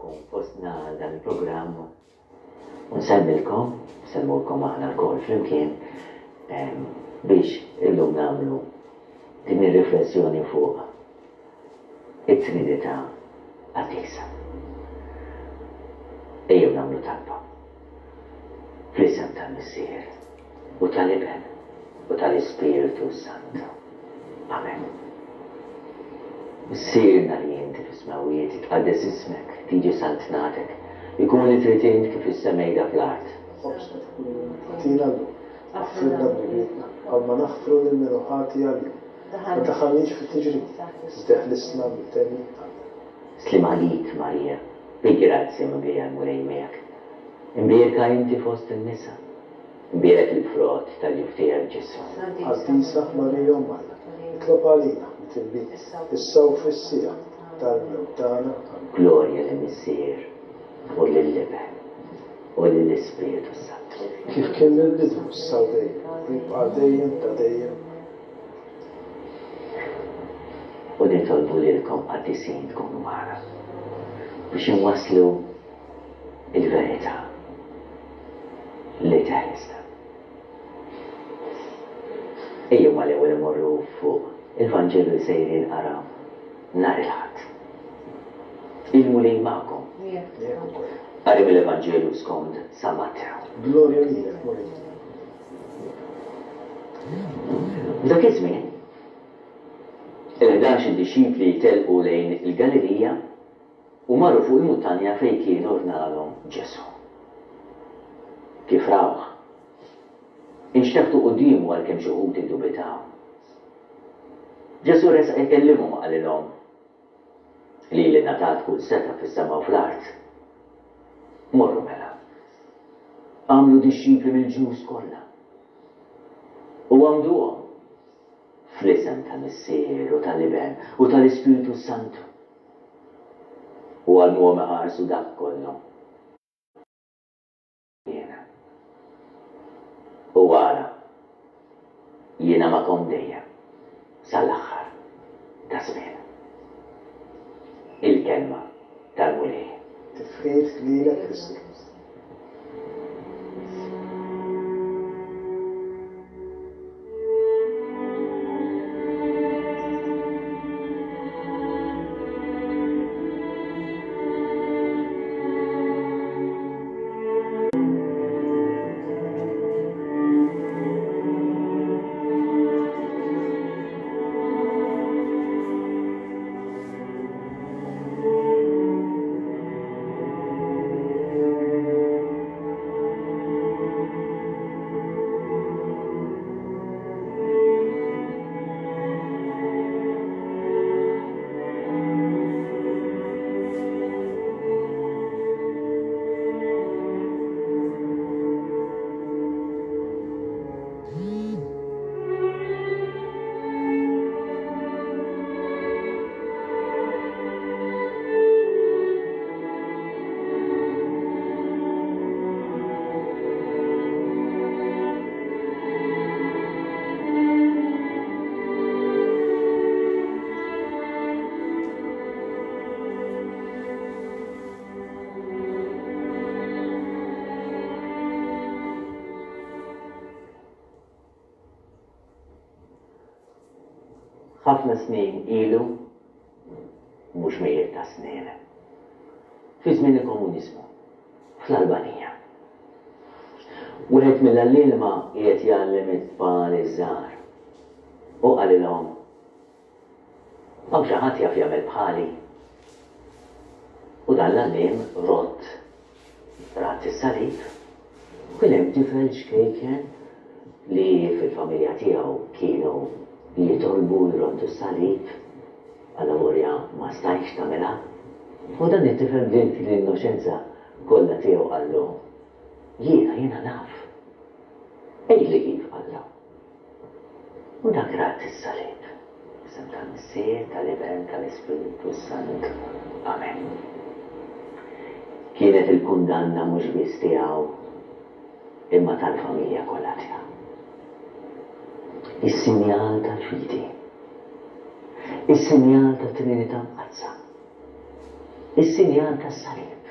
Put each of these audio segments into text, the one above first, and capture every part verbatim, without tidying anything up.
Nilqgħukom fostna għal dan il-programm u nsellmilkom, nsellmulkom aħna lkoll flimkien biex illum nagħmlu din ir-riflessjoni fuq it-Trinità Qaddisa. Ejjew nagħmlu talba. Fl-isem tal-Missier u tal-Iben u tal-Ispirtu Santu. Amen. Missierna li inti fis-smewwiet, jitqaddes ismek, tiġi saltnatek, ikun li trid int kif is-semejda fl-art. Ħobżna ta' kuljum agħtina llum, aħfrilna dnubietna bħalma naħfru lil min hu ħati għalina. Ma tdaħħalniex fit-tiġrib, iżda eħlisna mid-deni. Amen. Sliem għalik Marija, bi grazzja mimlija l-Mulej miegħek. Imbierka inti fost in-nisa, imbierek il-frott tal-ġuf tiegħek Ġesù. Qaddisa Marija Omm Alla, itlob għalina midinbin, issa u fis-siegħa tal-mewt tagħna. Amen. Glorja lill-Missier u lill-Iben u lill-Ispirtu Santu. Kif kien mill-bidu, issa u dejjem, u jibqa' dejjem ta' dejjem. U nitolbu lilkom qaddisin tkunu magħna biex inwasslu il-verità li teħlisna. Ejjew mal-ewwel imorru fuq il-Vanġelu li sejrin jinqara nhar il-Ħadd. Il-Mulej magħkom. Miegħek ukoll. Qari mill-Evanġelju skont San Mattew. Glorja lilek, Mulej. F'dak iż-żmien, il-ħdax il-dixxipli telqu lejn il-Galilija u marru fuq il-muntanja fejn kien ordnalhom Ġesù. Kif rawh, inxteħtu quddiemu għalkemm xi wħud iddubitaw. Ġesù resaq ikellimhom u qalilhom, lili ngħatat kull setgħa fis-sema u fl-art. Morru mela, għamlu dixxipli mill-ġnus kollha u għamduhom fl-isem tal-Missier u tal-Iben u tal-Ispirtu Santu. U għallmuhom iħarsu dak kollu jiena. U ara, jiena magħkom dejjem sal-aħħar ta' żmien. Il-kelma tal-Mulej. Tifħir lilek Kristu. Ħafna snin ilu, mhux mijiet ta' snin, fi żmien il-komuniżmu, fl-Albanija. Wieħed mill-għalliema qiegħed jgħallem it-tfal iż-żgħar u qalilhom, hawn xi ħadd jaf jagħmel bħali. U dan l-għalliem rott rat is-salib, kien hemm tifel ċkejken li fil-familja tiegħu kienu jitolbu jroddu s-salib, għal-lavorja ma stajx tagħmilha. U dan it-tifel b'din l-innoċenza kollha tiegħu qallu, jiena, jiena naf. Għidli kif qallu. U dak rat is-salib. Isem tal-Missier, tal-Iben, tal-Ispirtu Santu. Amen. Kienet il-kundanna mhux biss tiegħu imma tal-familja kollha tiegħu. Is-sinjal tal-fidi. Is-sinjal tat-Trinità Mqaddsa. Is-sinjal tas-salib.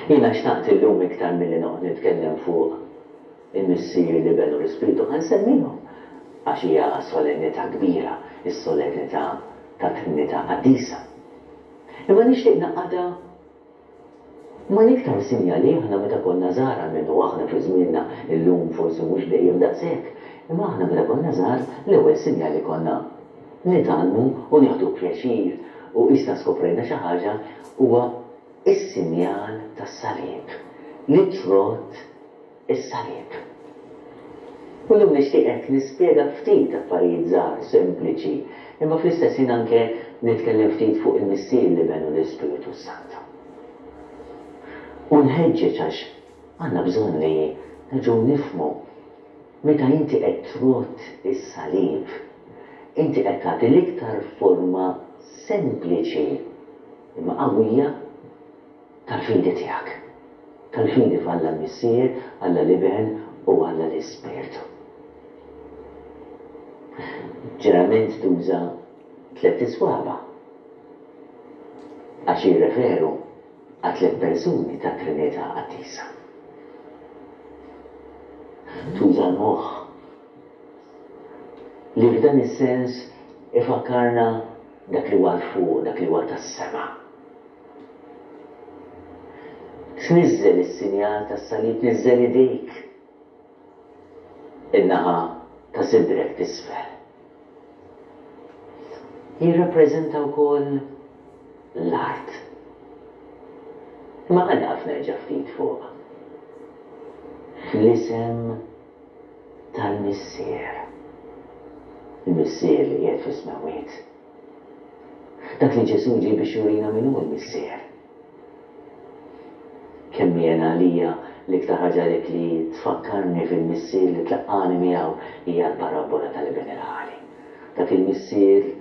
Jiena xtaqt illum iktar milli noqgħod nitkellem fuq il-Missier, l-Iben u l-Ispirtu, ħa nsemmihom għax hija solennità kbira, is-solennità ta' Trinità Qaddisa. Imma nixtieq naqgħadha mal-iktar sinjali aħna meta konna żgħar, almenu aħna fi żmienna, illum forsi mhux dejjem daqshekk, imma aħna meta konna żgħar l-ewwel sinjali konna nitgħallmu u nieħdu pjaċir u issa skoprejna xi ħaġa huwa is-sinjal tas-salib, li trodd is-salib. U llum nixtieq hekk nispjega ftit affarijiet żgħar, sempliċi, imma fl-istess ħin anke nitkellem ftit fuq il-Missier, l-Iben u l-Ispirtu Santu. U nħeġġeġ għax għandna bżonn li nerġgħu nifhmu meta inti qed trodd is-salib, inti qed tagħti l-iktar forma sempliċi imma qawwija tal-fidi tiegħek. Tal-fidi f'Alla l-Missier, Alla l-Iben u Alla l-Ispirtu. Ġeneralment tuża tliet iswaba għax jirreferu għal tliet persuni ta' Trinità Qaddisa. Tuża l-moħħ li f'dan is-sens ifakkarna dak li huwa fuq, dak li huwa tas-sema. Tniżżel is-sinjal tas-salib, tniżżel idejk in-naħa ta' sidrek t'isfel. Jirrappreżenta wkoll l-art. Imma ħa nieqaf nerġa' ftit fuq. Fl-isem tal-Missier. Il-Missier li qiegħed fis-smewwiet. Dak li Ġesù ġie biex jurina min hu l-Missier. Kemm jiena għalija l-iktar ħaġa dik li tfakkarni fil-Missier li tlaqqani miegħu hija l-parabbola tal-Iben il-Ħali. Dak il-Missier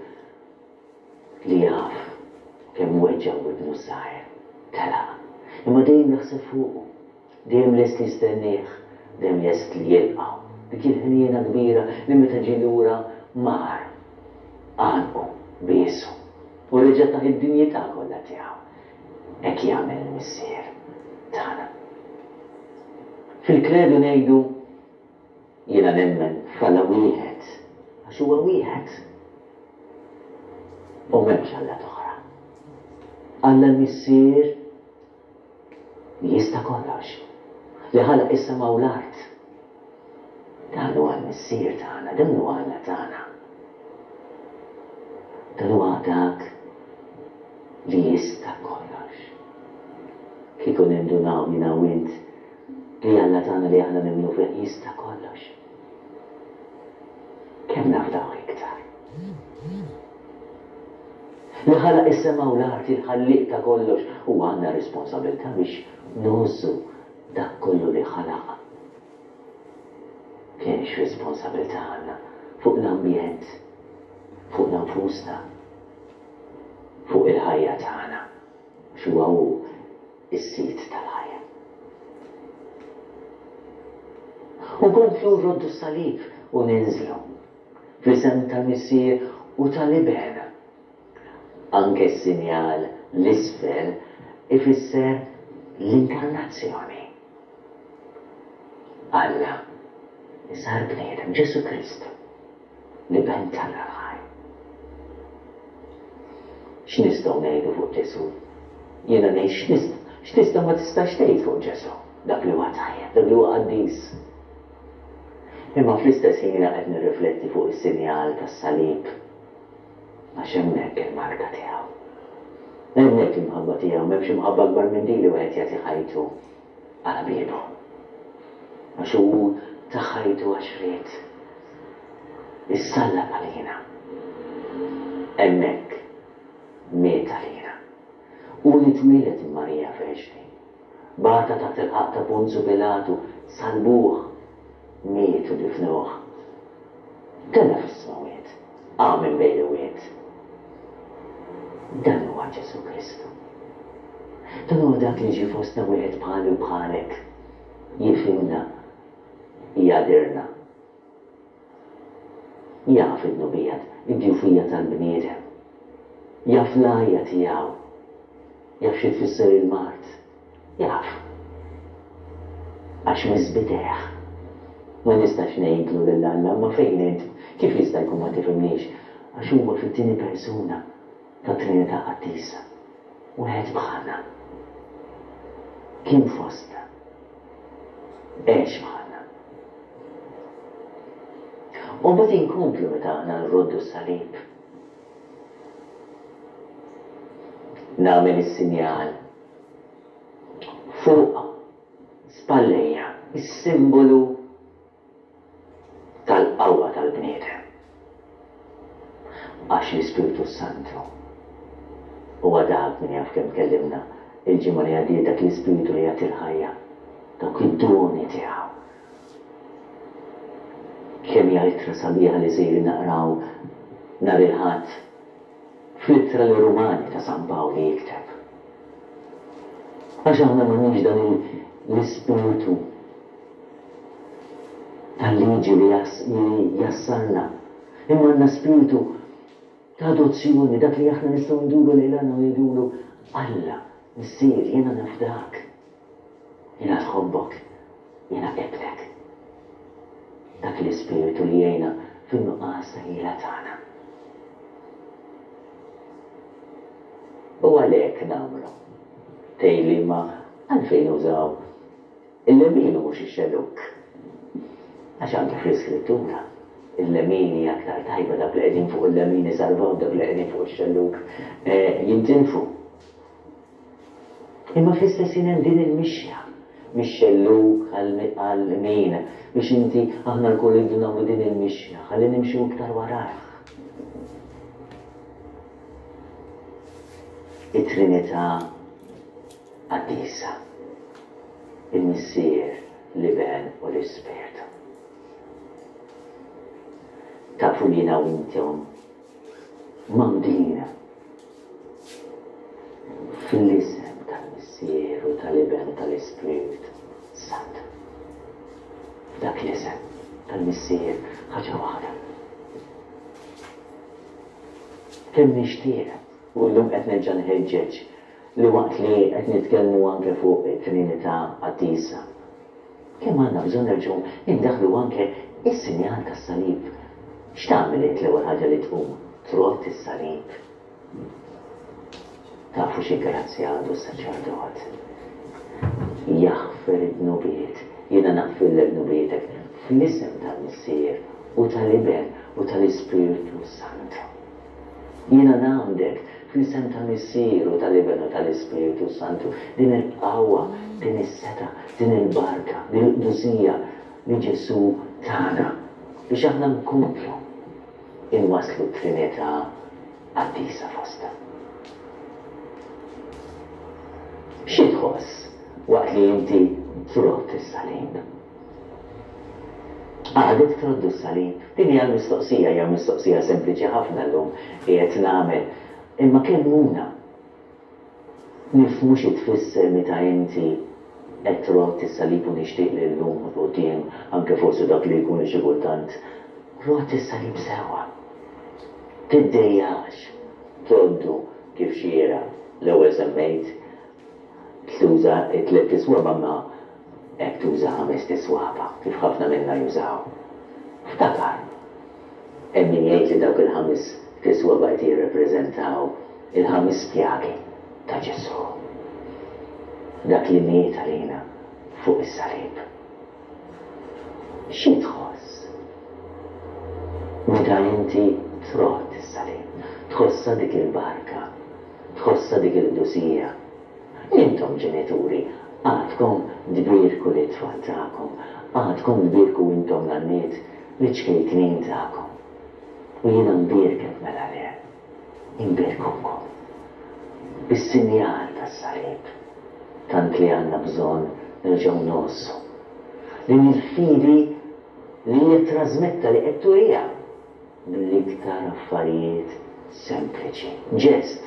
li jaf kemm weġġgħu ibnu ż-żgħir, telaq. Imma dejjem jaħseb fuqu, dejjem lest li jistennieh, dejjem lest li jilqgħu. Dik il-ħniena kbira li meta ġie lura mar, għanqu, biesu u reġa' tah id-dinjità kollha tiegħu. Hekk jagħmel il-Missier tagħna. Fil-kredu ngħidu jiena nemmen f'Alla wieħed, għax huwa wieħed. U m'hemmx Alla oħra. Alla l-Missier li jista' kollox, li ħalaq is-sema u l-art. Dan huwa l-Missier tagħna, dan huwa Alla tagħna. Dan huwa dak li jista' kollox. Kieku nindunaw jiena u int li Alla tagħna li aħna nemmnu fih jista' kollox. Kemm nafdaw iktar? Li ħalaq is-sema u l-art, il-ħallieq ta' kollox, u għandna responsabilità biex ngħożżu dak kollu li ħalaq. Kienx responsabilità għandna fuq l-ambjent, fuq nfusna, fuq il-ħajja tagħna, x'huwa hu is-sit tal-ħajja. U nkomplu nroddu s-salib u ninżlu fl-isem tal-Missier u tal-Iben. Anke s-sinjal l-isfel ifisser l-inkarnazzjoni. Alla sar bniedem, Ġesù Kristu, l-Iben t'Alla l-ħaj. X'nistgħu ngħidu fuq Ġesù? Jiena ngħid x'nista', x'tista' ma tistax tgħid fuq Ġesù? Dak li huwa tajjeb, dak li huwa qaddis. Imma fl-istess ħin jiena qed nirrifletti fuq is-sinjal tas-salib, għax hemmhekk il-marka tiegħu. Hemmhekk l-imħabba tiegħu, m'hemmx imħabba akbar minn din li wieħed jagħti ħajtu għal ħbiebu. Għax hu ta ħajtu għax ried. Issallab għalina. Hemmhekk miet għalina. U li twieled minn Marija Verġni. Bata taħt il-ħaqq ta' Ponzu Pilatu, salbuh, miet u difnuh. Tela' fis-smewwiet, qam minn bejn l-imwiet. Dan huwa Ġesù Kristu. Dan huwa dak li ġie fostna wieħed bħali u bħalek. Jifhimna, jagħdirna. Jaf id-dnubijiet, id-djufija tal-bniedem. Jaf l-għajja tiegħu. Jaf xi tfisser il-mard. Jaf. Għax miss b'idejh. Ma nistax ngħidlu lil Alla, imma fejn int? Kif jista' jkun ma tifhimnix? Għax huwa fit-tieni persuna tat-Trinità Qaddisa. Wieħed bħalna. Kien fostna. Għex bħalna. U mbagħad inkomplu meta aħna nroddu s-salib. Nagħmel is-sinjal fuq spallejja, is-simbolu tal-qawwa tal-bniedem. Għax l-Ispirtu Santu huwa dak min jaf kemm tkellimna il-ġimgħa li għaddiet dak l-Ispirtu li jagħti l-ħajja, dawk id-doni tiegħu. Kemm hija ittra sabiħa li sejrin naqraw nhar il-Ħadd fl-ittra lir-Rumani ta' San Pawl li jikteb. Għax aħna m'għandniex dan l-ispirtu tal-liġi li jassarna, imma għandna spirtu ta' adozzjoni, dak li aħna nistgħu nduru lejn Alla u ngħidulu Alla, Missier, jiena nafdak, jiena tħobbok, jiena ibnek. Dak l-ispirtu li jgħinna fin-nuqqas ta' ħila tagħna. U għalhekk nagħmlu. Tgħidli imma għalfejn użaw il-lemin u mhux ix-xellug? Għax anke fl-Iskrittura il-lemin hija aktar tajba, dawk li qegħdin fuq il-lemin isalvaw, dawk li qegħdin fuq ix-xellug jintilfu. Imma fl-istess ħin hemm din il-mixja mix-xellug għal-lemin biex inti aħna lkoll irridu nagħmlu din il-mixja ħalli nimxu iktar warajh. It-Trinità Qaddisa, il-Missier, l-Iben u l-Ispirtu. Tafu li jiena u intom mgħammdin fl-isem tal-Missier u tal-Iben u tal-Ispirtu Santu. F'dak l-isem tal-Missier ħaġa waħda. Kemm nixtieq, u llum qed nerġa' nħeġġeġ li waqt li qed nitkellmu anke fuq it-Trinità Qaddisa, kemm għandna bżonn nerġgħu indaħħlu anke is-sinjal tas-salib. X'tagħmel int l-ewwel ħaġa li tqum? Trodd is-salib. Tafu xi grazzja għandu s-saċerdot? Jaħfer id-dnubiet. Jiena naħfirlek dnubietek fl-isem tal-Missier u tal-Iben u tal-Ispirtu Santu. Jiena ngħammdek fl-isem tal-Missier u tal-Iben u tal-Ispirtu Santu. Din il-qawwa, din is-setgħa, din il-barka, din il-qdusija li Ġesù tana biex aħna nkomplu inwasslu t-Trinità Qaddisa fostna. Xi tħoss waqt li inti trodd is-salib? Għadek troddu s-salib? Din hija l-mistoqsija, hija mistoqsija sempliċi ħafna llum qiegħed nagħmel. Imma kellmuna nifhmu xi tfisser meta inti qed trodd is-salib u nixtieq li llum quddiem anke forsi dak li jkun li xi kultant rodd is-salib sewwa. Tiddejjax troddu kif xieraq. L-ewwel semmejt tuża t-tliet tiswaba imma hekk tuża ħames tiswaba kif ħafna minna jużaw. Ftakar, hemm min jgħid li dawk il-ħames tiswaba qed jirrepreżentaw il-ħames pjagi ta' Ġesù. Dak li miet għalina fuq is-salib. Xi tħoss meta inti trodd is-salib? Tħossha dik il-barka, tħossha dik il-qdusija. Intom ġenituri, għadkom tbierku lit-tfal tagħkom, għadkom tbierku intom nanniet liċ-ċkejknin tagħkom. U jiena nbierkek mela le, inbierkukom bis-sinjal tas-salib, tant li għandna bżonn nerġgħu ngħożżu din il-fidi li hija trażmetta li qed turiha bl-iktar affarijiet sempliċi. Ġest,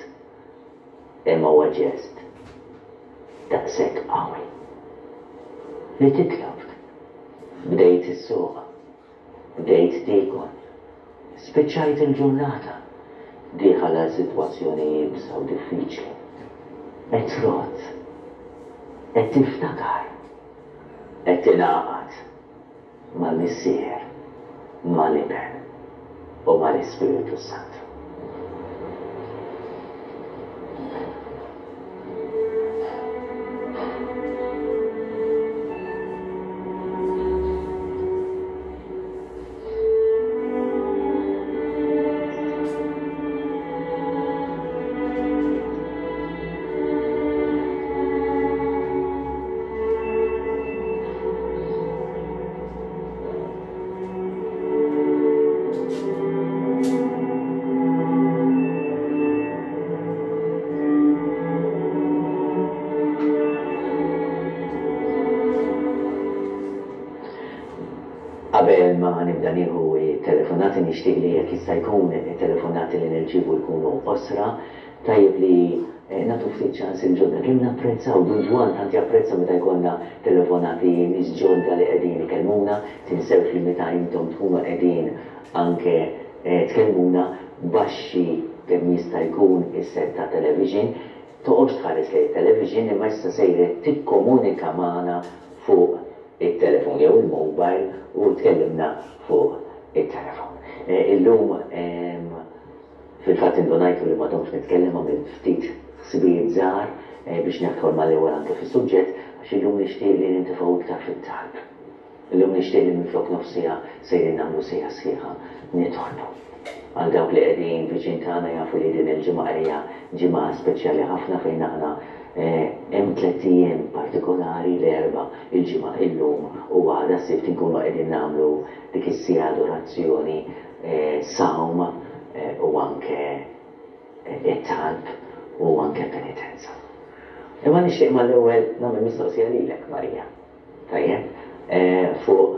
imma huwa ġest daqshekk qawwi. Li titlob, bdejt issuq, bdejt tiekol, spiċċajt il-ġurnata, dieħal għal sitwazzjoni iebsa u diffiċli, qed trodd, qed tiftakar, qed tingħaqad mal-Missier, mal-Iben u mal-Ispirtu Santu. Qabel ma nibda nieħu telefonati nixtieq li jekk jista' jkun telefonati li nirċievu jkunu qosra, tajjeb li nagħtu ftit ċans il-ġodda. Kemm napprezzaw, Dun Ġwann tant japprezza meta jkollna telefonati nies ġodda li qegħdin ikellmuna, tinsewx li meta intom tkunu qegħdin anke tkellmuna baxxi kemm jista' jkun is-set ta' television, toqgħodx tħares lejn it-television imma issa sejret tikkomunika magħna fuq it-telefon jew il-mobile u tkellimna fuq it-telefon. Illum fil-fatt indunajtu li m'għadhomx nitkellem, għamilt ftit ħsibijiet żgħar biex nidħol mal-ewwel anke fis-suġġett, għax illum nixtieq li nintifgħu iktar fit-talb. Illum nixtieq li minflok nofs siegħa sejrin nagħmlu siegħa sħiħa nitolbu. Għal dawk li qegħdin viċin tagħna jafu li din il-ġimgħa hija ġimgħa speċjali ħafna fejn aħna hemm tliet ijiem partikolari, l-Erbgħa, il-Ġimgħa, illum u għada s-Sibt inkunu qegħdin nagħmlu dik is-siegħa adorazzjoni, sawm u anke it-talb u anke penitenza. Imma nixtieq mal-ewwel nagħmel mistoqsija lilek, Marija. Tajjeb, fuq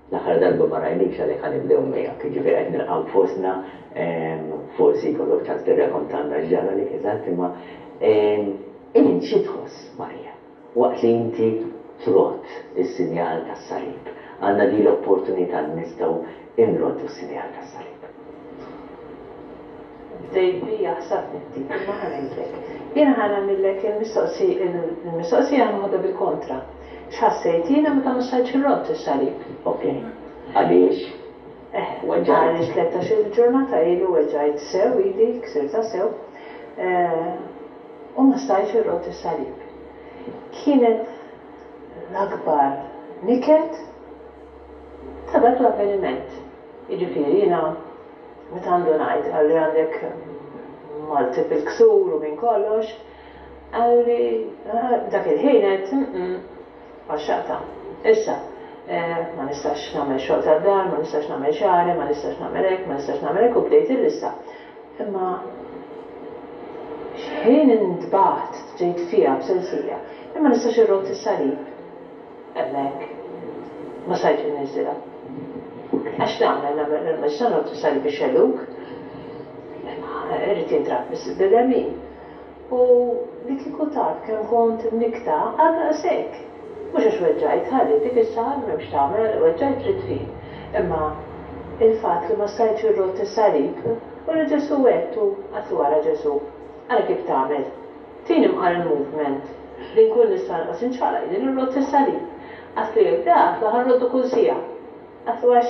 l-aħħar darba ma rajnikx għalhekk ħa nibdew miegħek, jiġifieri qed nilqgħu fostna, forsi jkollok ċans tirrakontanna x'ġara lek eżatt, imma int xi tħoss, Marija, waqt li inti trott is-sinjal tas-salib? Għandna din l-opportunità li nistgħu inroddu s-sinjal tas-salib. Bdejt bija ħsabni ftit, imma ħa ngħidlek. Jiena ħa nagħmillek il-mistoqsija noħodha bil-kontra. X'ħassejt jiena meta ma stajtx irrodd is-salib? Ok. Għaliex? Weġġajt. Għaliex tlettax-il ġurnata ilu weġġajt sew idi, ksirta sew. U ma stajtx irrodd is-salib. Kienet l-akbar niket ta' dak l-avveniment. Jiġifieri jiena meta għandu ngħid għalli għandek multiple ksur u minn kollox, għalli dak il-ħin qed għaxxaqta. Issa, ma nistax nagħmel xogħol tad-dar, ma nistax nagħmel xagħri, ma nistax nagħmel hekk, ma nistax nagħmel hekk u bdejt il-lista. Imma x'ħin intbaħt ġejt fiha b'sensija, imma nistax irrott is-salib. Hemmhekk ma stajtx inniżilha. Għax nagħmel, nagħmel, ma nistax nrott is-salib bix-xellug. Imma irrid jintrab bil-lemin. U li kieku taf kemm kont mnikta għal daqshekk. Mhux għax weġġajt, ħalli dik is-sar m'hemmx tagħmel, weġġajt trid tfin. Imma il-fatt li ma stajtx irrott is-salib, u li Ġesù għedtu għatlu wara Ġesù. Ara kif tagħmel. Tini mqar il-movement li nkun nista' nqas inċaqlaq jien irrott is-salib. Għatlu jekk dak, ħa nroddu kull siegħa. Għatlu għax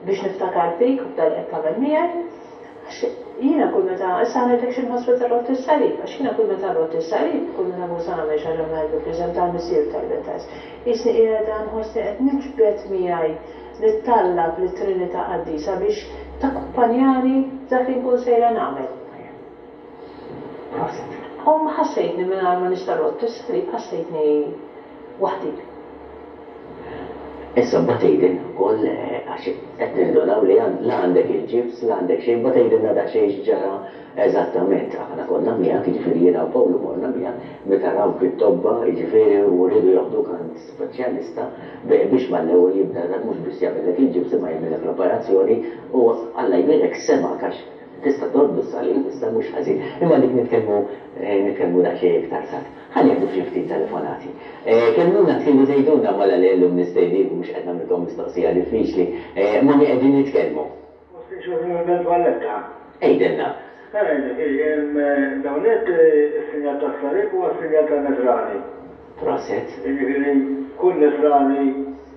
biex niftakar fik u f'dan li qed tagħmel miegħi, għax jiena kull meta, issa ngħidlek xi nħoss meta rrott is-salib, għax jiena kull meta rrott is-salib, kull meta nkun sa nagħmel xi ħaġa ngħidlu fl-isem tal-Missier tal-Iben tal-, jisni qiegħda nħossni qed niġbed miegħi, nittallab lit-Trinità Qaddisa biex takkumpanjani f'dak li nkun sejra nagħmel. Proset. U ma ħassejtni mingħajr ma nista' rrott is-salib, ħassejtni waħdi. Issa mbagħad tgħidilna wkoll, għax qed nindunaw li la għandek il-ġibs, la għandek xejn, mbagħad tgħidilna daqsxejn x'ġara eżattament. Aħna konna miegħek, jiġifieri jiena u Pawlu morna miegħek, meta rawk it-tobba, jiġifieri u rridu joħduk għand speċjalista biex mal-ewwel jibda mhux biss jagħmellek il-ġibs imma jagħmellek l-operazzjoni u Alla jbierek semgħek għax tista' tgħoddu s-salib, issa mhux ħażin. Imma dik nitkellmu nitkellmu daqsxejn iktar tard. Ħa nieħdu xi ftit telefonati. Kellmuna tridu tgħidulna mela li llum nistedinkom mhux qed nagħmilkom mistoqsija diffiċli, ma' min qegħdin nitkellmu. Valletta. Għidilna. Ngħidlek, l-ewwel is-sinjal tas-salib huwa s-sinjal tan-Nisrani. Proset. Jiġifieri kull Nisrani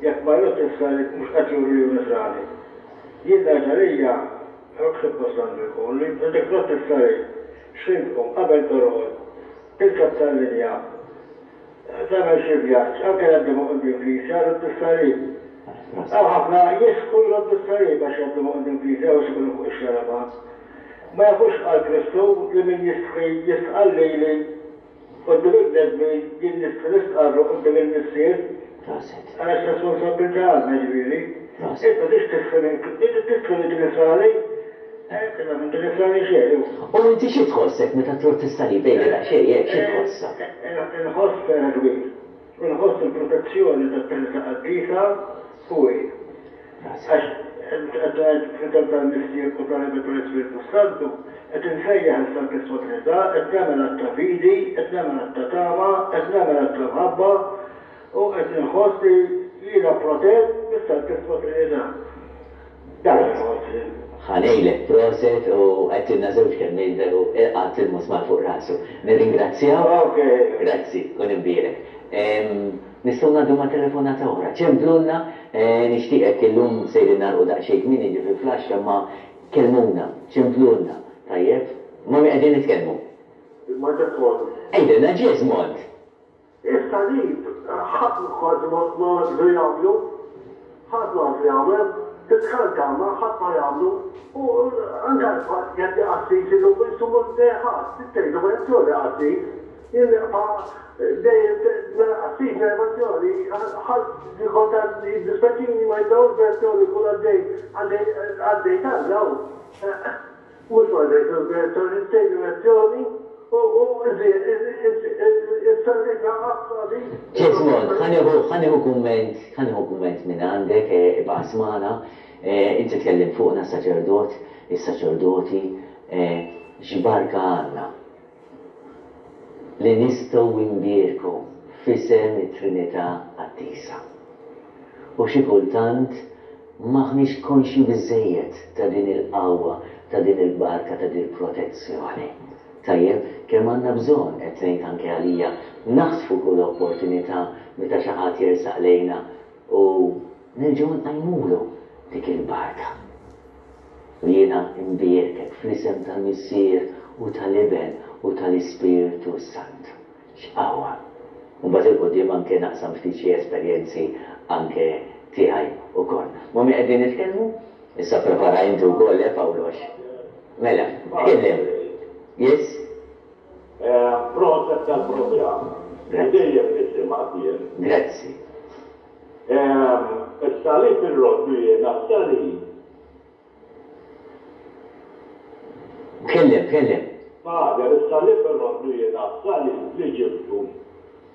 jekk ma jrodd is-salib mhux qed juri li hu Nisrani. Jien ngħid għalija, hekk suppost għandu jkun, li inti trodd is-salib, x'ħin tqum qabel torqod, tirkeb tal-linja, tagħmel xi vjaġġ, anke jgħaddi minn quddiem knisja, rodd is-salib. Hawn ħafna jistħu jroddu s-salib għax jgħaddu minn quddiem knisja u ikunu fuq ix-xarabank. Ma jafux qal Kristu li min jistħi jistqarr lili quddiem il-bnedmin jien nistħi nistqarru quddiem il-Missier. Proset. Ara x'responsabbiltà għandna ġifieri. Proset. Int ma tridx tistħi minn inti tistħi li inti Nisrani? Eh, imma m'inti Nisrani xejn hu. U inti xi tħossek meta trodd is-salib għidli daqsxejn hekk xi tħossha? Inħoss ferħ kbir. U nħoss il-protezzjoni tat-Trinità Qaddisa fuqi. Proset. Għax qed ngħid fl-isem tal-Missier u tal-Iben u tal-Ispirtu Santu, qed insejjaħ is-Santissima Trinità, qed nagħmel att ta' fidi, qed nagħmel att ta' tama, qed nagħmel att ta' mħabba u qed inħoss li jiena protett mis-Santissima Trinità. Dak inħoss jien. Ħa ngħidlek proset u għedtilna żewġ kelmiet veru qatt il-musmar fuq rasu. Nirringrazzjaw. Ok. Grazzi, kun imbierek. Nistgħu ngħaddu ma' telefonata oħra. Ċemplulna, nixtieqek illum sejrin nagħlqu daqsxejn kmieni ġifieri fl-għaxra ma kellmuna, ċemplulna. Tajjeb? Ma' min qegħdin nitkellmu? Ma' Jesmond. Għidilna Jesmond. Is-salib ħadd kważi ma għadu jagħmlu. Ħadd ma għadu jagħmel. Titkanta ma ħadd ma jagħmlu. U anke jgħaddi qassis illum insomma ħadd, tgħidu ma jagħmlu qassis. Jien nibqa' dejjem mela qassis benedizzjoni, ħadd kontant jiddispjaċini ma jdawx benedizzjoni kull għaddej għaddej talla hu. Mhux ma jdejx benedizzjoni, tgħidu benedizzjoni u is-salib għas-salib. Jesmond, ħa nieħu kumment, ħa nieħu kumment minn għandek, ibqa' smana, inti tkellim fuqna saċerdot, is-saċerdoti, x'barka għandna li nistgħu nbierku f'isem it-Trinità Qaddisa. U xi kultant m'aħniex konxji biżżejjed ta' din il-qawwa, ta' din il-barka, ta' din il-protezzjoni. Tajjeb, kemm għandna bżonn, qed ngħid anke għalija, naħtfu kull opportunità meta xi ħadd jersaq lejna u nerġgħu nqajmulu dik il-barka. U jiena imbierkek fl-isem tal-Missier u tal-Iben u tal-Ispirtu Santu. X'qawwa! U mbagħad 'il quddiem anke naqsam ftit xi esperjenzi anke tiegħi wkoll. Ma' min qegħdin nitkellmu? Issa prepara inti wkoll, eh Pawlox? Mela, tkellem. Yes? Proset tal-programm. Dejjem nisimgħek jien. Grazzi. Is-salib irroddu jiena s-salib. Tkellem, tkellem. Father, is-salib irroddu jiena s-salib li ġibtu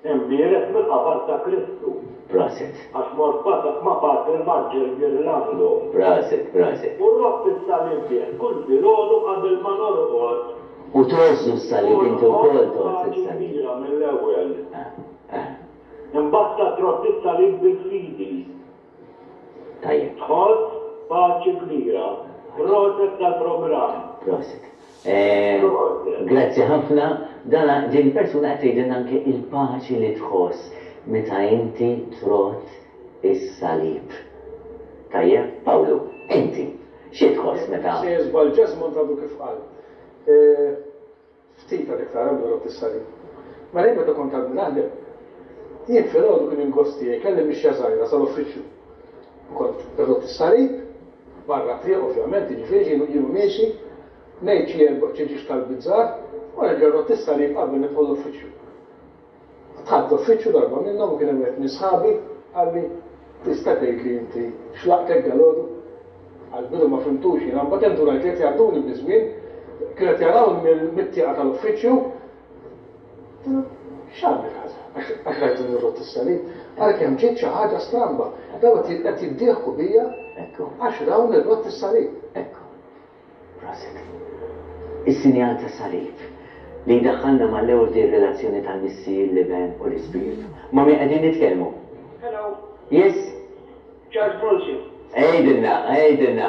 imbierek mill-qabar ta' Kristu. Proset. Għax mort ma' Patri Marġel Girlando. Proset, proset. U rrodd is-salib bih kull filgħodu qabel ma norqod. U tgħożżu s-salib inti wkoll tgħożż is-salib. Kbira mill-ewwel. Ah, ah. Imbagħad ta' trodd is-salib bil-fidi. Tajjeb. Tħoss paċi kbira. Proset tal-programm. Proset. Eh, Grazzi ħafna. Dana din persuna qed tgħidilna anke il-paċi li tħoss meta inti trodd is-salib. Tajjeb, Pawlu, inti xi tħoss meta? Se żball Jesmond għadu kif qal. Eh, Ftit għal iktar għandu rott is-salib. Mela jien meta kont għadni naħdem, jien filgħodu kien il-gost tiegħi kelli mixja żgħira sal-uffiċċju. U kont irrott is-salib, barra triq ovvjament, jiġifieri jienu jienu miexi, ngħid xi erba' xi ġiex tal-bizzar, u nerġa' rrott is-salib qabel nidħol l-uffiċċju. Dħalt l-uffiċċju darba minnhom u kien hemm wieħed minn sħabi qalli tista' tgħid li inti x'laqtek dalgħodu? Għall-bidu ma fhimtux jiena, mbagħad indunajt li qed jgħadduni biż-żmien, kienu qed jarawni mit-tieqa tal-uffiċċju. X'għamel ħaġa? Għax rajtu nirrott is-salib. Ara kemm ġiet xi ħaġa stramba. Daw qed jiddieħku bija Ekku. għax raw nirrott is-salib. Ekku. Proset. Is-sinjal ta' salib li jdaħħalna mal-ewwel di relazzjoni tal-Missier, l-Iben u l-Ispirtu. Ma' min qegħdin nitkellmu? Hello, Yes? Charles Bronson. Għidilna, għidilna.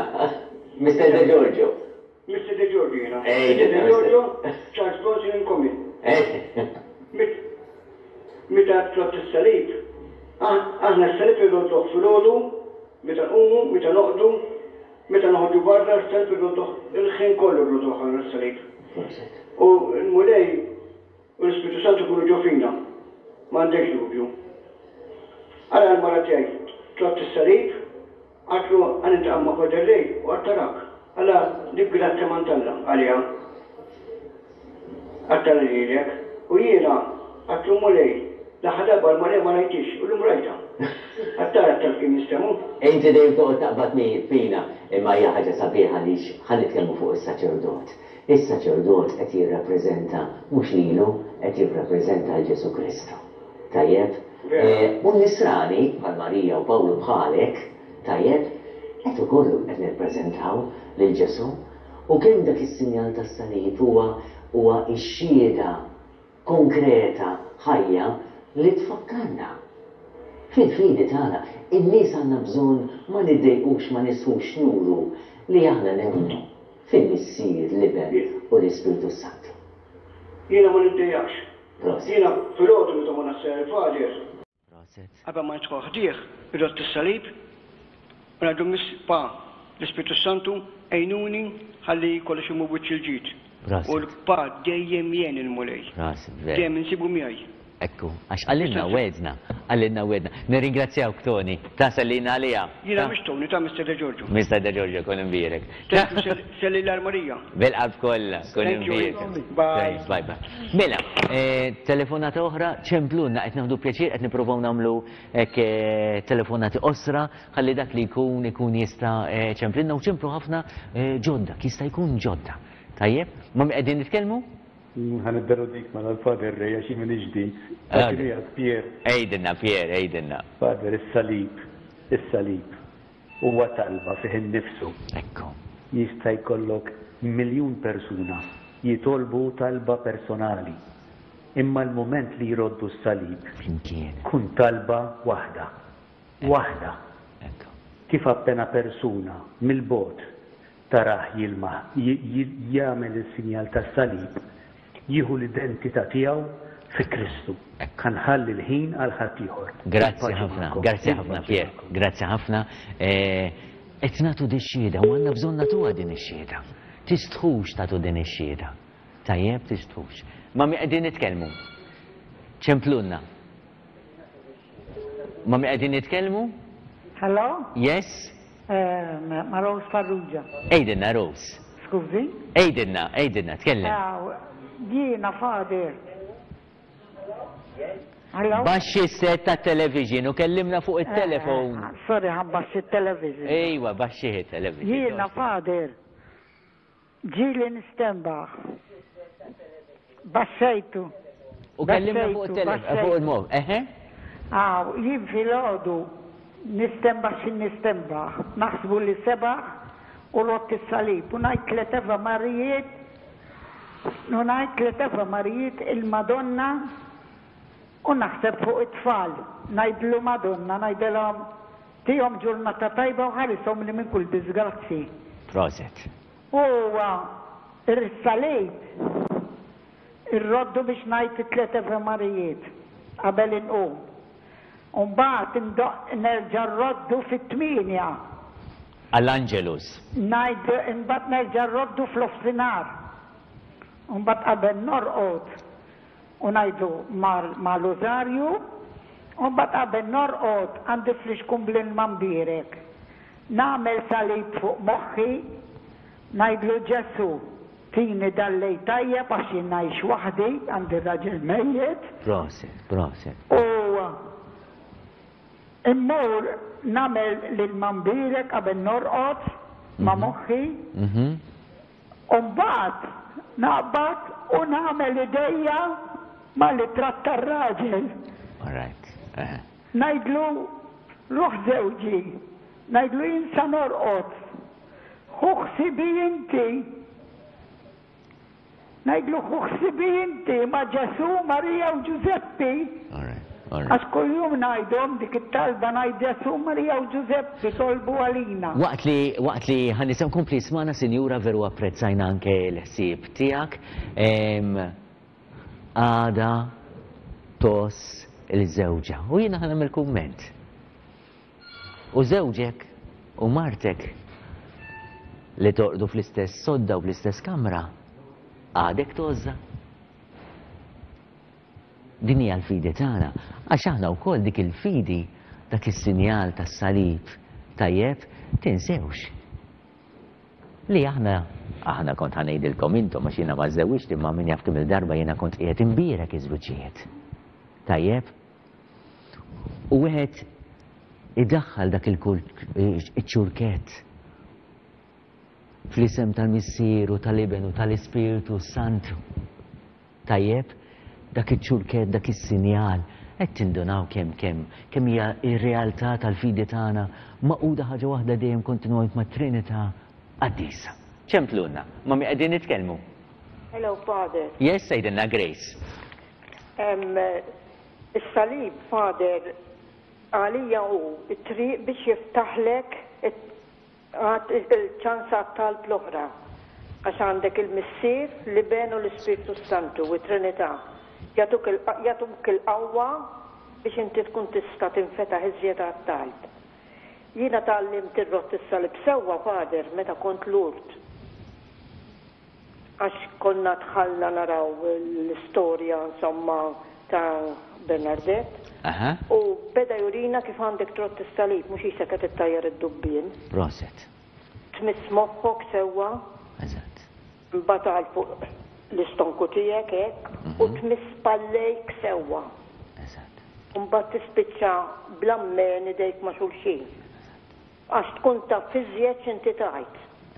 Mister De Giorgio. Mister De Giorgio jiena. De Giorgio, Charles Bronson in common. Meta tlott is-salib, aħna s-salib irrodduh filgħodu, meta nqumu, meta noqdu, meta noħorġu barra, s-salib irrodduh il-ħin kollu rrodduh aħna s-salib. U l-Mulej u l-Ispirtu Santu jkunu ġo fina, m'għandekx dubju. Ara l-mara tiegħi tlott is-salib, għatlu għan intaqa' ma' Father Ray u għattarak. Alla dik grazzja m'għand Alla għaliha. Għattara lilek. U jiena għatlu Mulej, l-aħħar darba l-Marija ma rajtix u llum rajtha. Għattara taf kien jistemu. Inti dejjem toqgħod taqbad fina, imma hija ħaġa sabiħa għaliex ħa nitkellmu fuq is-saċerdot. Is-saċerdot qed jirrappreżenta mhux lilu, qed jirrappreżenta l Ġesu Kristu. Tajjeb? U n-nisrani, bħal Marija u Pawlu bħalek, tajjeb, qed ukoll qed nirrappreżentaw lil Ġesu. U kemm dak is-sinjal tas-salib huwa huwa x-xhieda konkreta ħajja li tfakkarna fil-fidi tagħna. In-nies għandna bżonn ma niddejqux, ma nistħux nuru li aħna nemmnu fil-Missier, l-Iben u l-Ispirtu Santu. Jiena ma niddejjaqx. Jiena filgħodu meta ma nassar il-Father. Qabel ma nidħol ħdih, irrott is-salib, u ngħidu miss pa l-Ispirtu Santu għinuni ħalli kollox imur wiċċ il-ġid. U l-pa dejjem jien il-Mulej. Dejjem insibu miegħi. Ekku, għax għallinna wedna, għallinna wedna. Nirringrazzjawk Tony, ta' sellina għalija. Jiena mhux Tony, ta' Mister De Giorgio. Mister De Giorgio, kun imbierek. Selli l-Marija. Bil-qalb kollha, kun imbierek. Bye. Bye bye. Mela, telefonata oħra, ċemplunna, qed nieħdu pjaċir, qed nippruvaw nagħmlu hekk telefonati osra, ħalli dak li jkun ikun jista' ċemplinna u ċemplu ħafna ġodda, jista' jkun ġodda. Tajjeb, ma qegħdin nitkellmu? Ħa nibdew dik ma l-Father Ray, għax jien m'iniex din. Pier. Ejdinna, Pier, ejdinna. Father, is-salib, is-salib huwa talba fih innifsu. Ekku. Jista' jkollok miljun persuna jitolbu talba personali. Imma l-moment li jroddu s-salib flimkien kun talba waħda. Waħda. Kif appena persuna mill-bogħod tarah jilma jagħmel is-sinjal tas-salib, jieħu l-identità tiegħu fi Kristu. Ħanħalli l-ħin għal ħaddieħor. Grazzi ħafna, grazzi ħafna Pier, grazzi ħafna. Qed nagħtu di xhieda u għandna bżonn nagħtuha din ix-xhieda. Tistħux tagħtu din ix-xhieda. Tajjeb tistħux. Ma mi qegħdin nitkellmu. Ċemplunna. Ma mi qegħdin nitkellmu? Hello? Yes? Ma Rose Farrugia. Ejdinna Rose. Skużi? Ejdinna, ejdinna, tkellem. Jiena Father. Hello? Baxxi s-set ta' television u kellimna fuq il-telefon. Sorry, ħan baxxi il-television. Ejwa, baxxi il-television. Jiena Father. Ġieli nistenbaħ. Baxxejtu. U kellimna fuq il-telefon, fuq il-mob. Eħe? Aw, jien filgħodu nistenbaħ xi nistenbaħ. Naħsbu li sebaħ u rott is-salib. U ngħid tliet Ave Marijiet, u ngħid tliet Ave Marijiet il-Madonna u naħseb fuq it-tfal. Ngħidlu Madonna, ngħidilhom tihom ġurnata tajba u ħarishom li minn kull disgrazzi. Proset. U ir-salib irroddu biex ngħid it-tliet Ave Marijiet qabel inqum. U mbagħad nerġa' rroddu fit-tmienja. Għall-Angelus. Ngħid imbagħad nerġa' rroddu fl-ofsinhar. U mbagħad qabel norqod u ngħidu mal-Użarju, u mbagħad qabel norqod għandi flixkun bl-ilma mbierek. Nagħmel salib fuq moħħi, ngħidlu Ġesu, tini dal-lejl tajjeb għax jien ngħix waħdi, għandi raġel mejjet. Proset, proset. U immur nagħmel l-ilma mbierek qabel norqod ma' moħħi. U mbagħad naqbad u nagħmel idejja mal-ritratt tar-raġel. All right. Ngħidlu ruħ żewġi, ngħidlu jien sa norqod. Ħu ħsibi inti. Ngħidlu ħu ħsibi inti ma' Ġesu, Marija u Ġużeppi. All right. Għax kuljum ngħidhom dik it-talba ngħid Ġesù, Marija u Ġużeppi tolbu għalina. Waqt li waqt li ħa nisimgħu kompli smana, sinjura, veru apprezzajna anke l-ħsieb tiegħek. Għada tgħożż il-żewġa. U jiena ħa nagħmel kumment. U żewġek u martek li torqdu fl-istess sodda u fl-istess kamra, għadek tgħożżha? Din hija l-fidi tagħna, għax aħna wkoll dik il-fidi, dak is-sinjal tas-salib, tajjeb, tinsewx li aħna aħna kont ħa ngħidilkom intom għax jiena ma żewwiġt, imma min jaf kemm il-darba jiena kont qiegħed imbierek iż-żwiġijiet. Tajjeb? U wieħed idaħħal dak il-ċurkett fl-isem tal-Missier u tal-Iben u tal-Ispirtu Santu. Tajjeb? Dak iċ-ċurkett, dak is-sinjal, qed tindunaw kemm kemm kemm hija r-realtà tal-fidi tagħna magħquda ħaġa waħda dejjem kontinwament mat-Trinità Qaddisa. Ċemplulna, ma' min qegħdin nitkellmu? Hello, Father. Yes, għidilna, Grace. Um, Is-salib, Father, għalija hu it-triq biex jiftaħlek il-ċans għat-talb l-oħra. Għax għandek il-Missier, l-Iben u l-Ispirtu Santu, u Trinità. Jagħtuk il-qawwa biex inti tkun tista' tinfetaħ iżjed għat-talb. Jiena tgħallimt irrodd is-salib sewwa, Father, meta kont Lourdes. Għax konna dħalna naraw l-istorja, insomma, ta' Bernadette. U beda jurina kif għandek trodd is-salib, mhux qisek qed ittajjar id-dubbien. Proset. Tmiss moħħok sewwa. Eżatt. Mbagħad għal fuq l-istonku tiegħek hekk u tmiss spallejk sewwa. Eżatt. U mbagħad tispiċċa bl-ammen idejk ma' xulxin. Għax tkun taf iżjed x'inti tgħid.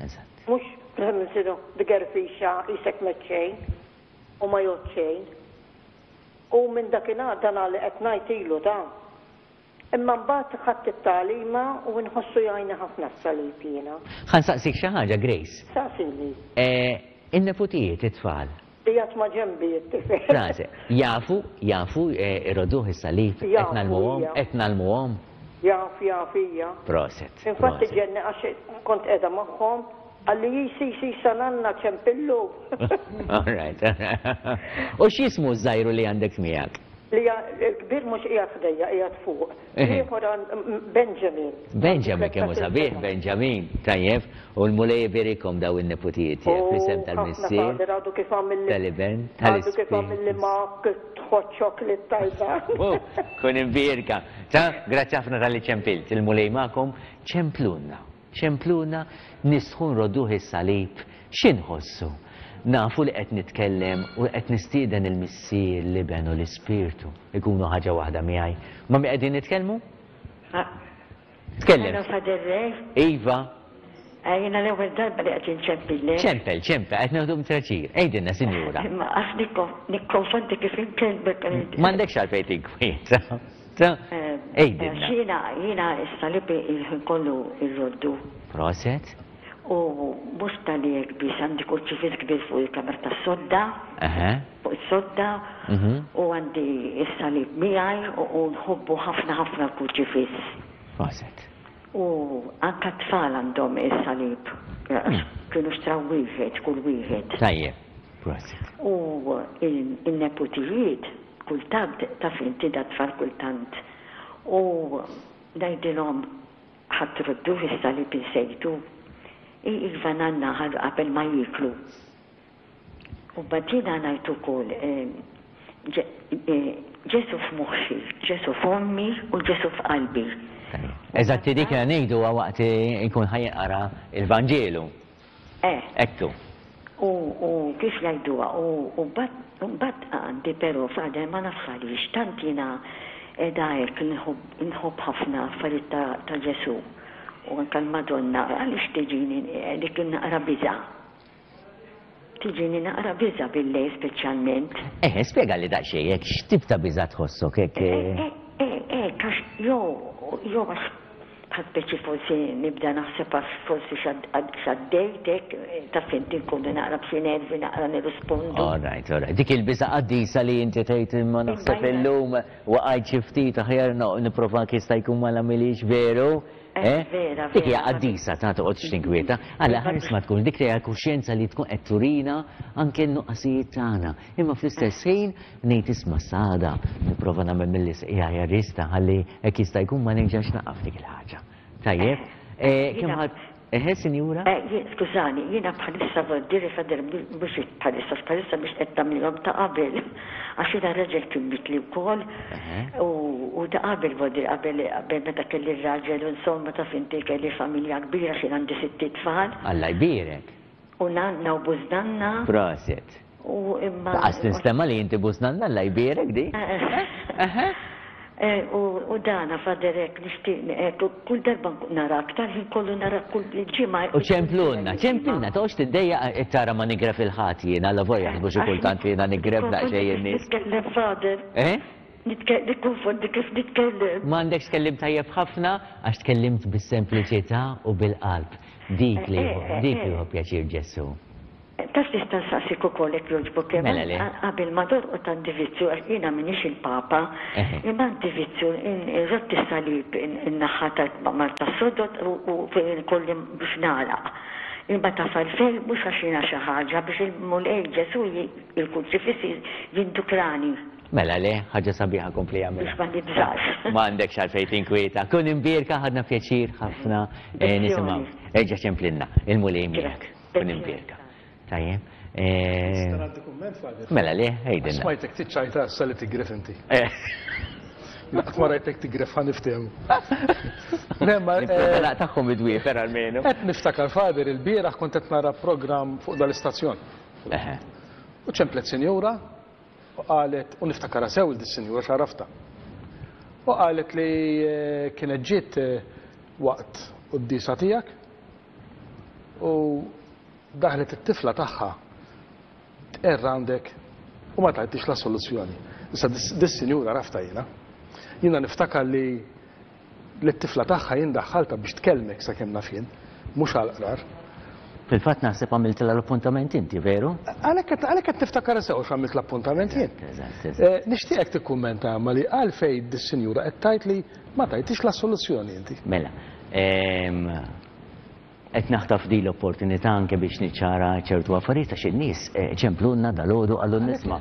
Eżatt. Mhux nsiru b'gerfixa qisek meċċejn u ma jgħod xejn. U minn dakinhar dan li qed ngħid ilu ta'. Imma mbagħad ħadt it-tagħlima u nħossu jgħinni ħafna s-salib jiena. Ħa nsaqsik xi ħaġa, Grace. Saqsini. In-neputijiet, it-tfal. Qiegħed ma' ġenbi t-tifel. Frażi, jafu, jafu irrodduh is-salib, qed ngħallmuhom, qed ngħallmuhom. Jaf, jaf, hija. Proset. Infatti ġenni għax kont qiegħda magħhom, qalli jisi jisi sananna ċempillu. All right. U x'jismu ż-żgħiru li għandek miegħek? Li l-kbir mhux qiegħed ħdejja, qiegħed fuq. Ieħor Benjamin. Benjamin kemm hu sabiħ, Benjamin. Tajjeb, u l-Mulej iberikhom daw in-neputijiet tiegħek fl-isem tal-Missier. Għadu kif għamilli. Tal-Iben, Għadu kif għamilli mug hot chocolate tajba. Kun imbierka. Ta, grazzi ħafna talli ċempilt. Il-Mulej magħkom, ċemplulna. Ċemplulna nistħu nrodduh is-salib. X'inħossu? Nafu li qed nitkellem u qed nistieden il-Missier, l-Iben u l-Ispirtu ikunu ħaġa waħda miegħi. Ma' min qegħdin nitkellmu? Tkellem. Hello, Father Ray. Iva. Jiena l-ewwel darba li qed inċempillek. Ċempel, ċempel, qed nieħdu pjaċir. Għidilna, sinjura. Imma għax nikkonfondi kif inkellmek. M'għandekx għalfejn tinkwieta. Għidilna. Jiena jiena s-salib il-ħin kollu irroddu. Proset. U mhux talli hekk biss, għandi kurċifiss kbir fuq il-kamra tas-sodda, fuq is-sodda, u għandi s-salib miegħi u nħobbu ħafna ħafna l-kurċifiss. Proset. U anka t-tfal għandhom is-salib, kienu xtraw wieħed, kull wieħed. Tajjeb, proset. U il-neputijiet, kultant, taf inti da tfal kultant, u ngħidilhom ħa trodduh is-salib insejtu. Iva nanna qabel ma jieklu. U badina ngħid ukoll Ġesù f'moħħi, Ġesù f'ommi u Ġesù f'qalbi. Eżatti dik li ngħidu waqt ikun ħa jinqara il-Vanġelu. Eh. Ekku. U kif jgħiduha, u mbagħad għandi però Father ma nafx għaliex tant jiena qiegħda hekk nħobb ħafna affarijiet ta' Ġesù. U anka l-Madonna, għaliex tiġini dik naqra biża'. Tiġini naqra biża' bil-lejl speċjalment. Eh, spjega li daqsxejn hekk x'tip ta' biża' tħossok hekk. Eh, eh, eh, għax jew jew għax Bħal speċi forsi nibda naħseb għax forsi x'għaddejt hekk, taf inti nkunu naqra b'xi nervi naqra nirrispondu. All right, all right. Dik il-biża' qaddisa li inti tgħid imma naħseb illum waqajt xi ftit aħjar nipprova jista' jkun ma nagħmilhiex veru. Eh, vera, Dik hija qaddisa ta' toqgħodx tinkwieta. Alla ħares ma tkun dik hija kuxjenza li tkun qed turina anke n-nuqqasijiet tagħna. Imma fl-istess ħin ngħid isma' sada nipprova nagħmel milli hija rista ħalli hekk jista' jkun ma nerġax naqa' f'dik il-ħaġa. Tajjeb, kemm ħadd Eħe, sinjura? Skużani, jiena bħalissa voldiri Father mhux bħalissa, bħalissa biex qed tagħmilhom ta' qabel. Għax jiena raġel kien mitli wkoll u ta' qabel voldiri qabel qabel meta kelli r-raġel u insomma taf inti kelli familja kbira x'jien għandi sitt itfal. Alla jbierek. U nanna u bużnanna. Proset. U imma. Laqas tinstema' li inti bużnanna, Alla jbierek di. Eħe. U dana Father hekk nixtieq kull darba narak, tal-ħin kollu narak kull ġimgħa. U ċemplunna, ċemplunna, toqgħodx tiddejjaq tara ma nigref il-ħadd jien, alla volja jaħsbu xi kultant li jiena nigref daqsxejn in-nies. Nitkellem Father. Eh? Nikkonfondi kif nitkellem. M'għandekx tkellim tajjeb ħafna għax tkellimt bis-sempliċità u bil-qalb. Dik li dik li hu pjaċir Ġesù. Taf nista' nsaqsik ukoll jekk jogħġbok hemm. Mela le. Qabel ma torqod għandi vizzju għax jiena m'iniex il-Papa, imma għandi vizzju nrodd is-salib in-naħa ta' tas-sodod u fejn ikolli biex nagħlaq. Imma taf għalfejn mhux għax jiena xi ħaġa biex il-Mulej Ġesù il-Kurċifiss jindukrani. Mela le, ħaġa sabiħa kompli għamilha. Biex ma nibżax. Ma għandekx għalfejn tinkwieta. Kun imbierka ħadna pjaċir ħafna nisimgħu. Erġa' ċemplinna, il-Mulej miegħek. Kun imbierka. Tajjeb. Nista' ngħaddi kumment, Father? Mela le, għidilna. Smajtek tiċċajta issa li tigref inti. Qatt ma rajtek tigref ħa niftehmu. Le, ma Nipprova naqtagħhom id-dwiefer almenu. Qed niftakar, Father, il-bieraħ kont qed nara programm fuq dal-istazzjon. U ċemplet sinjura u qalet, u niftakarha sew dis-sinjura x'għaraftha. U qalet li kienet ġiet waqt quddiesa tiegħek u daħlet it-tifla tagħha tqerr għandek u ma tajtix la soluzzjoni. Issa dis-sinjura rafta jiena. Jiena niftakar li l-tifla tagħha jien daħħalta biex tkellmek sakemm naf jien, mhux għall-qrar. Fil-fatt naħseb għamiltilha l-appuntament inti, veru? Għalhekk qed niftakar sew x'għamilt l-appuntament jien. Nixtieqek tikkummenta ma li għalfejn dis-sinjura qed tgħid li ma tajtix la soluzzjoni inti. Mela, qed naħtaf din l-opportunità anke biex niċċara ċertu affarijiet għax in-nies ċemplunna dalgħodu qallu nisma'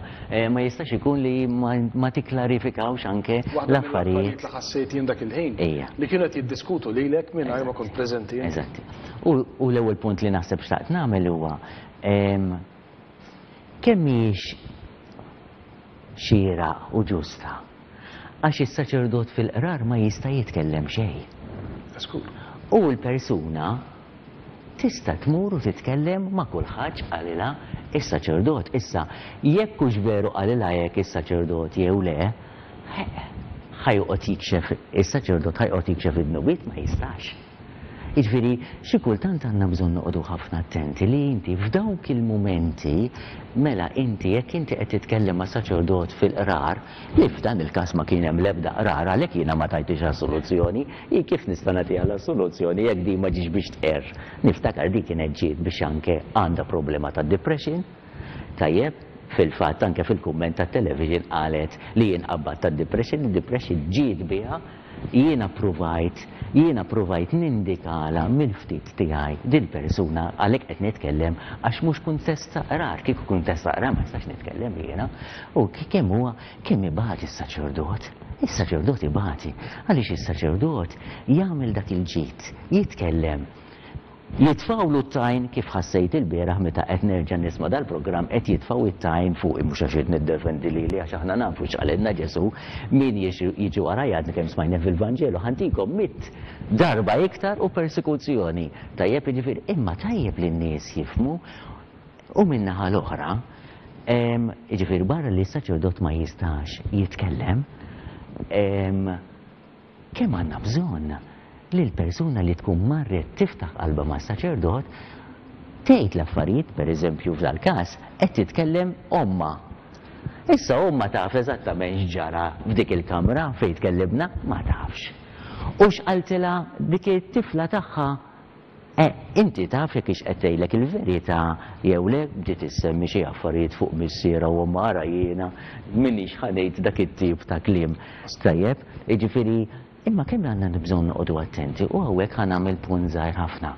ma jistax ikun li ma tikklarifikawx anke l-affarijiet. Li ħassejt jien dak il-ħin li kienu qed jiddiskutu lilek mingħajr ma kont preżenti. Eżatti. U l-ewwel punt li naħseb xtaqt nagħmel huwa kemm mhijiex xieraq u ġusta għax is-saċerdot fil-qrar ma jista' jitkellem xejn. U l-persuna tista' tmur u titkellem ma' kulħadd qalilha is-saċerdot. Issa, jekk hux veru qalilha hekk is-saċerdot jew le, ħajoqgħod jikxef is-saċerdot ħajoqgħod jikxef id-dnubiet ma jistax. Jiġifieri xi kultant għandna bżonn noqogħdu ħafna attenti li inti f'dawk il-mumenti mela inti jekk inti qed titkellem ma' saċerdot fil-qrar, li f'dan il-każ ma kien hemm l-ebda qrar għalhekk jiena ma tajtix assoluzzjoni, hi kif nista' nagħtiha l-assoluzzjoni jekk din ma ġiex biex tqerr. Niftakar di kienet ġiet biex anke għandha problema ta' depression. Tajjeb, fil-fatt anke fil-kumment tat-television qalet li jien qabad ta' depression, id-depression ġiet biha. Jiena provajt, jiena provajt nindikala mill-ftit tiegħi dil-persuna għalhekk qed nitkellem għax mhux kuntest ta' qrar, kieku kuntest ta' qrar ma nistax nitkellem jiena. U kemm huwa kemm ibati s-saċerdot, is-saċerdot ibati, għaliex is-saċerdot jagħmel dak il-ġid, jitkellem. Jitfawlu t-tajn kif ħassejt il-bieraħ meta qed nerġa' nisma' dal-programm qed jitfaw it-tajn fuq mhux għax qed niddefendi lili għax aħna nafu x'qalilna Ġesù min jiġi warajja għadna kemm smajna fil-Vanġelu ħantikom mitt darba iktar u persekuzzjoni. Tajjeb jiġifieri imma tajjeb li n-nies jifhmu u min-naħa l-oħra jiġifieri barra li s-saċerdot ma jistax jitkellem kemm għandna bżonn li l-persuna li tkun marret tiftaħ qalbha ma' saċerdot tgħid l-affarijiet, pereżempju f'dal-każ, qed titkellem omma. Issa omma taf eżattament x'ġara f'dik il-kamra fejn tkellimna, ma tafx. U x'qaltilha dik it-tifla tagħha? Eh, inti taf jekk hix qed tgħidlek il-verità jew le, bdiet issemmi xi affarijiet fuq missierha u ommha, ara jiena m'iniex ħa ngħid dak it-tip ta' kliem. Tajjeb, jiġifieri, imma kemm għandna bżonn noqogħdu attenti u hawnhekk ħa nagħmel punt żgħir ħafna.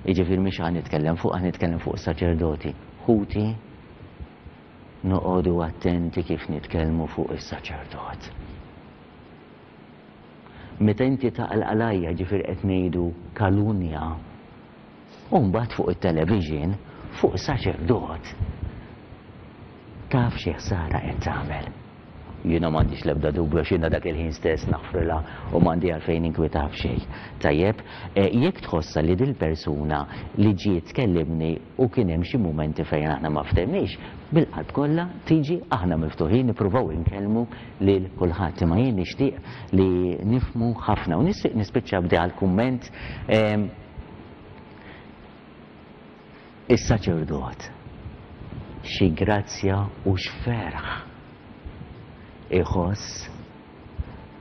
Jiġifieri mhix ħa nitkellem fuq, ħa nitkellem fuq saċerdoti. Ħuti, noqogħdu attenti kif nitkellmu fuq is-saċerdot. Meta inti taqlaqlajja, ġifieri qed ngħidu kalunja, u mbagħad fuq it-television, fuq saċerdot, taf xi ħsara qed tagħmel. Jiena m'għandix l-ebda dubju għax jiena dak il-ħin stess naħfrilha u m'għandi għalfejn inkwitha f'xejn. Tajjeb, jekk tħossha li dil-persuna li ġiet tkellimni u kien hemm xi mumenti fejn aħna ma ftehmniex, bil-qalb kollha tiġi, aħna miftuħin nippruvaw inkellmu lil kulħadd. Imma jien nixtieq li nifhmu ħafna u nixtieq nispiċċa b'di għall-kumment is-saċerdot. Xi grazzja u x'ferħ iħoss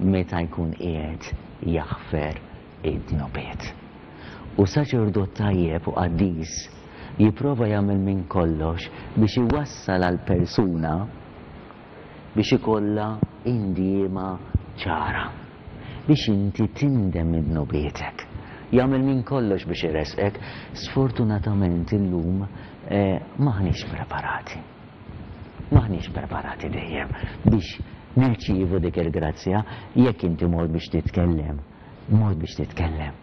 meta jkun qiegħed jaħfer id-dnubiet. U saċerdot tajjeb u qaddis jipprova jagħmel minn kollox biex iwassal għal persuna biex ikollha indiema ċara, biex inti tindem minn dnubietek. Jagħmel minn kollox biex iresqek. Sfortunatament illum maħniex preparati. Maħniex preparati dejjem biex nirċievu dik il-grazzja. Jekk inti mort biex titkellem, mort biex titkellem.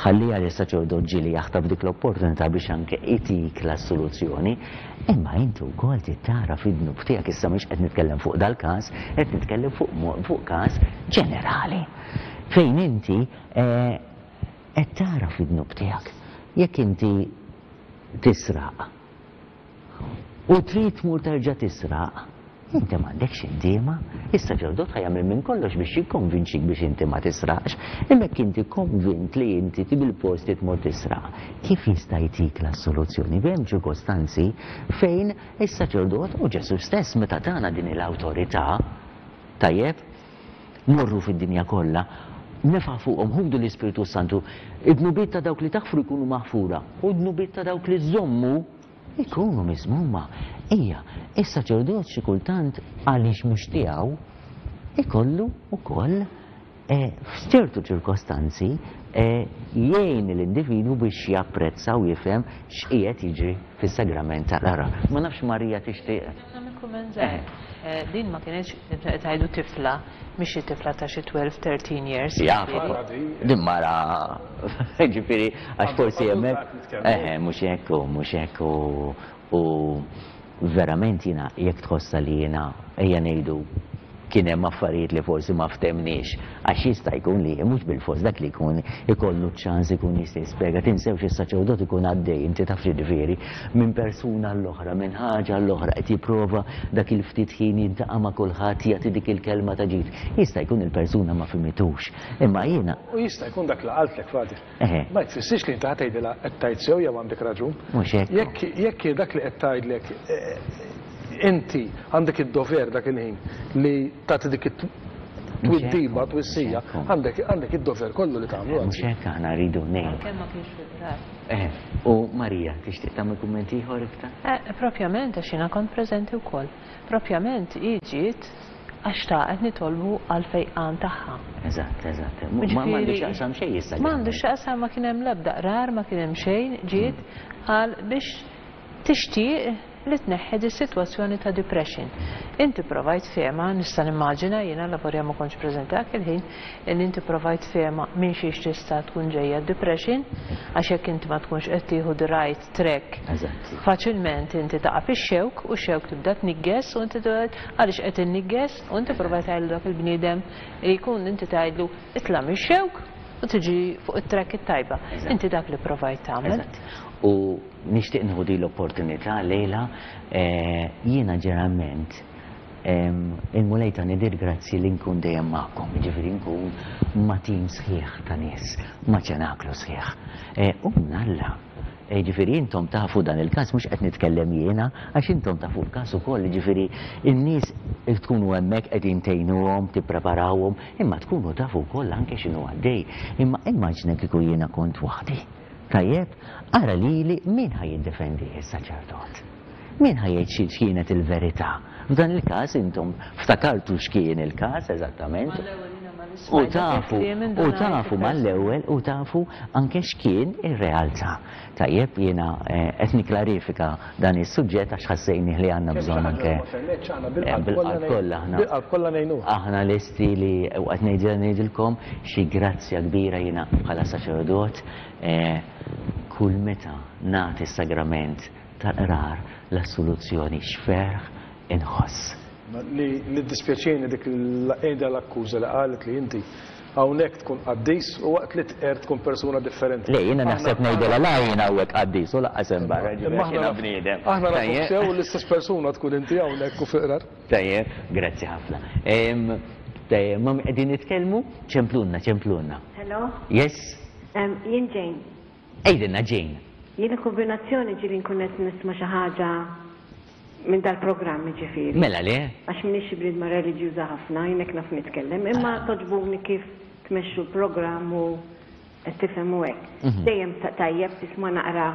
Ħalliha li s-saċerdot ġieli jaħtaf dik l-opportunità biex anke itik l-assoluzzjoni, imma inti wkoll trid tara fid-dnub tiegħek. Issa mhux qed nitkellem fuq dal-każ, qed nitkellem fuq fuq każ ġenerali fejn inti qed tara fid-dnub tiegħek. Jekk inti tisraq u trid tmur terġa' tisraq, inti m'għandekx indiema. Is-saċerdot ħa jagħmel minn kollox biex jikkonvinċik biex inti ma tisraqx, imma jekk inti konvint li inti bil-post li tmur tisraq, kif jista' jtik l-assoluzzjoni? Hemm ċirkostanzi fejn is-saċerdot u Ġesu stess meta tana din l-awtorità, tajjeb, morru fid-dinja kollha, nefa' fuqhom, ħudu l-Ispirtu Santu, id-dnubiet ta' dawk li taħfru jkunu maħfura u d-dnubiet ta' dawk li żommu ikunu miżmuma. Ija, is-saċerdot xi kultant għaliex mhux tiegħu ikollu wkoll f'ċertu ċirkostanzi jgħin l-individwu biex japprezza u jifhem x'qiegħed jiġri fis-sagrament tal-qrar. Ma nafx Marija tixtieq. Nagħmel kumment żgħir. Din ma kienx tgħidu tifla, mhix xi tifla ta' xi twelve, thirteen years. Jafa, din mara, ġifieri għax forsi hemmhekk. Eħe, mhux hekk u mhux hekk u verament jiena jekk tħossha li jiena ejja ngħidu kien hemm affarijiet li forsi ma ftemniex, għax jista' jkun li mhux bil-fors dak li jkun ikollu ċans ikun jista' jispjega. Tinsewx is-saċerdot ikun għaddej, inti taf x'jiġifieri, minn persuna l-oħra, minn ħaġa l-oħra, qed jipprova dak il-ftit ħin jiltaqa' ma' kulħadd, jagħti dik il-kelma ta' ġid. Jista' jkun il-persuna ma fhimitux, imma jiena. U jista' jkun dak li qaltlek, Father. Ma jfissirx li inti ħa tgħidilha qed tgħid sew jew għandek raġun. Mhux hekk. Jekk jekk dak li qed tgħidlek inti għandek id-dover dak il-ħin li tagħti dik it-twiddiba, twissija, għandek għandek id-dover kollu li tagħmlu. Mhux hekk aħna rridu ngħid. Kemm ma kienx fil-qrar. Eh, u Marija, tixtieq tagħmel kumment ieħor iktar? Eh, propjament għax jiena kont preżenti wkoll. Propjament hi ġiet għax xtaqet nitolbu għal fejqan tagħha. Eżatt, eżatt. Ma m'għandu x'jaqsam xejn issa. M'għandu x'jaqsam, ma kien hemm l-ebda qrar, ma kien hemm xejn, ġiet għal biex tixtieq li tneħħi di sitwazzjoni ta' depression. Inti provajt fehma, nista' nimmaġina jiena lavorja ma kontx preżenti dak il-ħin, li inti provajt fehma minn xiex tista' tkun ġejja depression, għax jekk inti ma tkunx qed tieħu the right track, faċilment inti taqa' fix-xewk u x-xewk tibda tnigges u inti tgħid għaliex qed innigges, u inti provajt tgħidlu dak il-bniedem li jkun inti tgħidlu itla' mix-xewk u tiġi fuq it-track it-tajba. Inti dak li provajt tagħmel. U nixtieq nieħu din l-opportunità lejla, jiena ġeneralment il-Mulej tani dir grazzi li nkun dejjem magħkom, jiġifieri nkun ma' tim sħiħ ta' nies, ma' ċenaklu sħiħ. U mnalla Ġifieri intom tafu dan il-każ, mhux qed nitkellem jiena, għax intom tafu l-każ ukoll, ġifieri in-nies tkunu hemmhekk qegħdin tgħinuhom, tippreparawhom, imma tkunu tafu wkoll anke x'inhu għaddej. Imma immaġina kieku jiena kont waħdi. Tajjeb, ara lili min ħa jiddefendi is-saċerdot? Min ħa jgħid x'kienet il-verità? F'dan il-każ intom ftakartu x'kien il-każ eżattament. U tafu, u tafu mal-ewwel, u tafu anke x'kien ir-realtà. Tajjeb, jiena qed nikklarifika dan is-suġġett għax ħassejni li għandna bżonn anke bil-qalb kollha aħna. Bil-qalb kollha ngħinuha. Aħna lesti li u qed ngħidilkom xi grazzja kbira jiena bħala saċerdot kull meta nagħti s-sagrament tal-qrar l-assoluzzjoni x'ferħ inħoss. Li dispjaċini dik l-għida l-akkuża li qalet li inti hawnhekk tkun qaddis u waqt li tqer tkun persuna differenti. Le, jiena naħseb ngħidilha la jiena hawnhekk qaddis u lanqas hemm barra, ġifieri jiena bniedem. Aħna nafu sew l-istess persuna tkun inti hawnhekk u fil-qrar. Tajjeb, grazzi ħafna. Tajjeb, ma qegħdin nitkellmu, ċemplunna, ċemplunna. Hello? Yes? Jien Jane. Ejdilna Jane. Jiena kombinazzjoni ġieli nkun qed nisma' xi ħaġa minn dal-programm ġifieri. Mela le? Għax m'iniex bniedma reliġjuża ħafna, jien hekk naf nitkellem, imma toġbuni kif tmexxu l-programm u qed tifhem u hekk. Dejjem tajjeb tisma' naqra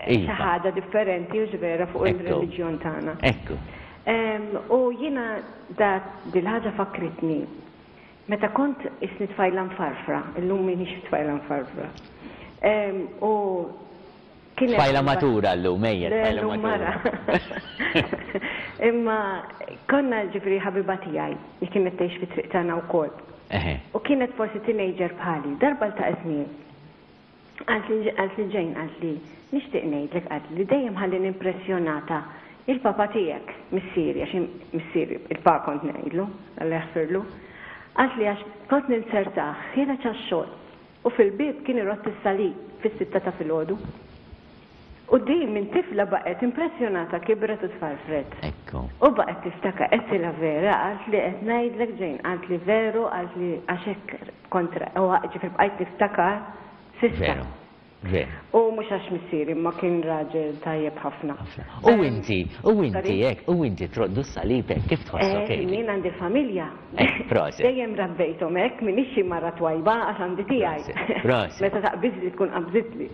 xi ħaġa differenti u vera fuq il-reliġjon tagħna. Ekku. U jiena da dil-ħaġa fakritni. Meta kont isni tfajla mfarfra, illum m'iniex tfajla mfarfra. U tfajla matura llum, ejja, tfajla matura. Imma konna ġifieri ħabiba tiegħi li kienet tgħix fi triq tagħna wkoll. U kienet forsi teenager bħali, darba ltaqgħet miegħi. Qalt li Jane, qalt li nixtieq ngħidlek, qalt li dejjem ħallini impressjonata il-papa tiegħek, missieri, għax missieri, il-pa kont ngħidlu, Alla jaħfirlu. Qalt li għax kont ninsertah ħiereġ għax-xogħol u fil-bieb kien irott is-salib fis-sitta ta' filgħodu. U din minn tifla baqgħet impressjonata, kibret u tfarfret. Ekku. U baqgħet tiftakar, qedtilha vera, qalt li qed ngħidlek Jane, qalt li veru, qalt li għax hekk kontra, u ġifieri bqajt niftakar s'issa. Veru. Veru. U mhux għax missieri, ma kien raġel tajjeb ħafna. U inti, u inti hekk, u inti troddu s-salib hekk, kif tħossok hekk? Jien għandi familja. Proset. Dejjem rabbejthom hekk, m'iniex xi mara twajba għax għandi tiegħi. Proset. Meta taqbiżli tkun qabżitli.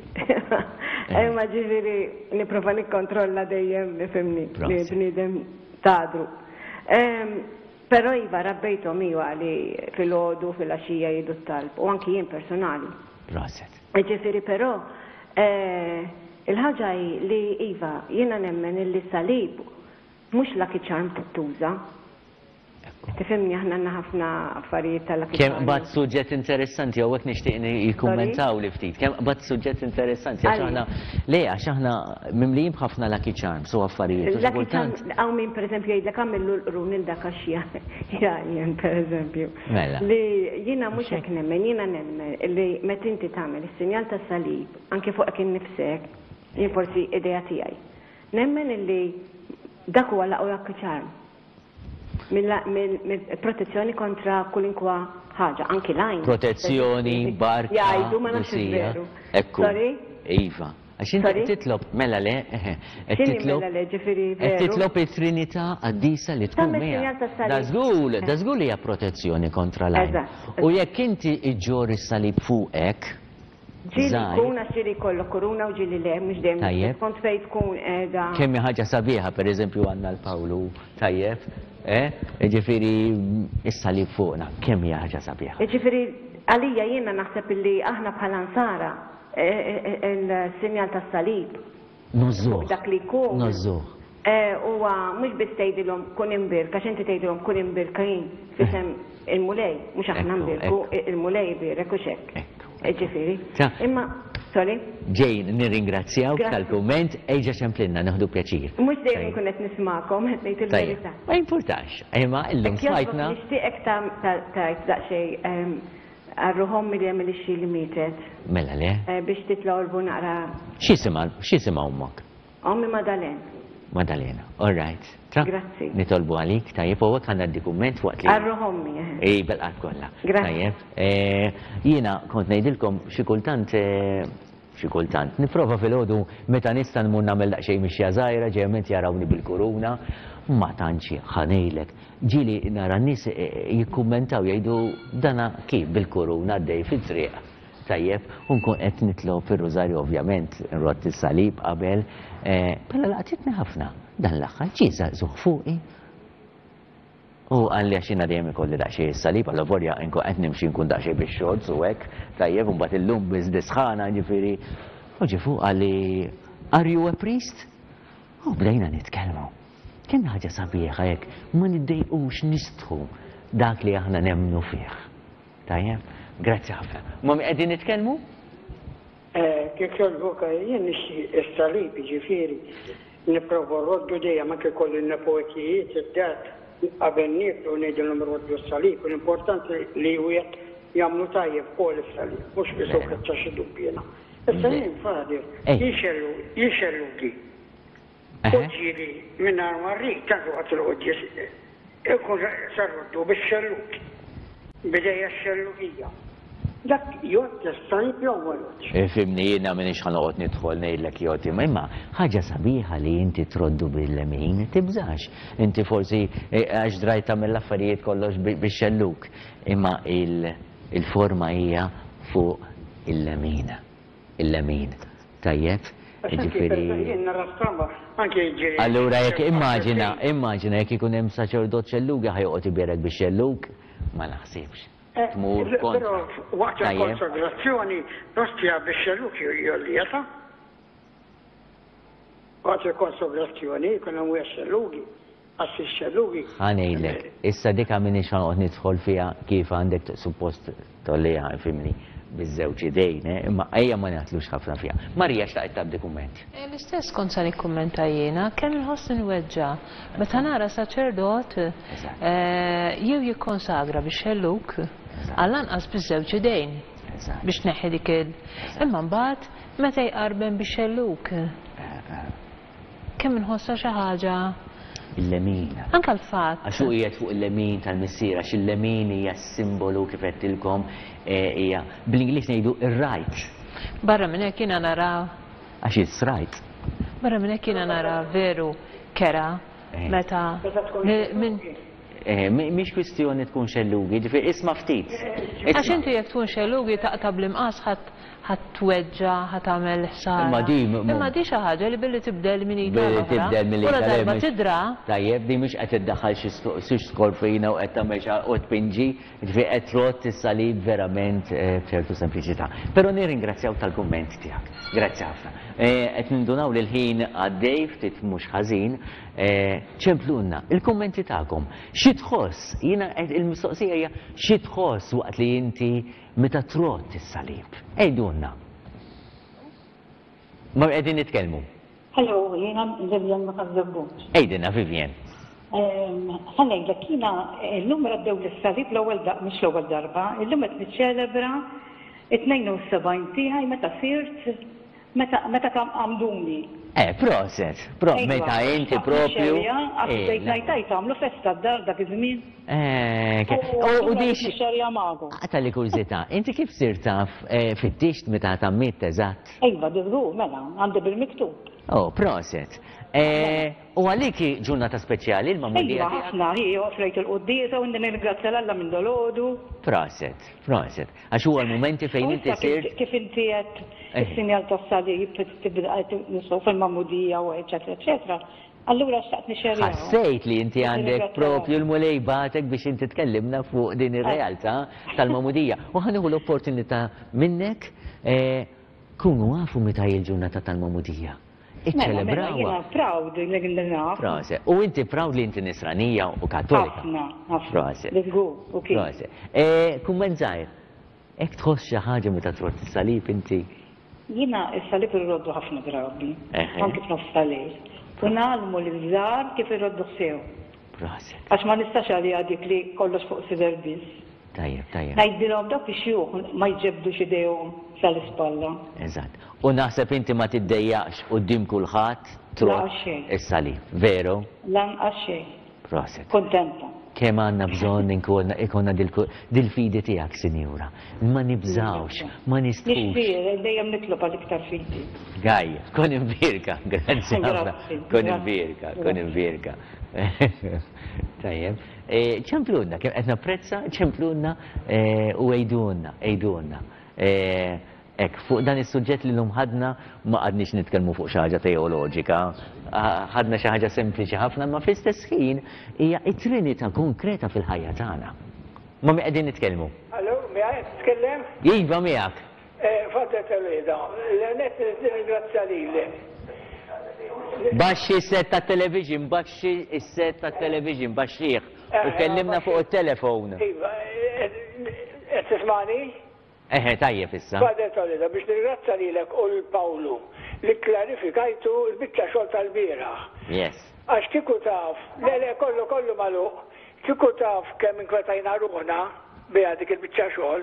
Imma ġifieri nipprova nikkontrolla dejjem, nifhimni, li bniedem tadru. Però iva rabbejthom iva li filgħodu, filgħaxija jgħidu t-talb, u anki jien personali. Proset. Ġifieri però il-ħaġa hi li iva jiena nemmen illi salib mhux lucky charm tittuża. Tifhimni, aħna għandna ħafna affarijiet tal-lucky Kemm charm. qbad suġġett interessanti, hawnhekk nixtieq jikkummentaw li ftit. Kemm qbad suġġett interessanti, għax aħna le, għax aħna mimlijin b'ħafna lucky charms u affarijiet. Lucky charm, hawn min pereżempju jgħidlek għamillu l-qrun il dak għax jgħajjen pereżempju. Mela. Li jiena mhux hekk nemmen, jiena nemmen li meta inti tagħmel is-sinjal tas-salib anke fuqek innifsek, jien forsi idea tiegħi. Nemmen illi dak huwa l-aqwa lucky charm. Mill-protezzjoni kontra kulinkwa ħaġa, anki lajn. Protezzjoni, barka, Jgħidu ma nafx qdusija. veru. Ekku. Sorry? Iva. Għax inti Sorry? titlob, mela le, eħe, qed X'inhi titlob mela le, ġifieri qed veru? titlob it-Trinità qaddisa li tkun Tagħmel miegħek. sinjal tas-salib. Da żgur, da żgur li hija protezzjoni kontra l-għajn. Eżatt, U jekk inti iġġor is-salib fuqek, Ġieli żgħir. jkun għax ġieli jkollok kuruna u ġieli le, mhux dejjem Tajjeb. Kont fejn tkun qiegħda. Kemm hi ħaġa sabiħa, pereżempju għandna l-Pawlu, tajjeb, eh? Ġifieri is-salib fuqna, kemm hija ħaġa sabiħa. Ġifieri għalija jiena naħseb illi aħna bħala nsara il-sinjal tas-salib. Nożżuh. Dak li jkun. Nożżuh. Huwa mhux biss tgħidilhom kun imbirka, għax inti tgħidilhom kun imbirka jien f'isem il-Mulej, mhux aħna nbirku, il-Mulej ibierek u x'hekk. Ġifieri. Imma, sorry? Jane, nirringrazzjawk tal-kumment, ejġa ċemplinna, nieħdu pjaċir. Mhux dejjem nkun qed nismakom, qed ngħid il-verità. Ma jimpurtax, imma illum smajtna. Nixtieqek tgħid daqsxejn għal-ruħ ommi li għamil ix-xi li mietet. Mela le? Biex titla' naqra. X'isimha, x'isimha ommok? Ommi Madalena. Madalena, all right. Tra? Grazzi. Nitolbu għalik, tajjeb, u hekk għandna d-dokument waqt li. Għal-ruħ ommi, eh. Ej, bil-qalb kollha. Grazzi. Tajjeb. Jiena kont ngħidilkom xi kultant xi kultant. Nipprova filgħodu meta nista' nmur nagħmel daqsxejn mixja żgħira, ġejjament jarawni bil-kuruna, ma tantx ħa ngħidlek. Ġieli nara n-nies jikkummentaw jgħidu dana kif bil-kuruna għaddej fit-triq. Tajjeb, u nkun qed nitlob ir-rużarju ovvjament, nrodd is-salib qabel, però laqtitni ħafna. Dan l-aħħar ġie żagħżugħ fuqi. U qalli għax jiena dejjem ikolli daqsxejn is-salib, allavolja nkun qed nimxi nkun daqsxejn bix-shorts u hekk, tajjeb, u mbagħad illum biss bi-sħana, jiġifieri. U ġie fuq qalli, Are you a priest? U bdejna nitkellmu. Kemm ħaġa sabiħa jekk ma niddejqux nistħu dak li aħna nemmnu fih. Tajjeb? Grazzi ħafna. Ma' min qegħdin nitkellmu? Kif jogħġbok, jien nixtieq is-salib, jiġifieri nipprova rroddu dejjem anke jkolli n-nepotijiet id-dar qabel nieklu ngħidilhom roddu s-salib, l-importanti li wieħed jagħmlu tajjeb ukoll is-salib, mhux qisu keċċa xi dubbiena. Issa jien Father, jien xellugi. U ġieli mingħajr ma rrid tant waqt il-quddies ikun se rroddu bix-xellug, b'idejja x-xellugija. Dak jgħodd is-salib jew ma jgħoddx? Ifhimni, jiena m'iniex ħa noqgħod nidħol ngħidlek jgħodd imma imma ħaġa sabiħa li inti troddu bil-lemin, tibżax. Inti forsi għax drajt tagħmel l-affarijiet kollox bix-xellug, imma il-forma hija fuq il-lemin. Il-lemin. Tajjeb? Jiġifieri. Jien nara stramba anke jiġri. Allura jekk immaġina, immaġina jekk ikun hemm saċerdot xellugi ħa joqgħod ibierek bix-xellug? Ma naħsibx. Tmur kontra. Però waqt il-konsagrazzjoni l-ostja bix-xellug jgħollija ta'. Waqt il-konsagrazzjoni jkun hemm wieħed xellugi, qassis xellugi. Ħa ngħidlek, issa dik m'iniex ħa noqgħod nidħol fiha kif għandek suppost tgħolliha, ifhimni, biż-żewġ idejn, imma ejja ma naħtlux ħafna fiha. Marija xtaqet tgħaddi kumment. L-istess kont se nikkummenta jiena, kemm inħoss nweġġa' meta nara saċerdot jew jikkonsagra bix-xellug għall-anqas biż-żewġ idejn biex tneħħi dik il. Imma mbagħad meta jqarben bix-xellug. Kemm inħossha xi ħaġa Il-lemin. Anke l-fatt. Għax hu qiegħed fuq il-lemin tal-Missier, għax il-lemin hija s-simbolu kif għedtilkom, hija bl-Ingliż ngħidu ir-right. Barra minn hekk jiena nara. Għax it's right. Barra minn hekk jiena nara veru kera meta minn Mhix kwistjoni tkun xellugi, ġifieri isma' ftit. Għax inti jekk tkun xellugi taqta' bl-imqas ħadd tweġġa', ħadd tagħmel ħsara. Imma di Imma di xi ħaġa li billi tibdel minn id Billi tibdel minn id U la darba tidra. Tajjeb, di mhix qed iddaħħal xi skorfina u qed tagħmel xi u tpinġi, ġifieri qed trodd is-salib verament b'ċertu sempliċità. Però nirringrazzjaw tal-kumment tiegħek. Grazzi ħafna. Qed nindunaw li l-ħin għaddej ftit mhux ħażin. Ċemplunna il-kummenti tagħkom. Xi tħoss? Jiena il-mistoqsija hija xi tħoss waqt li inti meta trodd is-salib? Għidulna. Ma qegħdin nitkellmu. Hello, jiena Vivian ma Ħaż-Żebbuġ. Għidilna Vivian. Ħa ngħidlek jiena llum raddew lis-salib l-ewwel mhux l-ewwel darba, illum qed niċċelebra it-tnejn u sebgħin tiegħi meta sirt meta meta għamduni. Eh, proset, pro, meta inti propju. Għax bdejt ngħid għajt għamlu festa d-dar dak iż-żmien. Eh, u di xerja magħkom. Għata li kurżità, inti kif sirt taf fittixt meta tgħammidt eżatt? Iva, żgur, mela, għandi bil-miktub. Oh, proset. U għalik ġurnata speċjali l-magħmudija? Iva, ħafna, hi offrejt il-quddiesa u nirringrazzja 'l Alla minn dolodu. Proset, proset. Għax huwa l-mumenti fejn inti sirt. Kif inti qed is-sinjal tas-salib tibda nistgħu fil-magħmudija u eċetera eċetera. Allura xtaqt nixxerjaw. Ħassejt li inti għandek propju l-Mulej bagħtek biex inti tkellimna fuq din ir-realtà tal-magħmudija. U ħa nieħu l-opportunità minnek kunu għafu meta hi l-ġurnata tal-magħmudija. Iċċelebrawha. Jiena proud li naf. Proset. U inti proud li inti nisranija u kattolika. Ħafna, ħafna. Proset. Żgur, u kif. Proset. Kumment żgħir. Hekk tħoss xi ħaġa meta trodd is-salib inti? Jiena s-salib irroddu ħafna drabi, anke f'nofs tal-lejl. U ngħallmu liż-żgħar kif irrodduh sew. Proset. Għax ma nistax għaliha dik li kollox fuq sider biss. Tajjeb, tajjeb. Ngħidilhom dawk ix-xjuħ ma jġebdux idejhom sal-ispalla. Eżatt. U naħseb inti ma tiddejjaqx quddiem kulħadd trodd is-salib, veru? Lanqas xejn. Proset. Kuntenta. Kemm għandna bżonn ikollna dil-fidi tiegħek, Sinjura. Ma nibżgħux, ma nistħux. Nixtieq, dejjem nitlob għal iktar fidi. Gaj, kun imbierka, grazzi ħafna. Kun imbierka, kun imbierka. Tajjeb. Ċemplunna, kemm qed napprezza, ċemplunna u għidulna, għidulna. Hekk, fuq dan is-suġġett li llum ħadna ma qadniex nitkellmu fuq xi ħaġa teoloġika, ħadna xi ħaġa sempliċi ħafna, imma fl-istess ħin hija t-Trinità konkreta fil-ħajja tagħna. Ma' min qegħdin nitkellmu? Allo, miegħi qed titkellem? Iva miegħek. Father Toledo, l-għenet nirringrazzja lilek. Baxxi s-set tat-television, baxxi s-set tat-television, baxxih. U kellimna fuq it-telefon. Iva, qed tismani? Eħe, tajjeb issa. Father Toledo, biex nirringrazzja lilek u lil Pawlu li kklarifikajtu l-biċċa xogħol tal-bieraħ. Yes. Għax kieku taf, le le kollu kollu magħluq, kieku taf kemm inkwetajna ruħna biha dik il-biċċa xogħol,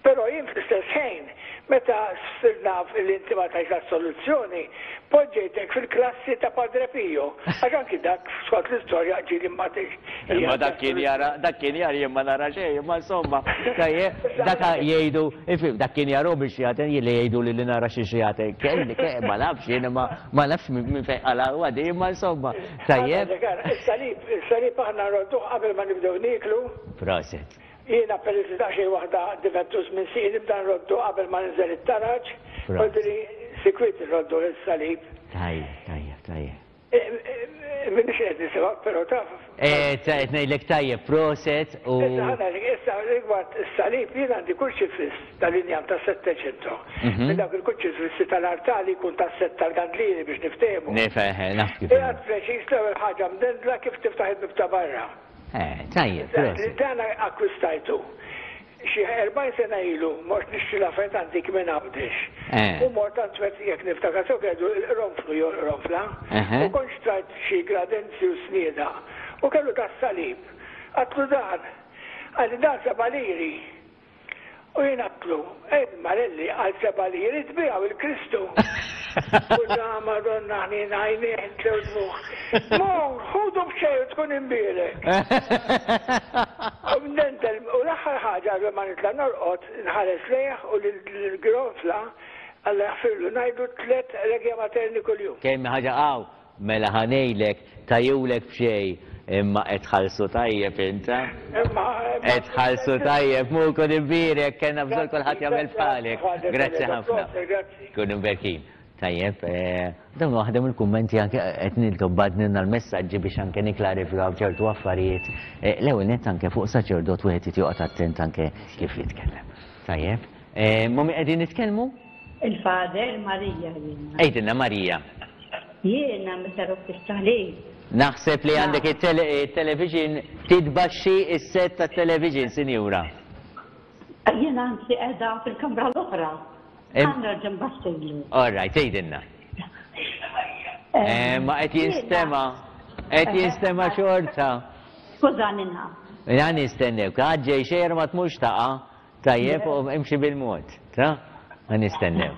però jien fl-istess ħin, meta sirt naf li inti ma tajtx l-assoluzzjoni, poġġejtek fil-klassi ta' Padre Pio, għax anki dak skont l-istorja ġieli ma tgħix. Imma dak kien jara, dak kien jara jien ma nara xejn, imma insomma, tajjeb, dak jgħidu, ifhem, dak kien jarahom ix-xjaten, jien li jgħidu li nara xi xjaten, kelli, ma nafx jien, imma ma nafx minn fejn qalgħu di, imma insomma, tajjeb. Is-salib, is-salib aħna nrodduh qabel ma nibdew nieklu. Proset. Jiena peress li daqsxejn waħda diventus minn sieqi nibda nroddu qabel ma ninżel it-taraġ, qoltli sikwit nroddu is-salib. Tajjeb, tajjeb, tajjeb. Minix qed nisimgħek però taf. Eh, qed ngħidlek tajjeb, proset u. Issa ħa ngħidlek, issa rigward is-salib jien għandi kurċifiss tal-injam tas-Settecento. Minn dawk il-kurċifissi tal-artali jkun tas-sett tal-gandlieri biex niftehmu. Nifhem, naf kif. Qiegħed preċiż l-ewwel ħaġa mdendla kif tiftaħ il-bieb ta' barra. Eh, tajjeb, proset. Dan akkwistajtu. Xi erbgħin sena ilu mort nixtri l-affarijiet antik minn Għawdex. U mort għand wieħed jekk niftakar sew kellu l-qronflu jew l-qronfla. U kont xtrajt xi gradenzi u snieda. U kellu tas-salib. Għadtlu dan. Qalli dan seba' liri. U jien għadtlu, ej Marelli, għal seba' liri tbiegħu il-Kristu. U da Madonna ħnina għajnejh intlew dmugħ. Mur, ħudu b'xejn u tkun imbierek. U mdendel, u l-aħħar ħaġa qabel ma nitla' norqod, nħares lejh u lill-gronfla, Alla jaħfirlu, ngħidlu tliet Regia Materni kuljum. Kemm ħaġa hawn, mela ħa ngħidlek, tajulek b'xejn, imma qed tħallsu tajjeb int, ha? Qed tħallsu tajjeb, mur kun imbierek, kellna bżonn kulħadd jagħmel bħalek. Grazzi ħafna. Kun imberkin. Tajjeb, dawn waħda mill-kummenti anke qed niltob badnilna l-messaġġi biex anke niklarifikaw ċertu affarijiet. L-ewwel nett anke fuq saċerdot wieħed irid joqgħod attent anke kif jitkellem. Tajjeb, ma' min qegħdin nitkellmu? Il-Father Marija jiena. Għidilna Marija. Jiena meta robt is-salib. Naħseb li għandek it-television titbaxxi s-set tat-television, sinjura. Jiena anzi qiegħda fil-kamra l-oħra. Għandna nbaxxilu. All right, għidilna. Ma qed jinstema', qed jinstema' xorta. Skużani naf. Ja nistennew, ħaġġej xejn ma tmux taqa', tajjeb u imxi bil-mod, ta? Ma nistennew.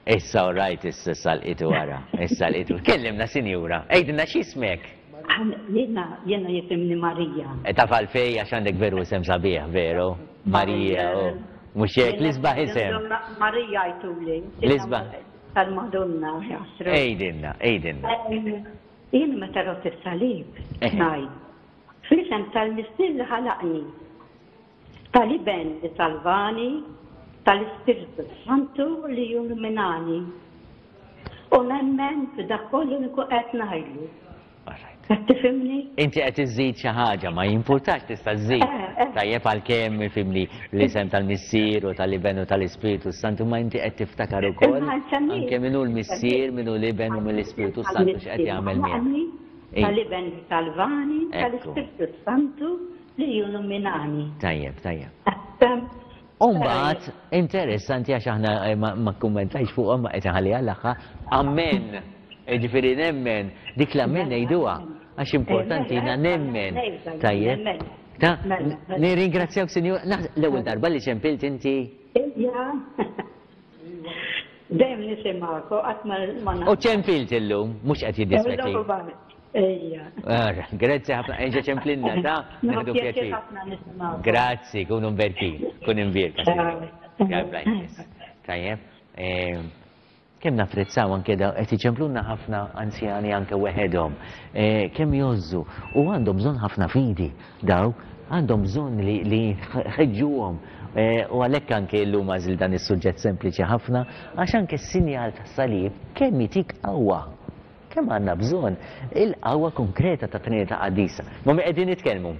Issa all right, issa salqitu wara, issa salqitu. Kellimna sinjura, għidilna x'ismek? Jiena, jiena jisimni Marija. Taf għalfej għax għandek veru isem sabiħ, veru? Marija, u mhux hekk, l-isbaħ isem. Marija jtuli. L-isbaħ. Tal-Madonna, jasru. Għidilna, għidilna. Jien meta rott is-salib, ngħid, fl-isem tal-Missier li ħalaqni, tal-Iben li salvani, tal-Ispirtu Santu li illuminani. U nemmen f'dak kollu li nkun qed ngħidlu. Qed tifhimni? Inti qed iżżid xi ħaġa, ma jimpurtax tista' żżid. Tajjeb għalkemm ifhimni l-isem tal-Missier u tal-Iben u tal-Ispirtu Santu, ma inti qed tiftakar ukoll anke min hu l-Missier, min hu l-Iben u mill-Ispirtu Santu x'qed jagħmel miegħek. Tal-Iben li salvani, tal-Ispirtu Santu li illuminani. Tajjeb, tajjeb. U mbagħad interessanti għax aħna ma kkummentajx fuqhom ma qed inħalliha l-aħħar. Amen. Ġifieri nemmen, dik l-amen ngħiduha għax importanti jiena nemmen. Tajjeb. Ta, nirringrazzjawk sinjur, l-ewwel darba li ċempilt inti. Ija. Dejjem nisimgħek u qatt ma U ċempilt illum, mhux qed jiddispjaċi. Ejja. Grazzi ħafna, erġa' ċemplinna ta' nieħdu pjaċir ħafna nisimgħu. Grazzi, kunu mberkin, kun imbierka. God bless. Tajjeb. Kemm napprezzaw anke daw qed iċemplulna ħafna anzjani anke weħedhom. Kemm jgħożżu u għandhom bżonn ħafna fidi daw, għandhom bżonn li li nħeġġuhom. U għalhekk anke llum għażilt dan is-suġġett sempliċi ħafna għax anke s-sinjal tas-salib kemm jtik qawwa. Kemm għandna bżonn il-qawwa konkreta tat-Trinità Qaddisa. Ma' min qegħdin nitkellmu?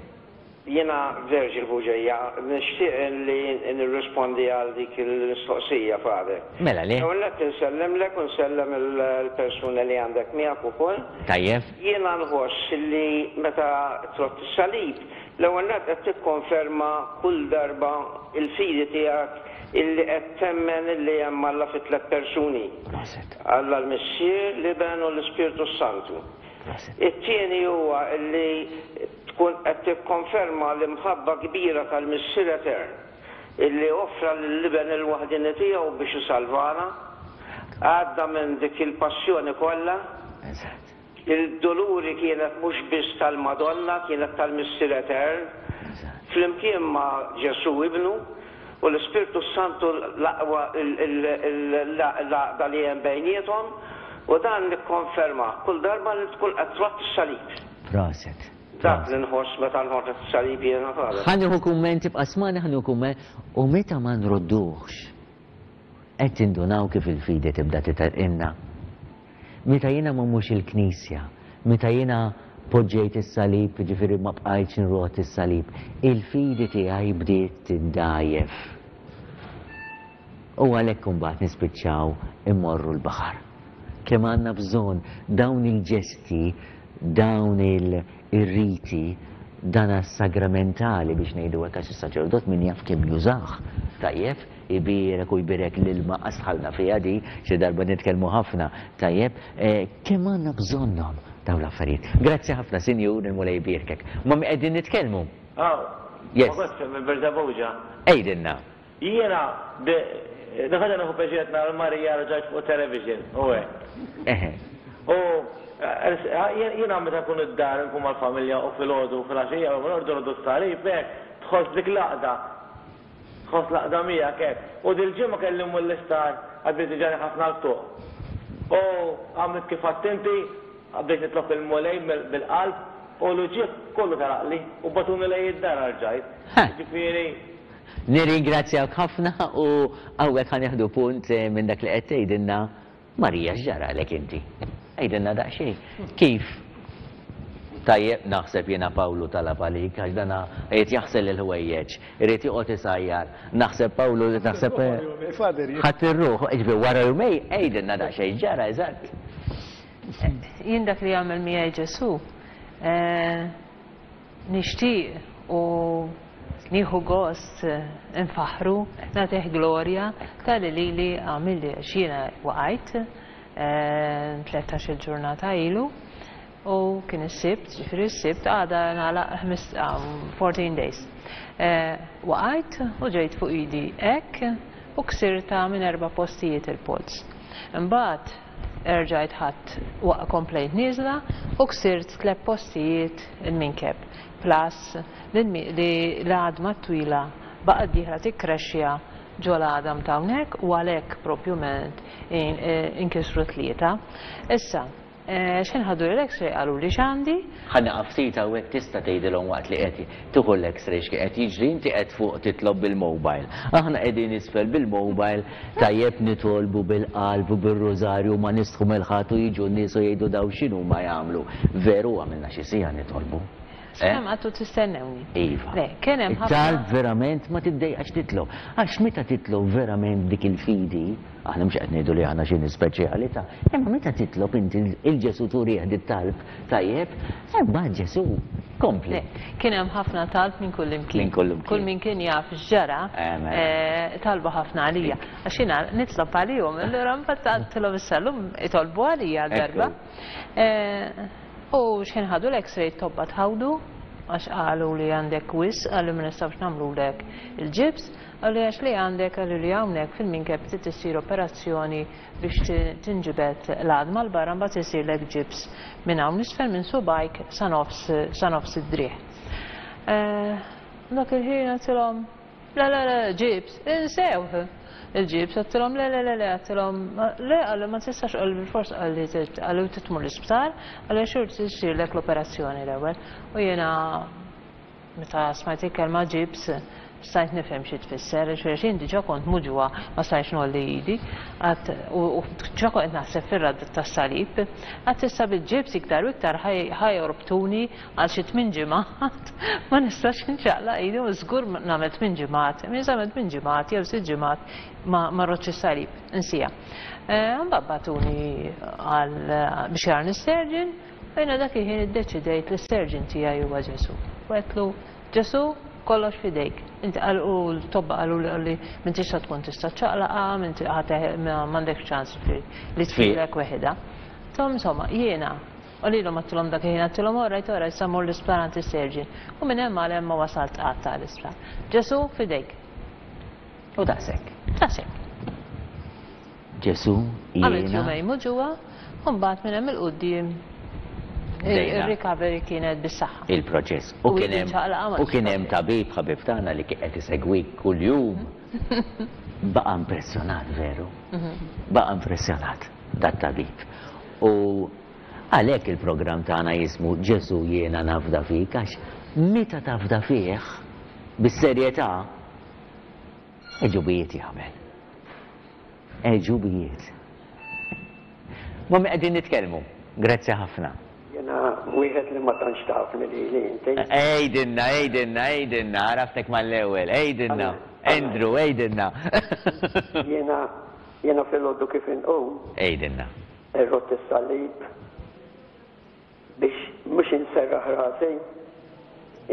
Jiena Virgil Bugeja, nixtieq li nirrispondi għal dik il-mistoqsija, Father. Mela le. L-ewwel nett insellimlek u nsellem il-persuna li għandek miegħek ukoll. Tajjeb. Jiena nħoss li meta trott is-salib, l-ewwel nett qed tikkonferma kull darba l-fidi tiegħek illi qed temmen illi hemm Alla fi tliet persuni. Proset. Alla l-Missier, l-Iben u l-Ispirtu s-Santu. Proset. It-tieni huwa illi tkun qed tikkonferma l-imħabba kbira tal-Missier Etern illi offra lill-Iben il-waħdieni tiegħu biex isalvana. Għadda minn dik il-passjoni kollha. Eżatt. Il-duluri kienet mhux biss tal-Madonna, kienet tal-Missier Etern. Eżatt. Flimkien ma' Ġesù Ibnu u l-Ispirtu s-Santu l-aqwa l-għaqda li hemm bejniethom u dan nikkonfermah kull darba li tkun qed trodd is-salib. Proset. Dak li nħoss meta nħodd is-salib jiena Father. Ħa nieħu kumment, ibqa' smagħni ħa nieħu kumment, u meta ma nrodduhx qed tindunaw kif il-fidi tibda titgħinna. Meta jiena ma mmurx il-knisja, meta jiena poġġejt is-salib, jiġifieri ma bqajtx nrodd is-salib, il-fidi tiegħi bdiet tiddgħajjef. U għalhekk imbagħad nispiċċaw immorru l-baħar. Kemm għandna bżonn dawn il-ġesti, dawn il-riti, dan sagramentali biex ngħidu hekk għax is-saċerdot min jaf kemm jużah. Tajjeb, ibierek u jbierek l-ilma qas dħalna fiha di, xi darba nitkellmu ħafna. Tajjeb, kemm għandna bżonnhom dawn l-affarijiet. Grazzi ħafna, Sinjur, il-Mulej jbierkek. Ma' min qegħdin nitkellmu? Aw, Yes. ma kontx minn Birżebbuġa. Għidilna. Jiena, dak nieħu pjaċir nara Marija rġajt fuq television, u hekk. Eħe. U jiena meta nkun id-dar nkun mal-familja u filgħodu u filgħaxija u nordu nordu s-salib hekk, tħoss dik l-għaqda. Tħoss l-għaqda miegħek hekk. U dil-ġimgħa kelli mmur l-isptar għax ġani ħafna l-qtugħ. U għamilt kif għedt inti, bdejt nitlob il-Mulej bil-qalb u l-uġigħ kollu telaqli u bagħtuni lejn id-dar rġajt. Ġifieri. Nirringrazzjak ħafna u hawnhekk ħa nieħdu punt minn dak li qed tgħidilna Marija x'ġaralek inti. Għidilna daqsxejn. Kif? Tajjeb, naħseb jiena Pawlu talab għalik, għax dana qed jaħsel il-ħwejjeġ, irid joqgħod isajjar. Naħseb Pawlu, naħseb ħadd ir-ruħ, ġifieri wara jumej, għidilna daqsxejn ġara eżatt. Jien dak li jagħmel miegħi Ġesù, nixtieq u nieħu gost nfaħru, nagħtih glorja tal-li lili għamilli għax jiena waqajt tlettax il-ġurnata ilu u kien is-Sibt, ġifieri s-Sibt għada nagħlaq fourteen days. Waqajt u ġejt fuq idi hekk u ksirta minn erba' postijiet il-polz. Imbagħad erġajt ħadd waqt komplejt nieżla u ksirt tliet postijiet il-minkeb. Plus li l-għadma twila baqgħet dieħla tikkrexxja ġo l-għadam ta' hawnhekk u għalhekk propjument inkisru tlieta. Issa, x'ħin ħadu l-X-ray qalu li x'għandi? Ħa nieqaf ftit hawnhekk tista' tgħidilhom waqt li qed tieħu l-X-ray x'kien qed jiġri, inti qed fuq titlob bil-mobile. Aħna qegħdin isfel bil-mobile, tajjeb nitolbu bil-qalb u bir-rużarju ma nistħu mill-ħadd u jiġu n-nies u jgħidu daw x'inhuma jagħmlu. Veru għamilna xi siegħa nitolbu. Kemm għadtu tistennewni? Iva. Le, kien hemm ħafna. It-talb verament ma tiddejqax titlob. Għax meta titlob verament dik il-fidi, aħna mhux qed ngħidu li aħna xi speċjali ta', imma meta titlob inti il-Ġesù turih dit-talb tajjeb, imbagħad Ġesù kompli. Le, kien hemm ħafna talb minn kull imkien. Minn kull imkien. Kull min kien jaf x'ġara, Eh, mela. talbu ħafna għalija. Għax jiena nitlob għalihom, allura mbagħad għedtilhom issa llum itolbu għalija darba. U x'ħin ħadu l-X-ray tobba tħawdu, għax qalu li għandek wisq, qalu ma nistgħux nagħmlulek il-ġibs, qalu għax li għandek, qalu li hawnhekk fil-minkeb trid issir operazzjoni biex tinġibed l-għadma 'l barra, mbagħad isirlek ġibs minn hawn isfel minn subgħajk sa nofs sa nofs id-driegħ. Dak il-ħin għedtilhom, le le le, ġibs, insewh il-ġibs, għedtilhom le le le le, għedtilhom le, qalu ma tistax, qalu bilfors qalli qalu trid tmur l-isptar, qalu għax irid issirlek l-operazzjoni l-ewwel. U jiena meta smajt il-kelma ġibs stajt nifhem xi tfisser, għax jien diġà kont muġugħa ma stajtx ngħolli idi, għad u diġà kont qed naħseb fir-radd tas-salib, għad issa bil-ġibs iktar u iktar ħa jorbtuni għal xi tmien ġimgħat, ma nistax inċaqlaq idi u żgur nagħmel tmien ġimgħat, min se nagħmel tmien ġimgħat jew sitt ġimgħat ma rroddx is-salib, insija. Imbagħad bagħtuni għal biex jarni s-surgeon, u jiena dak il-ħin iddeċidejt li s-surgeon tiegħi huwa Ġesù. U għedtlu, Ġesù, kollox f'idejk. Inti qal u l-tobba qalu li qalli m'intix se tkun tista' ċċaqlaqha, m'inti m'għandekx ċans li tfilek weħidha. Tom insomma, jiena u lilhom għedtilhom dak il-ħin għedtilhom all right, all right, sa mmur l-isptar għand is-surgeon. U minn hemm għal hemm ma wasalt qatt għall-isptar. Ġesù f'idejk. U daqshekk. Daqshekk. Ġesù Għamilt jiena. jumejn muġugħa, u mbagħad minn hemm 'il quddiem il-recovery kienet bis-saħħa. Il-proċess. U kien hemm u kien hemm tabib ħabib tagħna li kien qed isegwik kuljum. Baqa' impressjonat veru. Baqa' impressjonat dat-tabib. U għalhekk il-programm tagħna jismu Ġesù jiena nafda fik, għax meta tafda fih bis-serjetà għeġubijiet jagħmel. Għeġubijiet. Ma' min qegħdin nitkellmu? Grazzi ħafna. Jiena wieħed li ma tantx tafni lili inti. Għidilna, għidilna, għidilna, għaraftek mal-ewwel, għidilna. Andrew, għidilna. Jiena jiena filgħodu kif inqum. Għidilna. Irrodd is-salib biex mhux inserraħ rasi,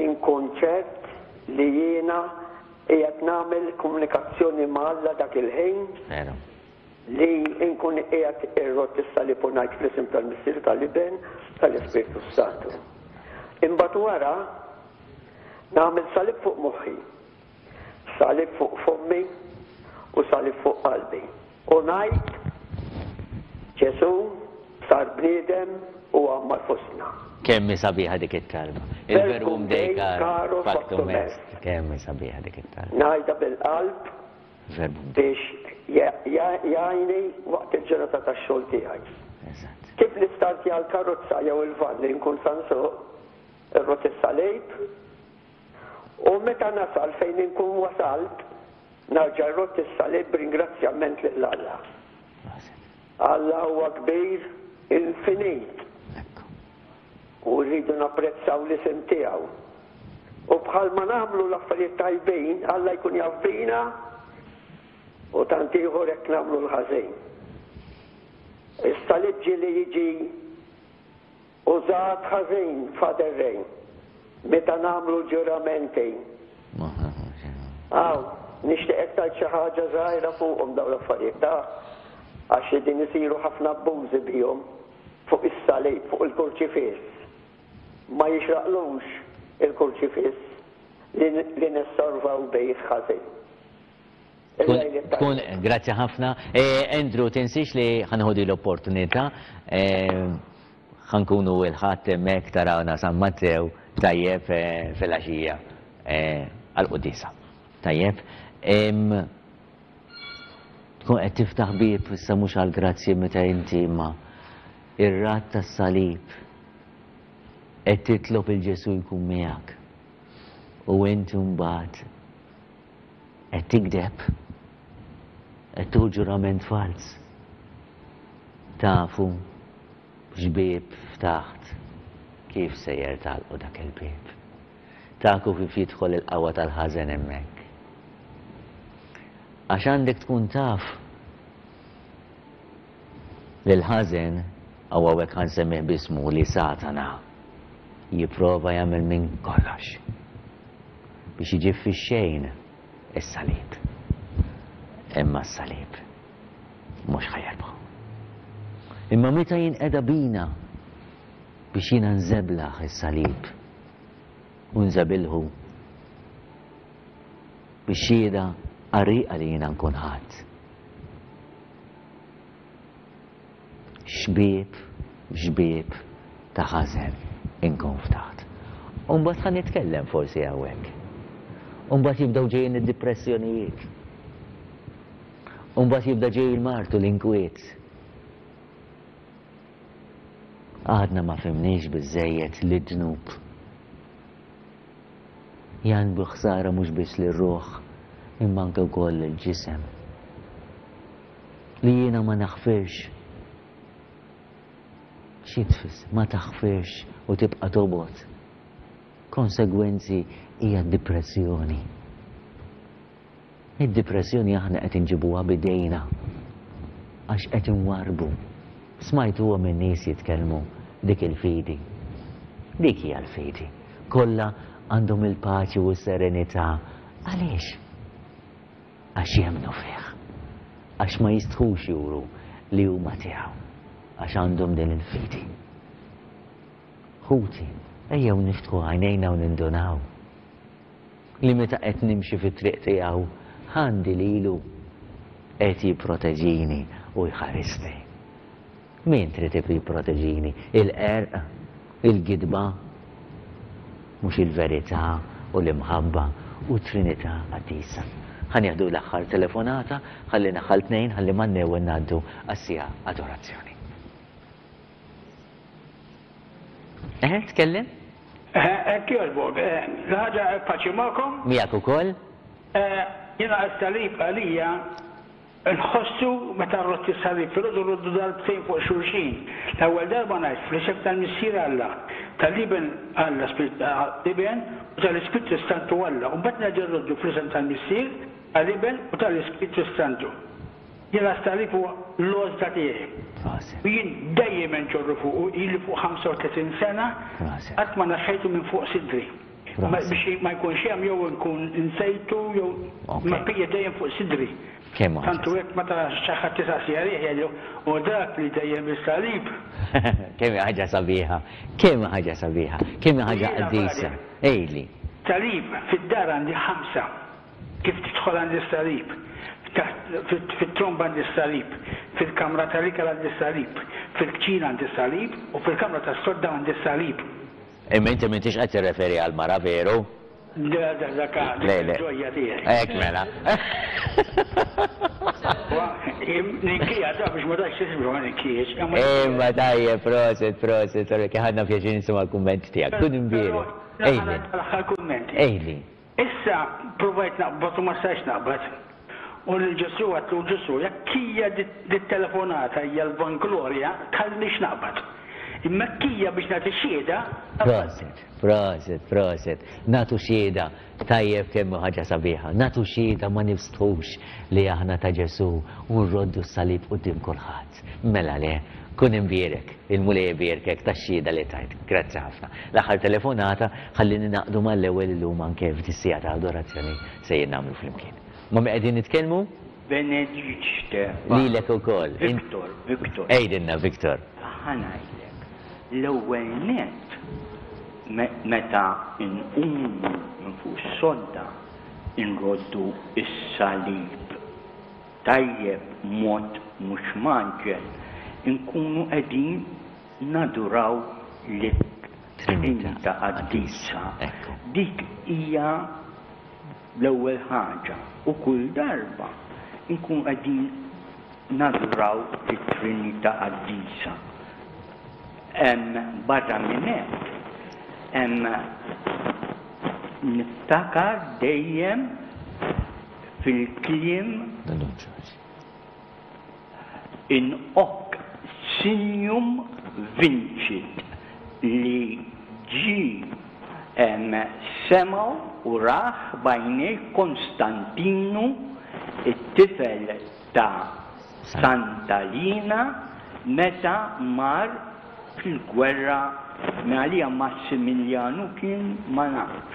inkun ċert li jiena qiegħed nagħmel komunikazzjoni ma' Alla dak il-ħin. Veru. Li nkun qiegħed irrodd is-salib u ngħid fl-isem tal-Missier, tal-Iben, tal-Ispirtu Santu. Imbagħad wara nagħmel salib fuq moħħi, salib fuq fommi u salib fuq qalbi. U ngħid Ġesù sar bniedem u għammar fostna. Kemm hi sabiħa dik it-talba. Il-verbum Dei caro factum est. Kemm hi sabiħa dik it-talba. Ngħidha bil-qalb biex jgħinni waqt il-ġurnata tax-xogħol tiegħi. Eżatt. Kif nistartja l-karozza jew il-van li nkun sa nsuq, irrodd is-salib, u meta nasal fejn inkun wasalt, narġa' rrodd is-salib b'ringrazzjament lil Alla. Alla huwa kbir infinit. U rridu napprezzaw l-isem tiegħu. U bħalma nagħmlu l-affarijiet tajbin, Alla jkun jaf bina, u tant ieħor hekk nagħmlu l-ħażin. Is-salib ġieli jiġi użat ħażin, Father Ray, meta nagħmlu ġuramenti. Aw, nixtieqek tgħid xi ħaġa żgħira fuqhom dawn l-affarijiet, ta' għax qegħdin isiru ħafna abbużi bihom fuq is-salib, fuq il-kurċifiss. Ma jixraqlux il-kurċifiss li, li nessorvaw bih ħażin. Tkun, grazzi ħafna. Andrew, tinsiex li ħanħodi l-opportunità, ħankunu il-Ħadd hemmhekk tarawna San Mattew tajjeb fil-għaxija għall-quddiesa. Tajjeb. Tkun qed tiftaħ bieb issa mhux għall-grazzji meta inti imma ir-radd tas-salib qed titlob il Ġesù jkun miegħek. U inti mbagħad qed tikdeb, qed tieħu ġurament falz. Tafu x'bieb ftaħt, kif sejjer tagħlqu dak il-bieb. Tafu kif jidħol il-qawwa tal-ħażen hemmhekk. Għax għandek tkun taf li l-ħażen, u hawnhekk ħansemmih b'ismu, li Satana jipprova jagħmel minn kollox biex jiġi fix-xejn is-salib. Imma s-salib mhux ħajerbħu. Imma meta jinqeda bina biex jiena nżeblaħ is-salib, U nżabilħu bix-xhieda qarrieqa li jiena nkun ħadt. X'bieb, x'bieb ta' ħażen inkun ftaħt. U mbagħad ħa nitkellem forsi hawnhekk. U mbagħad jibdew ġejjin id-dipressjonijiet. U mbagħad jibda ġej il-mard u l-inkwiet. Għadna ma fhimniex biżżejjed li d-dnub jagħmlu ħsara mhux biss lir-ruħ imma anke wkoll lill-ġisem. Li jiena ma naħfirx. Xi tfisser? Ma taħfirx u tibqa' tobgħod. Konsegwenzi hija d-dipressjoni. Id-dipressjoni aħna qed inġibuha b'idejna għax qed inwarrbu. Smajtuhom in-nies jitkellmu dik il-fidi. Dik hija l-fidi. Kollha għandhom il-paċi u s-serenità. Għaliex? Għax jemmnu fih. Għax ma jistħux juru li huma tiegħu. Għax għandhom din il-fidi. Ħuti, ejjew niftħu għajnejna u nindunaw li meta qed nimxi fit-triq tiegħu għandi lilu qed jipproteġini u jħarisni. Min trid jipproteġini? Il-qerq, il-gidba, mhux il-verità u l-imħabba u Trinità Qaddisa. Ħa nieħdu l-aħħar telefonata, ħalli naħal tnejn, ħalli man-newwel ngħaddu għas-siegħa adorazzjoni. Eħe, tkellem? Hekk jogħġbok. L-ħaġa paċi magħkom? Miegħek ukoll? Jiena s-salib għalija nħossu meta rrodd is-salib filgħodu rroddu darbtejn fuq xulxin. L-ewwel darba ngħid fl-isem tal-Missier Alla, tal-Iben Alla Iben u tal-Ispirtu Santu Alla. U mbagħad nerġa' rroddu fl-isem tal-Missier, tal-Iben u tal-Ispirtu Santu. Jiena s-salib huwa l-għożla tiegħi. U jien dejjem nġorru fuqu, ili fuq ħamsa u tletin sena, qatt ma neħħejtu minn fuq sidri. Biex ma jkunx hemm jew nkun insejtu jew ma pija dejjem fuq sidri. Tantu hekk meta xi ħadd isaqsi għalih jgħidlu u dak li dejjem is-salib. Kemm hi ħaġa sabiħa, kemm hi ħaġa sabiħa, kemm hi ħaġa qaddisa. Għidli. Salib fid-dar għandi ħamsa. Kif tidħol għandi s-salib, fit-tromba għandi s-salib, fil-kamra tal-ikel għandi s-salib, fil-kċina għandi s-salib u fil-kamra tas-sodda għandi s-salib. Imma inti m'intix qed tirreferi għall-mara veru? Le, dak il-ġojja tiegħi. Hekk mela. Ninkija da biex ma tgħidx tisbru ma ninkijiex. Imma tajjeb, prosit, prosit, ħadna pjaċir nisimgħu l-kumment tiegħek. Kun imbierek. Ejli. L-aħħar kumment. Ejli. Issa provajt naqbad u ma stajtx naqbad. U lil Ġesù għedtlu, Ġesù, jekk hija dit-telefonata hija l-vanglorja, tħallinix naqbad. Imma jekk hija biex nagħti xhieda. Prosit, prosit, prosit. Nagħtu xhieda, tajjeb kemm hu ħaġa sabiħa. Nagħtu xhieda ma nifstħux li aħna ta' Ġesù u nroddu s-salib quddiem kulħadd. Mela le, kun imbierek, il-Mulej ibierkek tax-xhieda li tajt. Grazzi ħafna. L-aħħar telefonata ħalli ninaqdu mal-ewwel illum anke f'dis-siegħa ta' adorazzjoni sejjer nagħmlu flimkien. Ma' min qegħdin nitkellmu? Benediċte. Lilek ukoll. Victor, Victor. Għidilna Victor. Ħa ngħidlek, l-ewwel nett meta nqumu minn fuq is-sodda nroddu s-salib tajjeb mod mhux mgħaġġel, inkunu qegħdin naduraw lit-Trinità Qaddisa. Dik hija l-ewwel ħaġa u kull darba nkunu qegħdin naduraw lit-Trinità Qaddisa. Barra minn hekk, niftakar dejjem fil-kliem in hoc signum vincit li ġie semgħu u rah b'għajnejh Konstantinu it-tifel ta' Santa Lina meta mar fil-gwerra għalija Massimiljanu kien ma nafx.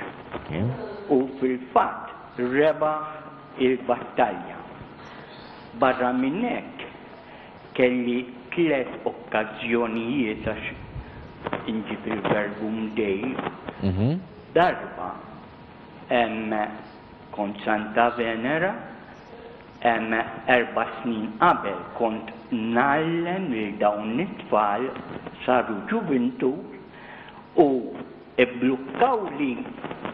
U fil-fatt rebaħ il-battalja. Barra minn hekk kelli tliet okkażjonijiet għax inġib il-verbum Dei Darba hemm kont Santa Venera, hemm erba' snin qabel kont ngħallem lil dawn it-tfal saru ġuvintur u ibblukkawli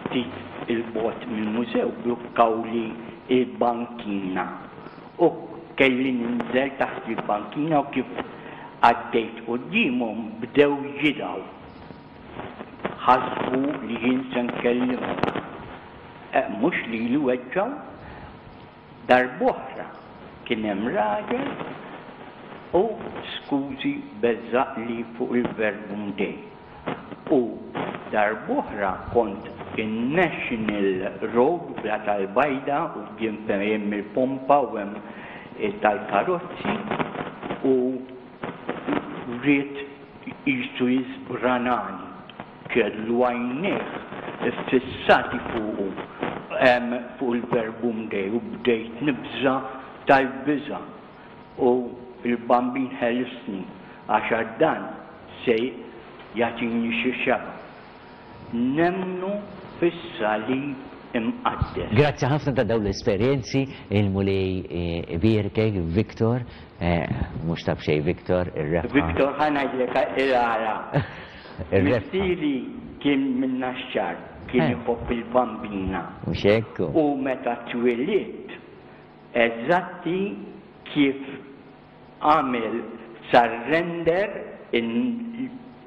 ftit 'il bogħod mill-mużew, blukkawli l-bankina u kelli ninżel taħt il-bankina u kif għaddejt quddiemhom bdew jidgħu. Ħasbu li jien se nkellimhom. Mhux lili weġġgħu. Darb'oħra kien hemm raġel u skużi beżżaqli fuq il-Verbum Dei. U darb'oħra kont in-National Road Bla tal-Bajda quddiem fejn hemm il-pompa u hemm tal-karozzi u ried qisu jiżbranani. Kellu għajnejh iffissati fuqu fuq il-Verbum Dei u bdejt nibża' tal-biża' u l-Bambin ħelisni għax għad dan se jagħtini xi xebgħa. Nemmnu fis-Salib Imqaddes. Grazzi ħafna ta' dawn l-esperjenzi, il-Mulej ibierkek, Victor, mhux ta' b'xejn Victor, ir-rebħa. Victor ħa ngħidlek il-għala. Missieri kien minn Naxxar, kien iħobb il-Bambina. Mhux hekk hu. U meta twilidt, eżatti kif għamel surrender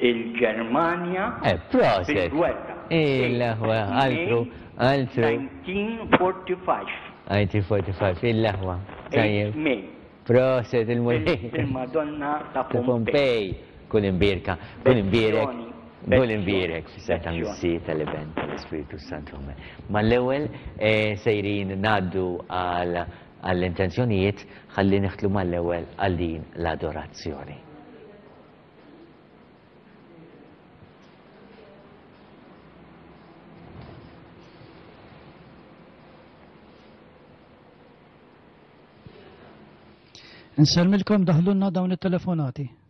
il-Ġermanja fil-gwerra. Il-aħwa, altru, altru. nineteen forty-five. nineteen forty-five, il-aħwa. Eight May. Proset il-Mulej. Il-Madonna ta' Pompej. Kun imbierka, kun imbierek, kun imbierek fis-seta tal-Missier, tal-Iben, tal-Ispiritu Santu. Amen. Mal-ewwel sejrin ngħaddu għall-intenzjonijiet ħalli neħtlu mal-ewwel għal din l-adorazzjoni. Nsellmilkom daħlulna dawn it-telefonati.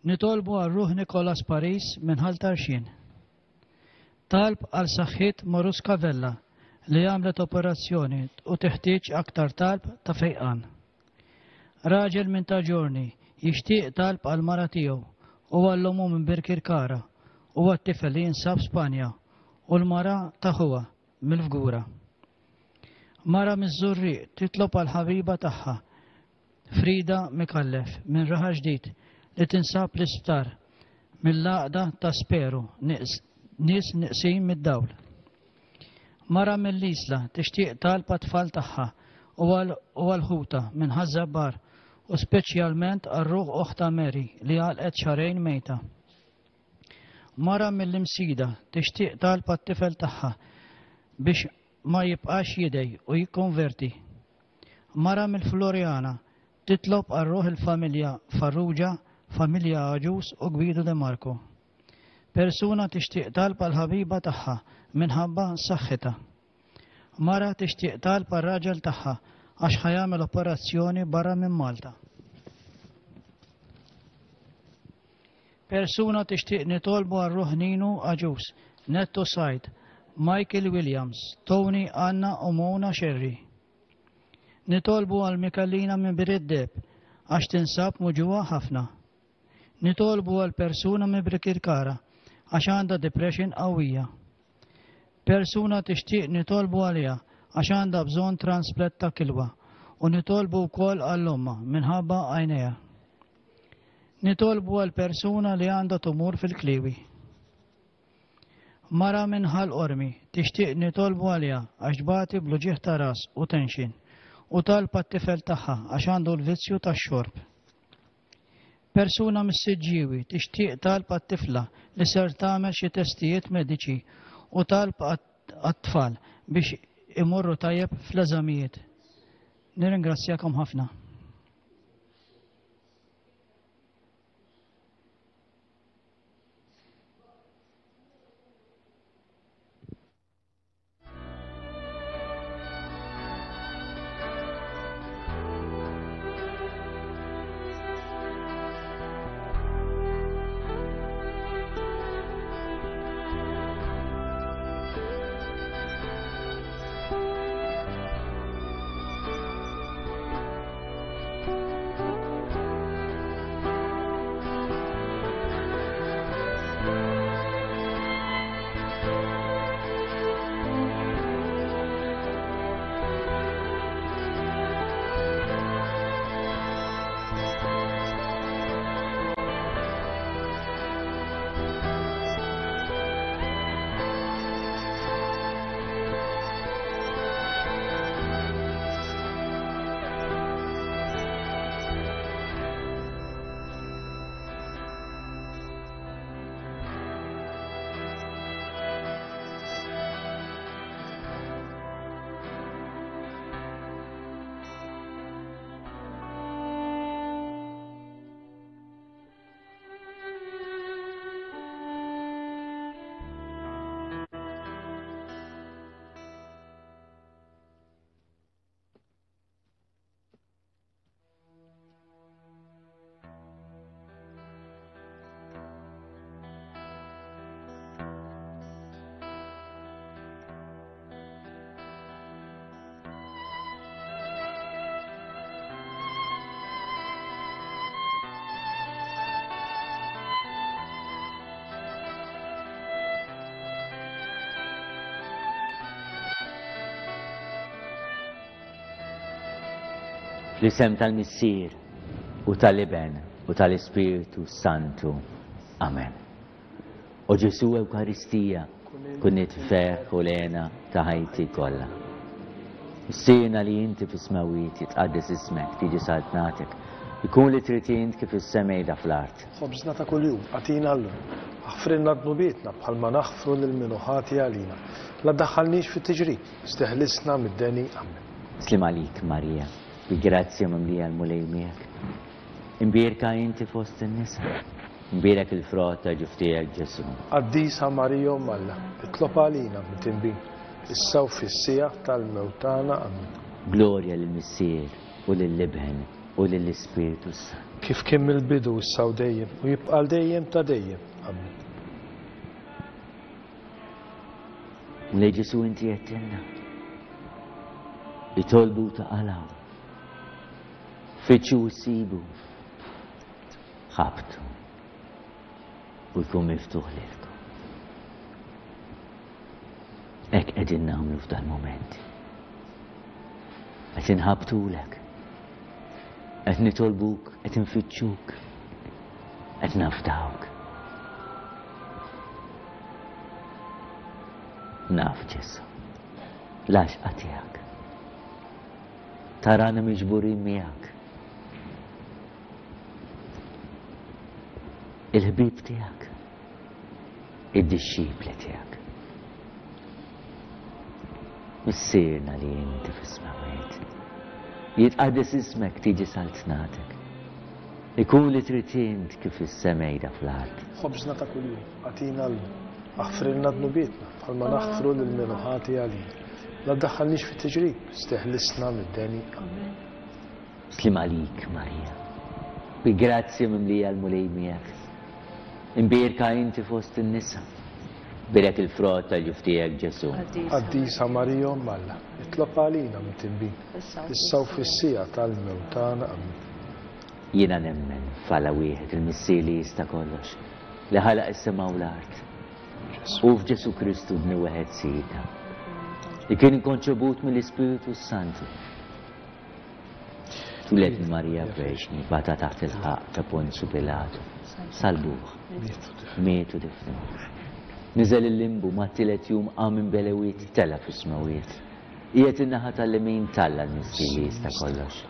Nitolbu għal ruħ Nikolas Paris minn Ħal Tarxien. Talb għal saħħit Maruska Vella li għamlet operazzjoni u teħtieġ aktar talb ta' fejqan. Raġel minn ta' ġorni jixtieq talb għal mara tiegħu u għall-omu minn Birkirkara u għat-tifel li jinsab Spanja u l-mara ta' ħuha mill-Fgura. Mara miż-Żurrieq titlob għal ħabiba tagħha Frida Mikallef minn Raħa Ġdid li tinsab l-isptar mill-għaqda ta' Speru nies neqsin mid-dawl. Mara mill-Isla tixtieq talb għat-tfal tagħha u għal-ħuta minn Ħaż-Żabbar u speċjalment għar-ruħ oħta Mary li għalqet xahrejn mejta. Mara mill-Imsida tixtieq talb għat-tifel tagħha biex ma jibqax jidej u jikkonverti. Mara mill-Floriana titlob għal ruħ il-familja Farrugia, familja Aġus u Gwido De Marco. Persuna tixtieq talb għal ħabiba tagħha minħabba saħħitha. Mara tixtieq talb għal raġel tagħha għax ħajamel operazzjoni barra minn Malta. Persuna tixtieq nitolbu għal ruħ Ninu Aġus, Netto Said, Michael Williams, Tony Anna u Mona Sherry. Nitolbu għal Mikalina minn Biriddeb għax tinsab muġuha ħafna. Nitolbu għal persuna minn Birkirkara għax għandha depression qawwija. Persuna tixtieq nitolbu għaliha għax għandha bżonn transplant ta' kilwa u nitolbu wkoll għall-omma minħabba għajnejha. Nitolbu għal persuna li għandha tumur fil-kliwi. Mara minn Ħal Qormi tixtieq nitolbu għaliha għax tbati bl-uġigħ ta' ras u tension u talb għat-tifel tagħha għax għandu l-vizzju tax-xorb. Persuna mis-Siġġiewi tixtieq talb għat-tifla li ser tagħmel xi testijiet mediċi u talb għat-tfal biex imorru tajjeb fl-eżamijiet. Nirringrazzjakom ħafna. Fl-isem tal-Missier u tal-Iben u tal-Ispirtu Santu. Amen. O Ġesu Ewkaristija, kun it-ferħ u l-hena ta' ħajti kollha. Missierna li inti fis-smewwiet, jitqaddes ismek, tiġi saltnatek, ikun li trid int kif fis-sema fl-art. Ħobżna ta' kuljum, agħtina llum. Aħfrilna dnubietna bħalma naħfru lil min hu ħati għalina. La ddaħħalniex fit-tiġrib, iżda eħlisna mid-deni. Amen. Sliem għalik Marija, bi grazzja mimlija l-Mulej miegħek. Imbierka inti fost in-nisa. Imbierek il-frott ta' ġuf tiegħek Ġesu. Qaddisa Marija Omm Alla, itlob għalina midinbin, issa u fis-siegħa tal-mewt tagħna. Amen. Glorja lill-Missier u lill-Iben u lill-Ispirtu s-Santu. Kif kien mill-bidu issa u dejjem u jibqa' għal dejjem ta' dejjem. Amen. Mulej Ġesu inti għedtilna. Itolbu taqalgħu. Fittxu u ssibu. Ħabbtu. U jkun miftuħ lilkom. Hekk qegħdin nagħmlu f'dal-moment. Qed inħabbtulek. Qed nitolbuk, qed infittxuk. Qed nafdawk. Naf Ġesu. L-għaxqa tiegħek. Tarana miġburin miegħek. Il-ħbieb tiegħek. Id-dixxipli tiegħek. Missierna li inti fis-smewwiet. Jitqaddes ismek, tiġi saltnatek. Ikun li trid int kif fis-sema fl-art. Ħobżna ta' kuljum, agħtina llum. Aħfrilna dnubietna bħalma naħfru lil min hu ħati għalina. La ddaħħalniex fit-tiġrib, iżda eħlisna mid-deni. Amen. Sliem għalik Marija. Bi grazzja mimlija l-Mulej miegħek. Imbierka inti fost in-nisa. Bierek il-frott tal-ġuf tiegħek Ġesu. Qaddisa Marija Omm Alla, itlob għalina midinbin, issa u fis-siegħa tal-mewt tagħna. Amen. Jiena nemmen f'Alla wieħed il-Missier li jista' kollox, li ħalaq is-sema u l-art. U f'Ġesu Kristu Ibnu wieħed Sidna, li kien inkonċebut mill-Ispiritu Santu. Twieled minn Marija Verġni, bata taħt il-ħaqq ta' Ponzju Pilatu, salbuh, miet u difnuh. Niżel il-limbu mat-tielet jum qam minn belewiet tela' fis-smawiet. Qiegħed in-naħa tal-lemin t'Alla l-Missier li jista' kollox.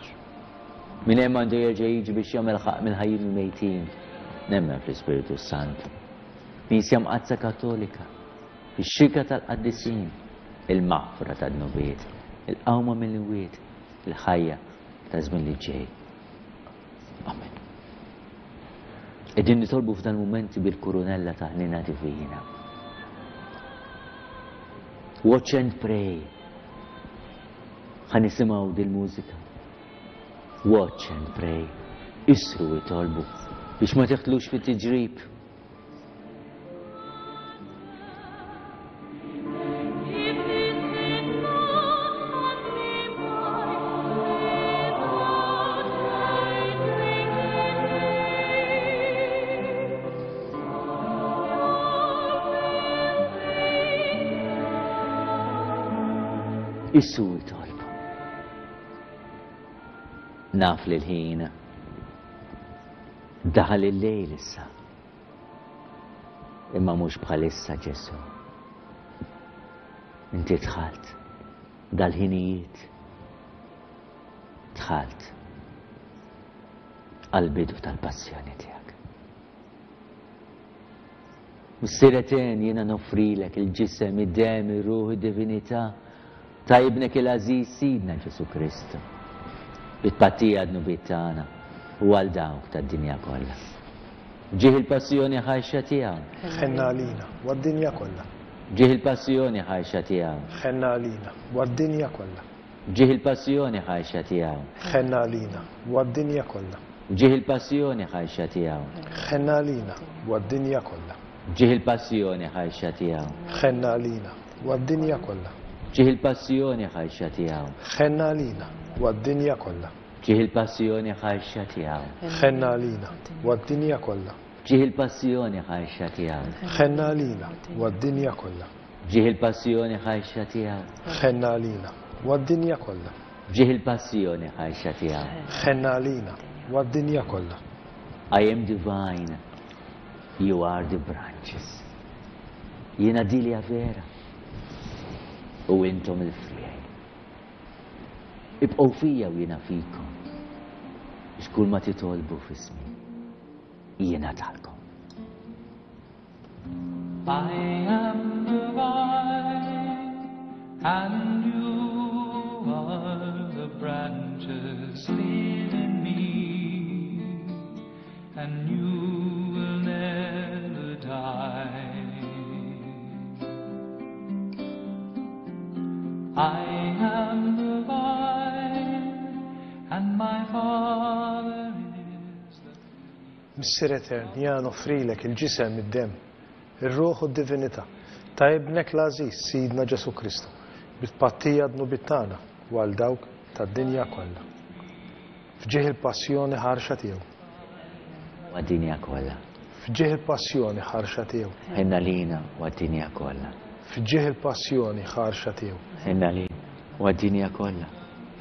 Minn hemm għandu jerġa' jiġi biex jagħmel ħaqq mill-ħajjin u l-mejtin. Nemmen fl-Ispiritu s-Santu. Knisja Mqaddsa Kattolika, ix-xirka tal-qaddisin, il-maħfra tad-dnubiet, il-qawma mill-imwiet, il-ħajja ta' żmien li ġej. Amen. Qegħdin nitolbu f'dan mumenti bil-kurunella ta' ħniena divina. Watch and pray. Ħa nisimgħu dil-mużika. Watch and pray. Isru itolbu biex ma teħlux fit-tiġrib. Issu itolbu. Naf li l-ħin daħal il-lejl issa. Imma mhux bħalissa Ġesu. Inti dħalt dal-ħinijiet. Dħalt għal-bidu tal-passjoni tiegħek. Missier etern jiena noffrilek il-ġisem, id-dem, ir-ruħ, id-divinità ta' ibnek il-għażiż Sidna Ġesu Kristu. Bi tpattija għad-dnubiet tagħna u għal dawk tad-dinja kollha. Ġieħ il-passjoni ħarxa tiegħu. Ħenna għalina u għad-dinja kollha. Ġieħ il-passjoni ħarxa tiegħu. Ħenna għalina u għad-dinja kollha. Ġieħ il-passjoni ħarxa tiegħu. Ħenna għalina u għad-dinja kollha. Ġieħ il-passjoni ħarxa tiegħu. Ħenna għalina u għad-dinja kollha. Ġieħ il-passjoni ħarxa tiegħu. Ħenna għalina u għad-dinja kollha. Ġieħ il-passjoni ħarxa tiegħu. Ħenna għalina u għad-dinja kollha. Ġieħ il-passjoni ħarxa tiegħu. Ħenna għalina u għad-dinja kollha. Ġieħ il-passjoni ħarxa tiegħu. Ħenna għalina u għad-dinja kollha. Ġieħ il-passjoni ħarxa tiegħu. Ħenna għalina u għad-dinja kollha. F'ġieħ il-passjoni ħarxa tiegħu. Ħenn għalina u għad-dinja kollha. I am the vine, you are the branches. Jiena dilja vera u intom il-friegħi. Ibqgħu fija u jiena fikom, biex kull ma titolbu f'ismi jiena talkom. I am the vine, and you are the branches. Live in me, and you will never die. I am the vine, and my Father is the Missier Etern, jiena noffrilek il-ġisem, id-demm, ir-ruħ u d-divinità ta' ibnek l-għażiż Sidna Ġesù Kristu, bi tpattija għad-dnubiet tagħna u għal dawk tad-dinja kollha. F'ġieħ il-passjoni ħarxa tiegħu. U għad-dinja kollha. F'ġieħ il-passjoni ħarxa tiegħu. Ħenn għalina u għad-dinja kollha. F'ġieħ il-passjoni ħarxa tiegħu. Ħenn għalina u għad-dinja kollha.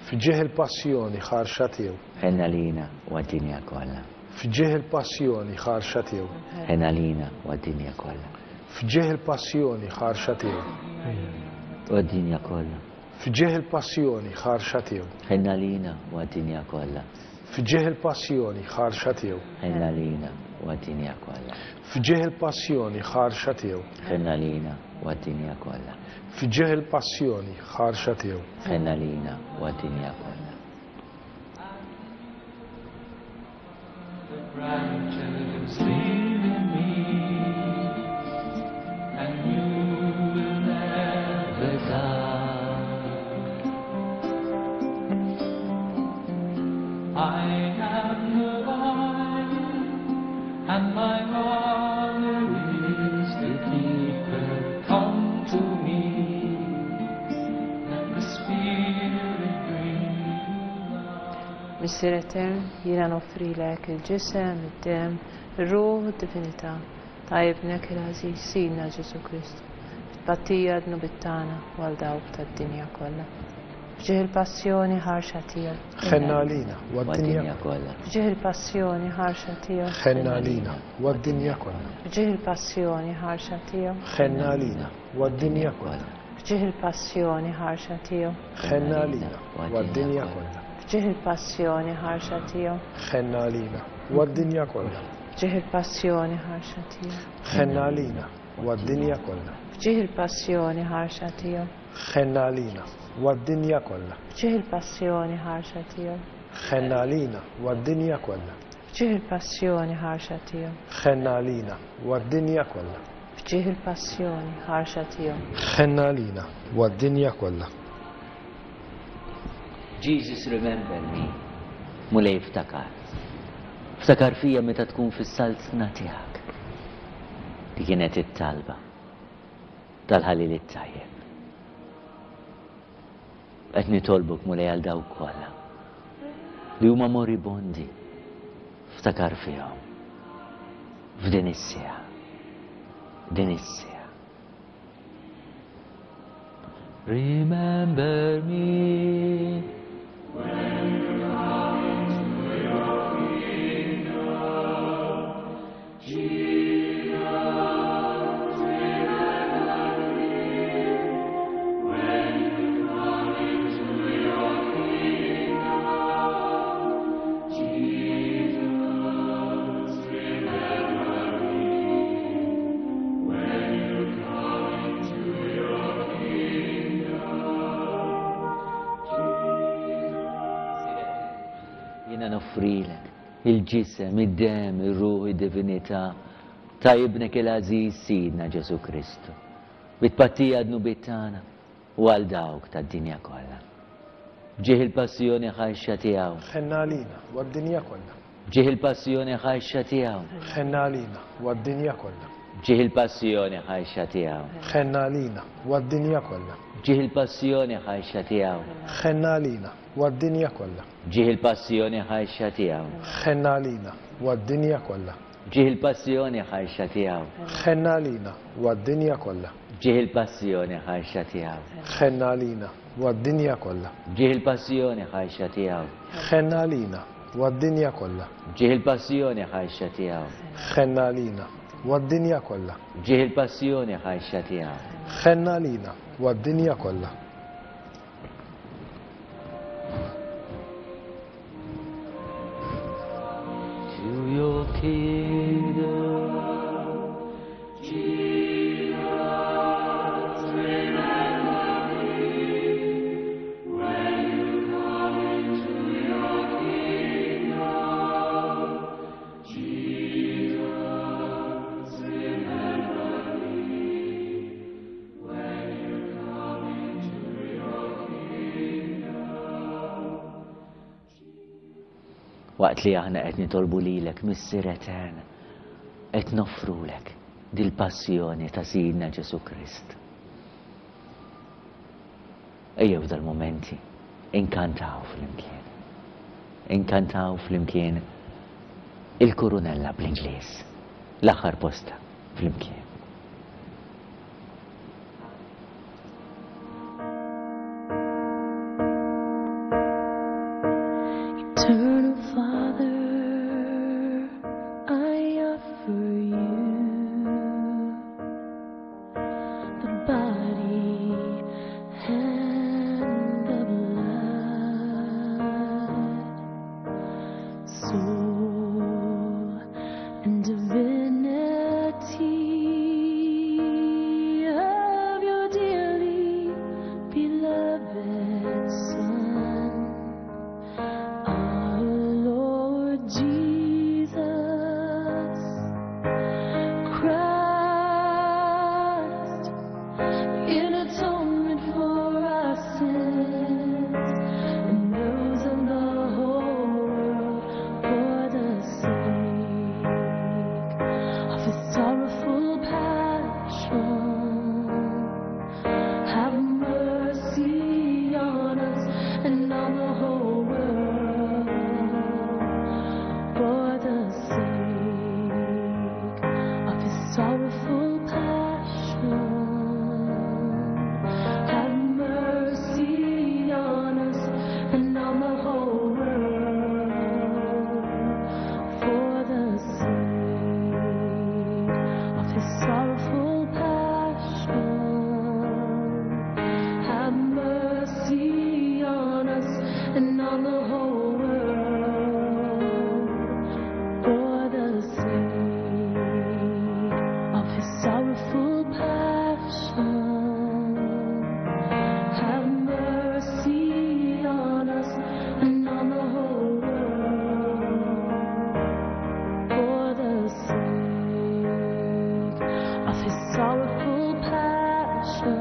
F'ġieħ il-passjoni ħarxa tiegħu. Ħenn għalina u għad-dinja kollha. F'ġieħ il-passjoni ħarxa tiegħu. Ħenn għalina u għad-dinja kollha. F'ġieħ il-passjoni ħarxa tiegħu. U għad-dinja kollha. F'ġieħ il-passjoni ħarxa tiegħu. Ħenn għalina u għad-dinja kollha. F'ġieħ il-passjoni ħarxa tiegħu. Ħenn għalina u għad-dinja kollha. F'ġieħ il-passjoni ħarxa tiegħu. Ħenn għalina u għad-dinja kollha. F'ġieħ il-passjoni ħarxa tiegħu. Ħenn għalina u għad-dinja kollha. Branches live in me, and you will never die. I am the vine, and my Father is the keeper. Come to me, let the Spirit bring you life. Missier Etern, jiena noffrilek il-ġisem, id-demm, ir-ruħ u d-divinità ta' ibnek il-għażiż Sidna Ġesù Kristu, bi tpattija għad-dnubiet tagħna u għal dawk tad-dinja kollha. F'ġieħ il-passjoni ħarxa tiegħu. Ħenn għalina u għad-dinja kollha. F'ġieħ il-passjoni ħarxa tiegħu. Ħenn għalina u għad-dinja kollha. F'ġieħ il-passjoni ħarxa tiegħu. Ħenn għalina u għad-dinja kollha. F'ġieħ il-passjoni ħarxa tiegħu. Ħenn għalina u għad-dinja kollha. F'ġieħ il-passjoni ħarxa tiegħu. Ħenn għalina u għad-dinja kollha. F'ġieħ il-passjoni ħarxa tiegħu. Ħenn għalina u għad-dinja kollha. F'ġieħ il-passjoni ħarxa tiegħu. Ħenn għalina u għad-dinja kollha. F'ġieħ il-passjoni ħarxa tiegħu. Ħenn għalina u għad-dinja kollha. F'ġieħ il-passjoni ħarxa tiegħu. Ħenn għalina u għad-dinja kollha. F'ġieħ il-passjoni ħarxa tiegħu. Ħenn għalina u għad-dinja kollha. Jesus remember me. Mulej ftakar. Ftakar fija meta tkun fis-saltna tiegħek. Di kienet it-talba tal-ħalil it-tajjeb. Qed nitolbok Mulej għal dawk kollha li huma moribondi, ftakar fihom f'din is-siegħa. Din is-siegħa. Remember me when you come into your kingdom. Jesus, remember me when you come into your kingdom. Jesus, remember me when you come into your kingdom. Jiena noffrilek il-ġisem, id-demm, ir-ruħ, id-divinità ta' ibnek il-għażiż Sidna Ġesù Kristu, bi tpattija għad-dnubiet tagħna u għal dawk tad-dinja kollha. F'ġieħ il-passjoni ħarxa tiegħu. Ħenn għalina u għad-dinja kollha. F'ġieħ il-passjoni ħarxa tiegħu. Ħenn għalina u għad-dinja kollha. F'ġieħ il-passjoni ħarxa tiegħu. Ħenn għalina u għad-dinja kollha. F'ġieħ il-passjoni ħarxa tiegħu. Ħenn għalina u għad-dinja kollha. F'ġieħ il-passjoni ħarxa tiegħu. Ħenn għalina u għad-dinja kollha. F'ġieħ il-passjoni ħarxa tiegħu. Ħenn għalina u għad-dinja kollha. F'ġieħ il-passjoni ħarxa tiegħu. Ħenn għalina u għad-dinja kollha. B'ġieħ il-passjoni ħajxa tiegħu. Ħenna għalina u għad-dinja kollha. B'ġieħ il-passjoni ħajxa tiegħu. Ħenna għalina u għad-dinja kollha. B'ġieħ il-passjoni ħajxa tiegħu. Ħenna għalina u għad-dinja kollha. To your kingdom, Jesus, remember me when you come into your kingdom. Jesus, remember me when you come into your kingdom. Waqt li aħna qed nitolbu lilek, Missier Etern, qed noffrulek dil-passjoni ta' Sidna Ġesu Krist. Ejjew dal-momenti inkantaw flimkien. Inkantaw flimkien il-kurunella bl-Ingliż, l-aħħar posta flimkien. Eternal Father, I offer you the body and the blood, soul and divinity of your dearly beloved Son, our Lord Jesus Christ, in atonement for our sins and those of the whole world, for the sake of his sorrowful passion. Have mercy on us and on the whole world, for the sake of his sorrowful passion. Have mercy on us and on the whole world, for the sake of his sorrowful passion. Have mercy on us and on the whole world, for the sake of his sorrowful passion. Have mercy on us and on the whole world, for the sake of his sorrowful passion.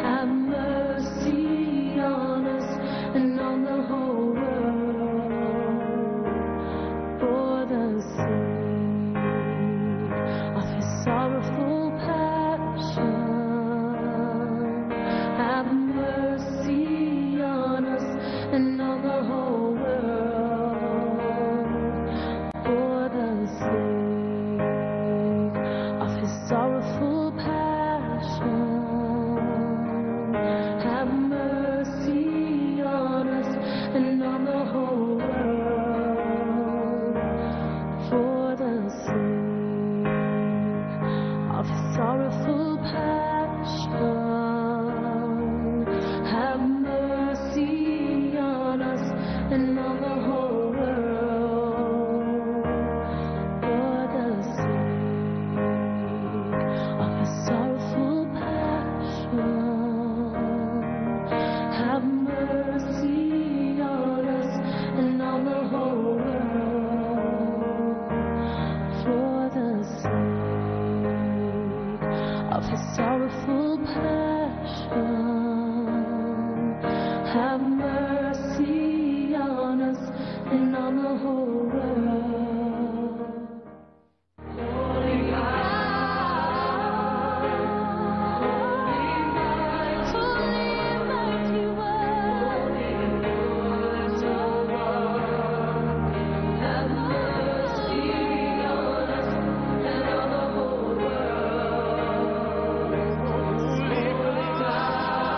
Have mercy on us and on the whole world, for the sake of his sorrowful passion. Have mercy on us and on the whole world, for the sake of his sorrowful passion. Have mercy on us and on the whole world, for the sake of his sorrowful passion. Have mercy on us and on the whole world, for the sake of his sorrowful passion. Have mercy on us and on the whole world, for the sake of his sorrowful passion. Have mercy on us and on the whole world. Holy God, holy mighty one, immortal one, have mercy on us and on the whole world. Holy God,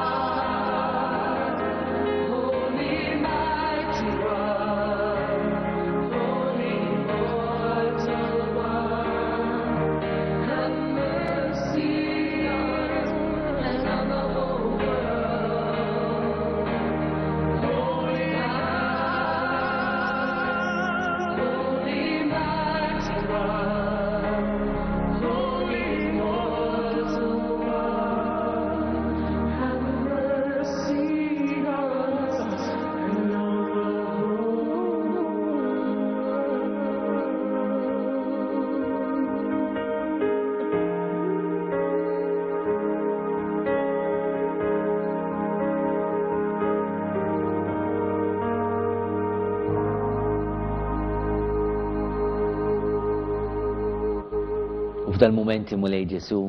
U f'dal-mumenti Mulej Ġesu,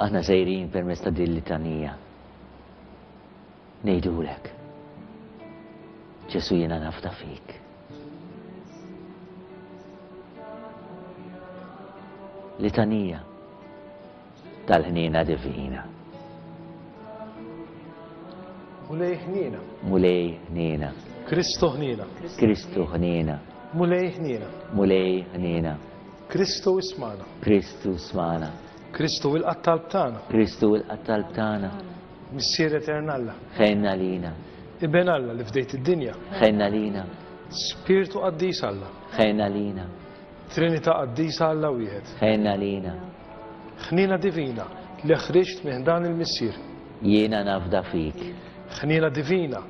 aħna sejrin permezz ta' din litanija. Ngħidulek, Ġesu jiena nafda fik. Litanija tal-ħniena divina. Mulej ħniena. Mulej ħniena. Kristu ħniena. Kristu ħniena. Mulej ħniena. Mulej ħniena. Kristu ismana. Kristu ismana. Kristu ilqa' t-talb tagħna. Kristu ilqa' t-talb tagħna. Missier Etern Alla. Ħenna lina. Iben Alla li fdejt id-dinja. Ħenna lina. Spirtu Qaddis Alla. Ħenna lina. Trinità Qaddisa Alla wieħed. Ħenna lina. Ħniena divina li ħriġt minn dan il-Missier. Jiena nafda fik. Ħniena divina,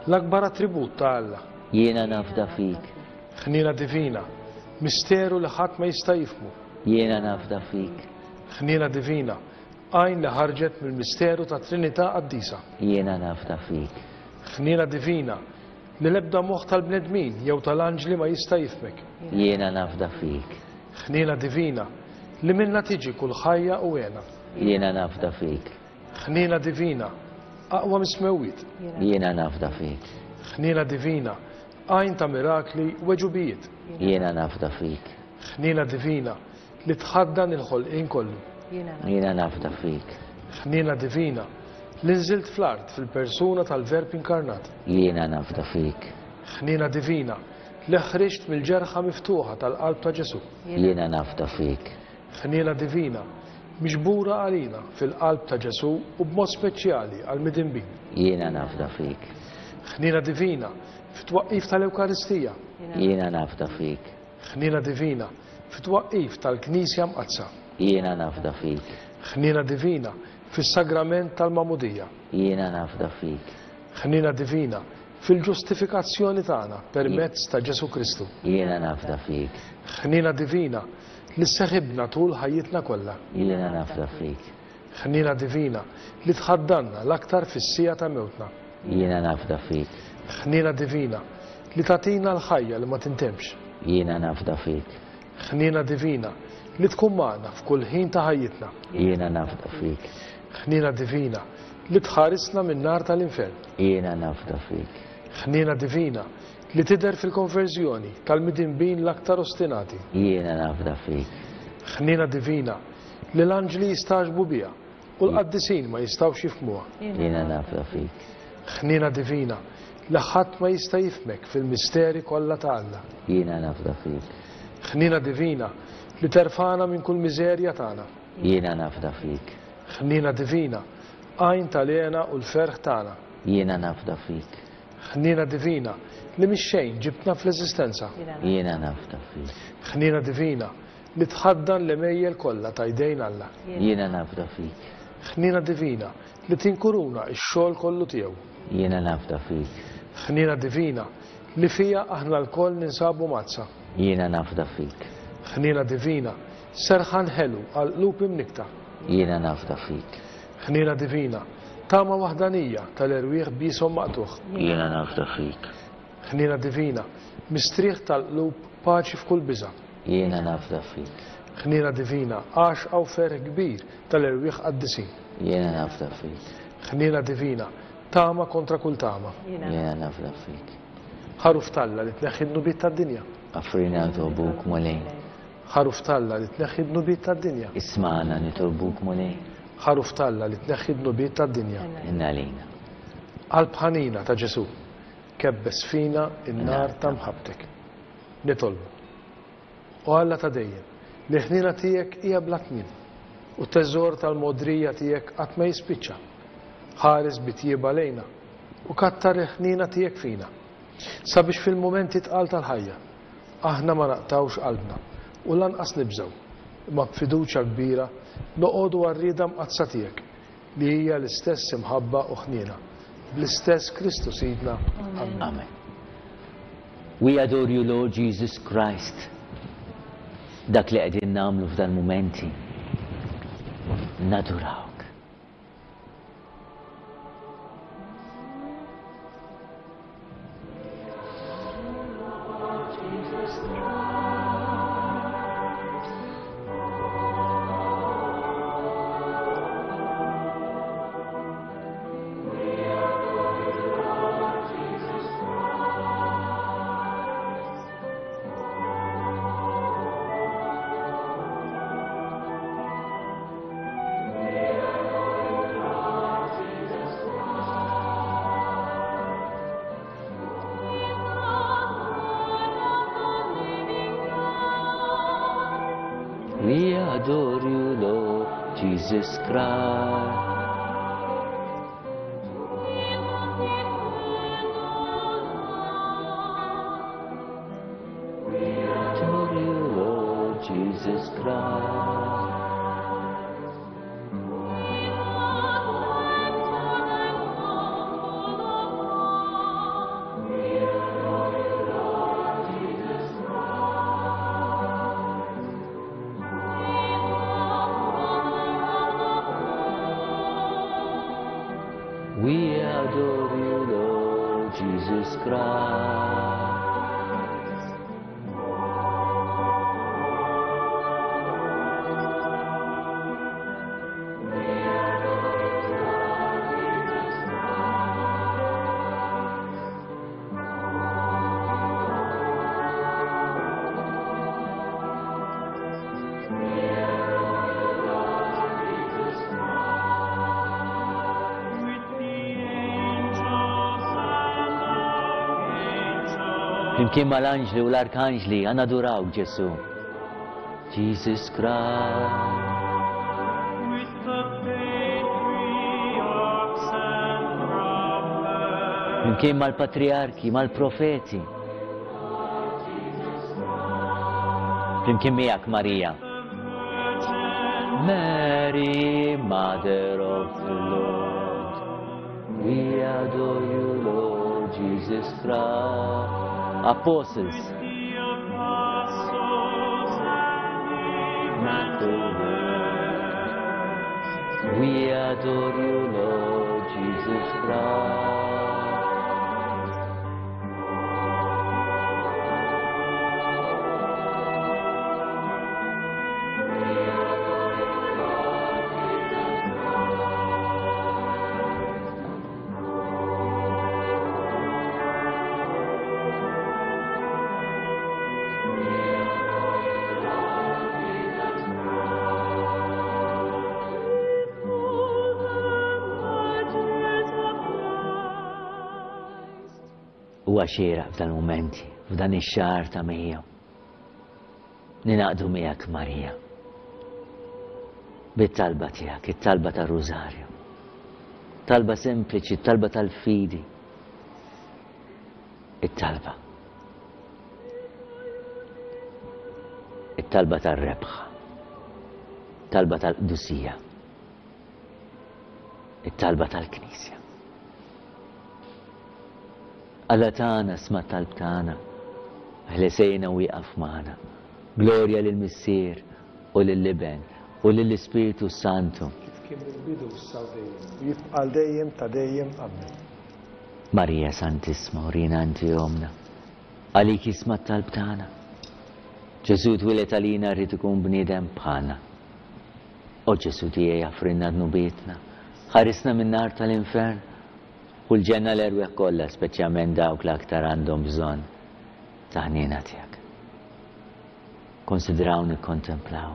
l-akbar attribut ta' Alla. Jiena nafda fik. Ħniena divina, misteru li ħadd ma jista' jifhmu. Jiena nafda fik. Ħniena divina, għajn li ħarġet mill-misteru ta' Trinità Qaddisa. Jiena nafda fik. Ħniena divina, li l-ebda moħħ tal-bnedmin jew tal-anġli ma jista' jifhmek. Jiena nafda fik. Ħniena divina, li minna tiġi kull ħajja u hena. Jiena nafda fik. Ħniena divina, aqwa mis-smewwiet. Jiena nafda fik. Ħniena divina, għajn ta' mirakli u għeġubijiet. Jiena nafda fik. Ħniena divina, li tħaddan il-ħolqien kollu. Jiena nafda fik. Ħniena divina, li nżilt fl-art fil-persuna tal-Verb inkarnat. Jiena nafda fik. Ħniena divina, li ħriġt mill-ġerħa miftuħa tal-qalb ta' Ġesu. Jiena nafda fik. Ħniena divina, miġbura għalina fil-qalb ta' Ġesu u b'mod speċjali għall-midinbin. Jiena nafda fik. Ħniena divina, fit-twaqqif tal-Ewkaristija. Jiena nafda fik. Ħniena divina, fit-twaqqif tal-Knisja Mqaddsa. Jiena nafda fik. Ħniena divina, fis-sagrament tal-Magħmudija. Jiena nafda fik. Ħniena divina, fil-ġustifikazzjoni tagħna permezz ta' Ġesu Kristu. Jiena nafda fik. Ħniena divina, li sseħibna tul ħajjitna kollha. Jiena nafda fik. Ħniena divina, li tħaddanna l-aktar fis-siegħa ta' mewtna. Jiena nafda fik. Ħniena divina, li tagħtina l-ħajja li ma tintemx. Jiena nafda fik. Ħniena divina, li tkun magħna f'kull ħin ta' ħajjitna. Jiena nafda fik. Ħniena divina, li tħarisna min-nar tal-infern. Jiena nafda fik. Ħniena divina, li tidher fil-konverżjoni tal-midinbin l-aktar ostinati. Jiena nafda fik. Ħniena divina, li l-anġli jistagħġbu biha u l-qaddisin ma jistgħux jifhmuha. Jiena nafda fik. Ħniena divina, li ħadd ma jista' jifhmek fil-misteri kollha ta' Alla. Jiena nafda fik. Ħniena divina, li terfana minn kull miżerja tagħna. Jiena nafda fik. Ħniena divina, għajn tal-hena u l-ferħ tagħna. Jiena nafda fik. Ħniena divina, li mix-xejn ġibtna fl-eżistenza. Jiena nafda fik. Ħniena divina, li tħaddan l-għemejjel kollha ta' jdejn Alla. Jiena nafda fik. Ħniena divina, li tinkuruna x-xogħol kollu tiegħu. Jiena nafda fik. Ħniena divina, li fija aħna lkoll ninsabu mgħaddsa. Jiena nafda fik. Ħniena divina, serħan ħelu għal qlub imnikta. Jiena nafda fik. Ħniena divina, tama waħdanija tal-erwieħ bishom maqtugħ. Jiena nafda fik. Ħniena divina, mistrieħ tal-qlub paċi f'kull biża'. Jiena nafda fik. Ħniena divina, għaxqa u ferħ kbir tal-erwieħ qaddisin. Jiena nafda fik. Ħniena divina, tama kontra kull tama. Jiena nafda fik. Ħaruf t'Alla li tneħħi d-dnubiet tad-dinja. Afrina nitolbuk Mulej. Ħaruf t'Alla li tneħħi d-dnubiet tad-dinja. Ismagħna nitolbuk Mulej. Ħaruf t'Alla li tneħħi d-dnubiet tad-dinja. Ħenna għalina. Qalb ħanina ta' Ġesu, kebbes fina n-nar ta' mħabbtek. Nitolbu. O Alla ta' dejjem, li ħniena tiegħek hija bla tmiem, u t-teżor tal-mogħdrija tiegħek qatt ma jispiċċa. Ħares bi tjieba lejna u kattar il-ħniena tiegħek fina, sabiex fil-mumenti tqal tal-ħajja aħna ma naqtawx qalbna u lanqas nibżgħu, imma b'fiduċja kbira noqogħdu għar-rieda mqaddsa tiegħek, li hija l-istess imħabba u ħniena, bl-istess Kristu Sidna. Amen. Amen. We adore you, Lord Jesus Christ. Dak li qegħdin nagħmlu f'dan mumenti. Nadurawk. We adore you, Lord Jesus Christ. We adore you, Lord Jesus Christ. We adore you, Lord Jesus Christ. Flimkien mal-anġli u l-arkanġli għanadurawk Ġesu. Jesus Christ. With the patriarchs and prophets. Flimkien mal-patriarki, mal-profeti. Flimkien miegħek Marija. Mary, Mother of the Lord, we adore you, Lord Jesus Christ. Apostles. The apostles and the We adore you, Lord Jesus Christ. Huwa xieraq f'dan il-mumenti, f'dan ix-xahar ta' Mejju. Ninaqdu miegħek Marija. Bit-talba tiegħek, it-talba tar-Rużarju. Talba sempliċi, talba tal-fidi. It-talba. It-talba tar-rebħa. Talba tal-qdusija. It-talba tal-Knisja. Alla tagħna sma' talb tagħna, ħlesejna u wieqaf magħna. Glorja lill-Missier u lill-Iben u lill-Ispirtu Santu. Kif kien mill-bidu issa u dejjem, u jibqa' għal dejjem ta' dejjem. Amen. Marija Santissima, urina inti omna, għalik jisma' t-talb tagħna. Ġesu twieled għalina rrid ikun bniedem bħalna. O Ġesu tiegħi offrinna dnubietna, ħarisna min-nar tal-infern, u l-ġenna l-erwieħ kollha, speċjalment dawk l-aktar għandhom bżonn ta' ħniena tiegħek. Konsidraw nikkontemplaw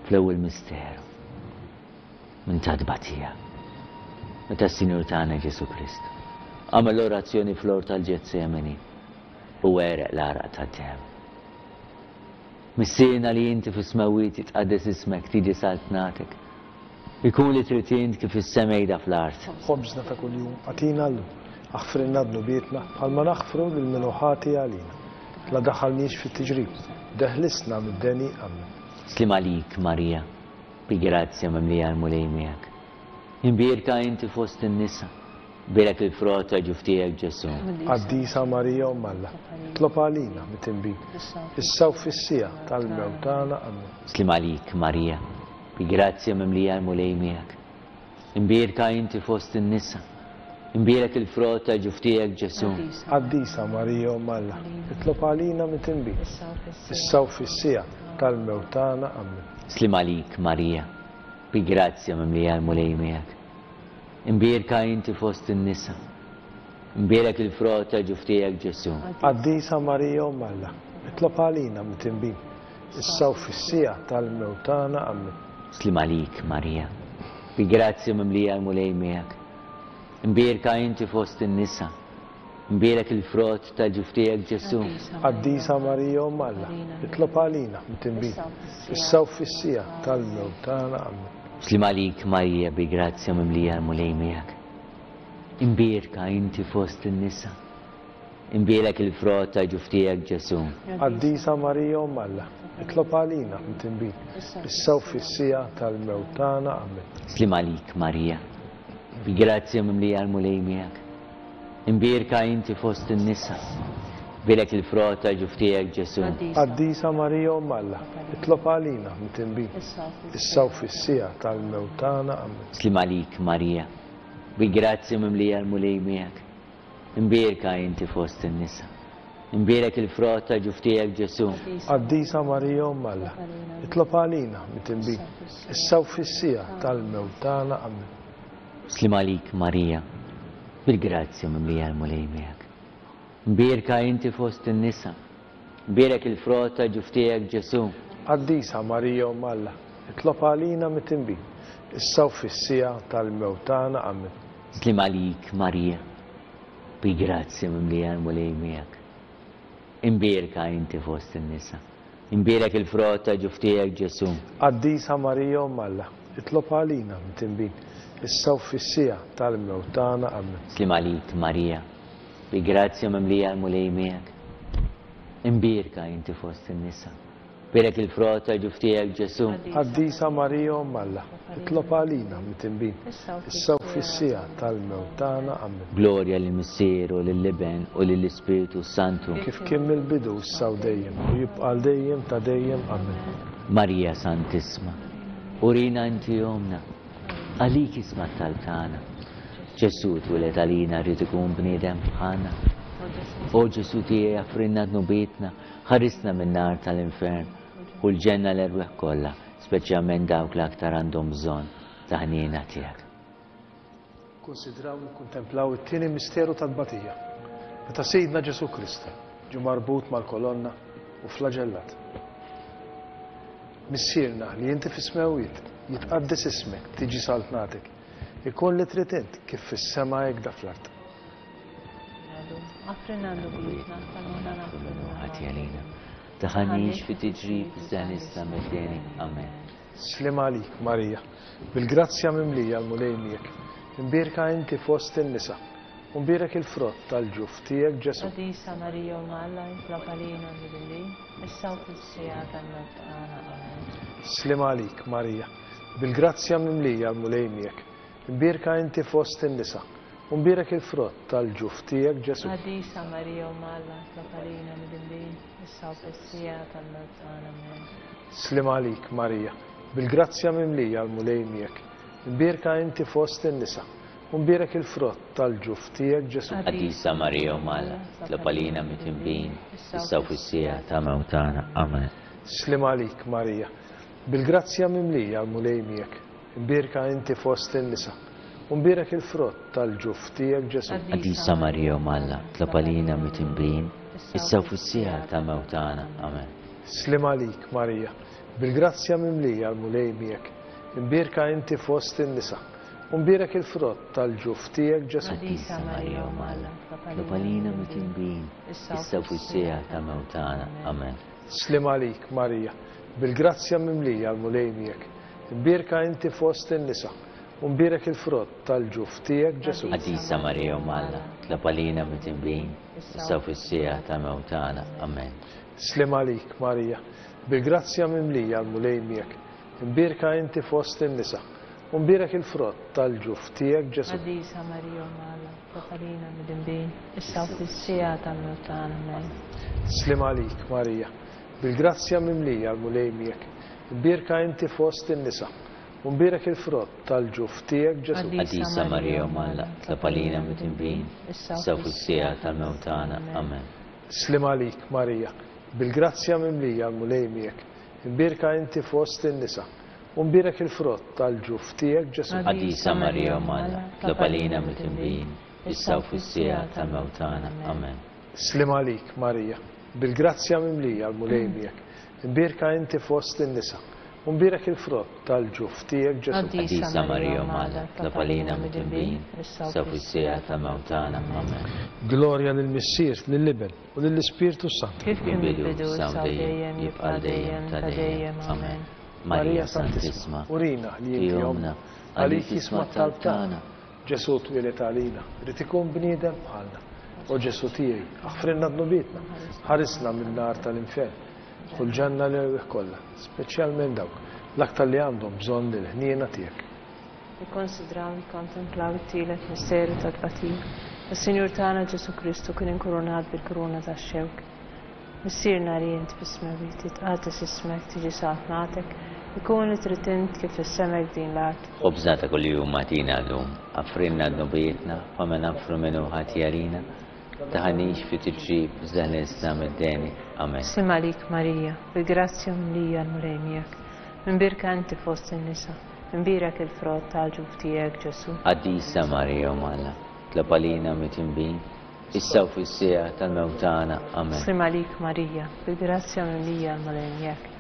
fl-ewwel misteru minn ta' tbatija meta s-Sinjur tagħna Ġesu Kristu għamel l-orazzjoni fl-ort tal-Ġetsemani u għereq l-għaraq tad-demm. Missierna li inti fis-smewwiet jitqaddes ismek, tiġi saltnatek. Ikun li trid int kif is-sema jda fl-art. Ħobżna ta' kuljum agħtina llum, aħfrilna dnubietna bħalma naħfru lil min hu ħati għalina. La daħalniex fit-tiġrib, deħlisna mid-deni. Amen. Slim għalik Marija, bi grazzja mimlija l-Mulej miegħek. Imbierka inti fost in-nisa, bierek il-frott ta' ġuf tiegħek Ġesu. Qaddisa Marija Omm Alla, itlob għalina mitinbin, issa u fis-siegħa tal-mewt tagħna. Amen. Slim għalik Marija, bi grazzja mimlija l-Mulej miegħek. Imbierka inti fost in-nisa, imbierek il-frott ta' ġuf tiegħek Ġesu. Qaddisa Marija Omm Alla, itlob għalina mitinbin, issa u fis-siegħa tal-mewt tagħna. Amen. Slim għalik Marija, bi grazzja mimlija l-Mulej miegħek. Imbierka inti fost in-nisa, imbierek il-frott ta' ġuf tiegħek Ġesu. Qaddisa Marija Omm Alla, itlob għalina mitinbin, issa u fis-siegħa tal-mewt tagħna. Amen. Slim għalik Marija, bi grazzja mimlija l-Mulej miegħek. Imbierka inti fost in-nisa, Imbierek il-frott tal-ġuf tiegħek Ġesù. Qaddisa Marija Omm Alla, itlob għalina midinbin, issa u fis-siegħa tal-mewt tagħna. Amen. Sliem għalik Marija bi grazzja mimlija l-Mulej miegħek. Imbierka inti fost in-nisa. Imbierek il-frott tal-ġuf tiegħek Ġesù. Qaddisa Marija Omm Alla, itlob għalina midinbin, issa u fis-siegħa tal-mewt tagħna. Amen. Sliem għalik Marija, bi grazzja mimlija l-Mulej miegħek. Imbierka inti fost in-nisa. Imbierek il-frott tal-ġuf tiegħek Ġesù. Qaddisa Marija Omm Alla, itlob għalina midinbin, issa u fis-siegħa tal-mewt tagħna. Amen. Sliem għalik Marija, bi grazzja mimlija l-Mulej miegħek. Imbierka inti fost in-nisa. Imbierek il-frott tal-ġuf tiegħek Ġesù. Qaddisa Marija Omm Alla, itlob għalina midinbin, issa u fis-siegħa tal-mewt tagħna. Amen. Sliem għalik Marija, bil-grazzja mimlija l-Mulej miegħek. Imbierka inti fost in-nisa. Imbierek il-frott tal-ġuf tiegħek Ġesù. Qaddisa Marija Omm Alla, itlob għalina midinbin, issa u fis-siegħa tal-mewt tagħna. Amen. Sliem għalik Marija, bi grazzja mimlija l-Mulej miegħek. Imbierka inti fost in-nisa. Imbierek il-frott tal-ġuf tiegħek Ġesù. Qaddisa Marija Omm Alla, itlob għalina midinbin, issa u fis-siegħa tal-mewt tagħna. Amen. Sliem għalik Marija, bi grazzja mimlija l-Mulej miegħek. Imbierka inti fost in-nisa. Imbierek il-frott tal-ġuf tiegħek Ġesù. Qaddisa Marija Omm Alla, itlob għalina midinbin, issa u fis-siegħa tal-mewt tagħna. Amen. Glorja lill-Missier u lill-Iben u lill-Ispirtu Santu. Kif kien mill-bidu issa u dejjem u jibqa' għal dejjem ta' dejjem. Amen. Marija Santissima, urina inti omna, għalik isma' t-talb tagħna. Ġesù twieled għalina rrid ikun bniedem bħalna. O Ġesù tiegħi aħfrilna dnubietna, ħarisna min-nar tal-infern u l-ġenna l-erwieħ kollha, speċjalment dawk li aktar għandhom bżonn ta' ħniena tiegħek. Konsidraw nikkuntemplaw it-tieni misteru tal-batija, meta Sidna Ġesù Kristu ġie marbut mal-kolonna u flagellat. Missierna li inti fis-smewwiet, jitqaddes ismek, tiġi saltnatek, ikun li trid int kif fis-sema hekk da fl-art. Aħfrilna dnubietna, bħalma aħna Ħati għalina. Tdaħħalniex fi tiġrib iżda eħlisna mid-deni. Amen. Sliem għalik Marija, bil-grazzja mimlija l-Mulej miegħek. Imbierka inti fost in-nisa, u mbierek il-frott tal-ġuf tiegħek Ġesù. Qaddisa Marija Omm Alla, itlob għalina midinbin, issa u fis-siegħa tal-mewt tagħna. Amen. Sliem għalik Marija, bil-grazzja mimlija l-Mulej miegħek. Imbierka inti fost in-nisa, u mbierek il-frott tal-ġuf tiegħek Ġesù. Qaddisa Marija Omm Alla, itlob għalina midinbin, issa u fis-siegħa tal-mewt tagħna. Amen. Sliem għalik Marija, bil-grazzja mimlija l-Mulej miegħek. Imbierka inti fost in-nisa, u mbierek il-frott tal-ġuf tiegħek Ġesù. Qaddisa Marija Omm Alla, itlob għalina midinbin, issa u fis-siegħa ta' mewt tagħna. Amen. Sliem għalik Marija, bil-grazzja mimlija l-Mulej miegħek. Imbierka inti fost in-nisa, u mbierek il-frott tal-ġuf tiegħek Ġesù. Qaddisa Marija Omm Alla, itlob għalina midinbin, issa u fis-siegħa ta' mewt tagħna. Amen. Sliem għalik Marija, bil-grazzja mimlija l-Mulej miegħek. Imbierka inti fost in-nisa, u mbierek il-frott tal-ġuf tiegħek Ġesù. Qaddisa Marija Omm Alla, itlob għalina midinbin, issa u fis-siegħa ta' mewt tagħna. Amen. Sliem għalik Marija, bil-grazzja mimlija l-Mulej miegħek. Imbierka inti fost in-nisa, u mbierek il-frott tal-ġuf tiegħek Ġesù. Qaddisa Marija Omm Alla, itlob għalina midinbin, issa u fis-siegħa ta' mewt tagħna. Amen. Sliem għalik Marija, bil-grazzja mimlija l-Mulej miegħek. Imbierka inti fost in-nisa, u mbierek il-frott tal-ġuf tiegħek Ġesù. Qaddisa Marija Omm Alla, itlob għalina midinbin, issa u fis-siegħa tal-mewt tagħna. Amen. Sliem għalik Marija, bil-grazzja mimlija l-Mulej miegħek. Imbierka inti fost in-nisa, u mbierek il-frott tal-ġuf tiegħek Ġesù. Qaddisa Marija Omm Alla, itlob għalina midinbin, issa u fis-siegħa tal-mewt tagħna. Amen. Sliem għalik Marija, bil-grazzja mimlija l-Mulej miegħek. Imbierka inti fost in-nisa, u mbierek il-frott tal-ġuf tiegħek Ġesù. Qaddisa Marija Omm Alla, itlob għalina midinbin, issa u fis-siegħa tal-mewt tagħna. Amen. Sliem għalik Marija, bil-grazzja mimlija l-Mulej miegħek. Imbierka inti fost in-nisa, U mbierek il-frott tal-ġuf tiegħek Ġesù. Qaddisa Marija Omm Alla, itlob għalina midinbin, issa u fis-siegħa ta' mewt tagħna. Amen. Glorja lill-Missier, lill-Iben, u lill-Ispirtu s-Santu. Kif kien fil-bidu, issa u dejjem, jibqa' għal dejjem ta' dejjem. Amen. Marija Santissima, urina li inti ommna, għalik jisma' t-talb tagħna. Ġesù twieled għalina, ried ikun bniedem bħalna. O Ġesù tiegħi, aħfrilna dnubietna, ħarisna min-nar tal-infern. Dħul ġenna l-erwieħ kollha, speċjalment dawk l-aktar li għandhom bżonn il-ħniena tiegħek. Nikkonsidraw, nikkontemplaw it-tielet misteru tat-tbatija. Is-Sinjur tagħna Ġesù Kristu kien inkurunat bil-kuruna tax-xewk. Missierna li int fis-smewwiet, jitqaddes ismek, tiġi saltnatek, ikun li trid int kif fis-sema hekk f'din l-art. Ħobżna ta' kuljum agħtina llum, aghfrilna dnubietna bħalma naghfru min hu ħati għalina, taħanix fi tiġrib iżda ħlisna mid-deni. Amen. Sliem għalik Marija, bil-grazzja mimlija l-Mulej miegħek. Imbierka inti fost in-nisa, imbierek il-frott tal-ġuf tiegħek Ġesù. Qaddisa Marija Omm Alla, itlob għalina mitinbin, issa u fis-siegħa tal-mewt tagħna. Amen. Sliem għalik Marija, bil-grazzja mimlija l-Mulej miegħek.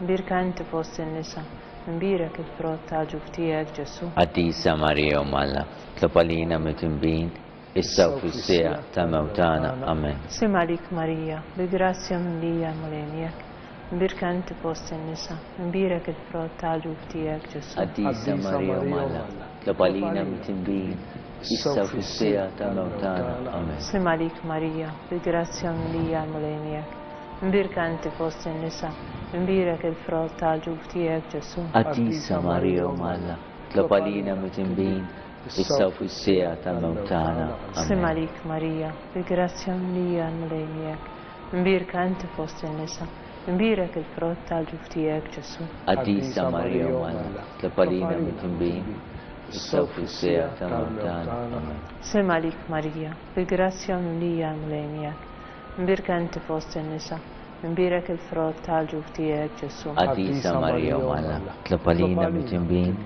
Imbierka inti fost in-nisa, imbierek il-frott tal-ġuf tiegħek Ġesù. Qaddisa Marija Omm Alla, itlob għalina mitinbin, issa u fis-siegħa tal-mewt tagħna. Amen. Sliem għalik Marija, bil-grazzja mimlija l-Mulej miegħek. Imbierka inti fost in-nisa, imbierek il-frott tal-ġuf tiegħek Ġesù. Qaddisa Marija Omm Alla, itlob għalina mitinbin, issa u fis-siegħa tal-mewt tagħna. Amen. Sliem għalik Marija, bil-grazzja mimlija l-Mulej miegħek. Imbierka inti fost in-nisa, imbierek il-frott tal-ġuf tiegħek Ġesù. Qaddisa Marija Omm Alla, itlob għalina mitinbin, issa u fis-siegħa tal-mewt tagħna. Sliem Amen. għalik Marija, bil-grazzja mimlija l-Mulej miegħek. Imbierka inti fost in-nisa, imbierek il-frott tal-ġuf tiegħek Ġesù. Qaddisa Marija Omm Alla, itlob għalina mitinbin, issa u fis-siegħa tal-mewt tagħna. Amen. Sliem għalik Marija, bil-grazzja mimlija l-Mulej miegħek. Imbierka inti fost in-nisa, imbierek il-frott tal-ġuf tiegħek Ġesù. Qaddisa Marija Omm Alla, itlob għalina mitinbin,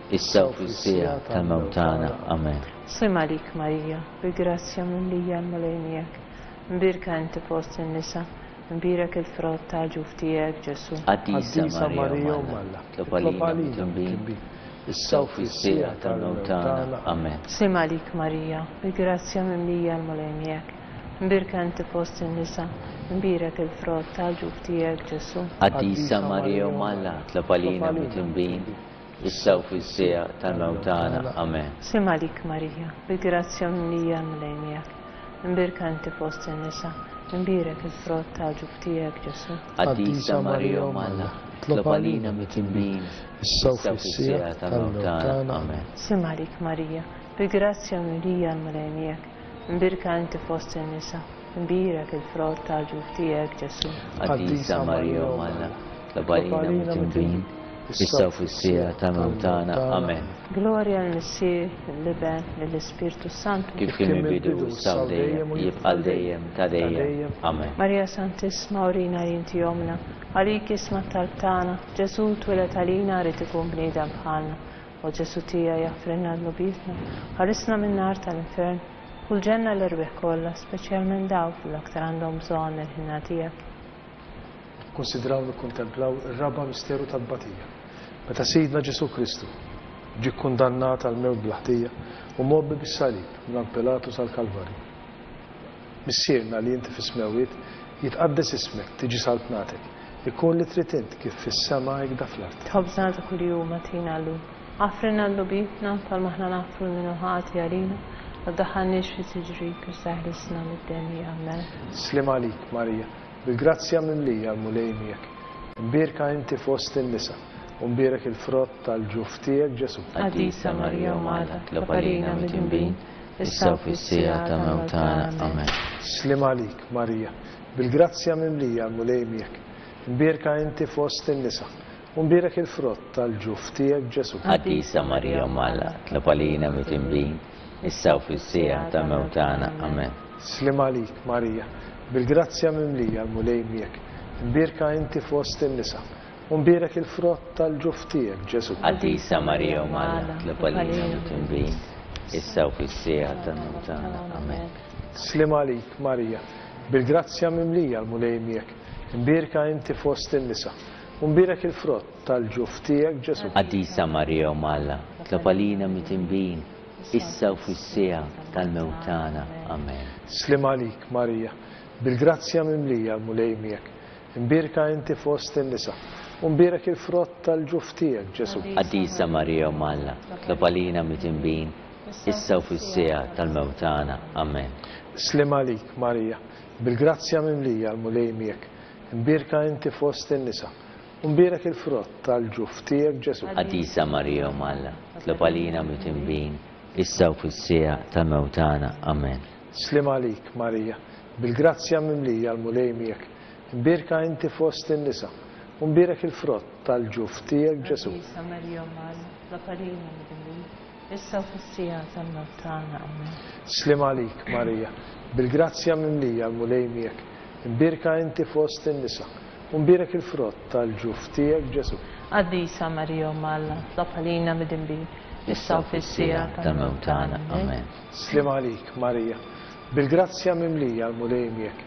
issa u fis-siegħa tal-mewt tagħna. Amen. Sliem għalik Marija, bil-grazzja mimlija l-Mulej miegħek. Imbierka inti fost in-nisa, imbierek il-frott tal-ġuf tiegħek Ġesù. Qaddisa Marija Omm Alla, itlob għalina mitinbin, issa u fis-siegħa tal-mewt tagħna. Amen. Sliem għalik Marija, bil-grazzja mimlija l-Mulej miegħek. Imbierka inti fost in-nisa, imbierek il-frott tal-ġuf tiegħek Ġesù. Qaddisa Marija Omm Alla, itlob għalina mitinbin, issa u fis-siegħa tal-mewt tagħna. Amen. Sliem għalik Marija, bil-grazzja mimlija l-Mulej miegħek. Imbierka inti fost in-nisa, imbierek il-frott tal-ġuf tiegħek Ġesù. Qaddisa Marija Omm Alla, itlob għalina mitinbin, issa u fis-siegħa tal-mewt tagħna. Amen. Sliem għalik Marija, bil-grazzja mimlija l-Mulej miegħek. Imbierka inti fost in-nisa, imbierek il-frott tal-ġuf tiegħek Ġesù. Qaddisa Marija Omm Alla, itlob għalina mitinbin, issa u fis-siegħa tal-mewt tagħna. Amen. Glorja lill-Missier, lill-Iben, lill-Ispirtu Santu. Kif kien mill-bidu, issa u dejjem, jibqa' għal dejjem ta' dejjem. Amen. Marija Santissima, urina li inti ommna, għalik jisma' t-talb tagħna, Ġesù twieled għalina rid ikun bniedem bħalna. O Ġesù tiegħi aħfrilna dnubietna, ħarisna min-nar tal-infern, u l-ġenna l-erwieħ kollha, speċjalment dawk li l-aktar għandhom bżonn il-ħniena tiegħek. Konsidraw nikkontemplaw ir-raba' misteru tat-tbatija. Meta Sidna Ġesù Kristu ġie kkundannat għal mewt bla ħtija u mgħobbi bis-salib minn Pilatu sal-Kalvarju. Missierna li inti fis-smewwiet, jitqaddes ismek, tiġi saltnatek, ikun li trid int kif fis-sema hekk fl-art. Ħobżna ta' kuljum agħtina llum. Aħfrilna dnubietna bħalma aħna naħfru lil min hu ħati għalina, ma tdaħħalniex fi tiġrib iżda ħlisna mid-deni. Amen. Sliem għalik Marija, bil-grazzja mimlija l-Mulej miegħek. Imbierka inti fost in-nisa, u mbierek il-frott tal-ġuf tiegħek Ġesù. Qaddisa Marija Omm Alla, itlob għalina midinbin, issa u fis-siegħa ta' mewt tagħna. Amen. Sliem għalik Marija, bil-grazzja mimlija l-Mulej miegħek. Imbierka inti fost in-nisa, u mbierek il-frott tal-ġuf tiegħek Ġesù. Qaddisa Marija Omm Alla, itlob għalina midinbin, issa u fis-siegħa ta' mewt tagħna. Amen. Sliem għalik Marija, bil-grazzja mimlija l-Mulej miegħek. Imbierka inti fost in-nisa, u mbierek il-frott tal-ġuf tiegħek Ġesù. Qaddisa Marija Omm Alla, itlob għalina midinbin, issa u fis-siegħa ta' mewt tagħna. Amen. Sliem għalik Marija, bil-grazzja mimlija l-Mulej miegħek. Imbierka inti fost in-nisa, u mbierek il-frott tal-ġuf tiegħek Ġesù. Qaddisa Marija Omm Alla, itlob għalina midinbin, issa u fis-siegħa tal-mewt tagħna. Amen. Sliem għalik, Marija, bil-grazzja mimlija l-Mulej miegħek. Imbierka inti fost in-nisa, u mbierek il-frott tal-ġuf tiegħek Ġesù. Qaddisa Marija Omm Alla, itlob għalina midinbin, issa u fis-siegħa tal-mewt tagħna. Amen. Sliem għalik, Marija, bil-grazzja mimlija l-Mulej miegħek. Imbierka inti fost in-nisa, u mbierek il-frott tal-ġuf tiegħek Ġesù. Qaddisa Marija Omm Alla, itlob għalina midinbin, issa u fis-siegħa tal-mewt tagħna. Amen. Sliem għalik, Marija, bil-grazzja mimlija l-Mulej miegħek. Imbierka inti fost in-nisa, u mbierek il-frott tal-ġuf tiegħek Ġesù. Qaddisa Marija Omm Alla, itlob għalina midinbin, issa u fis-siegħa tal-mewt tagħna. Amen. Sliem għalik, Marija, bil-grazzja mimlija l-Mulej miegħek. Imbierka inti fost in-nisa, u mbierek il-frott tal-ġuf tiegħek Ġesù. Qaddisa Marija Omm Alla, itlob għalina midinbin, issa u fis-siegħa tal-mewt tagħna. Amen. Sliem għalik, Marija, bil-grazzja mimlija l-Mulej miegħek.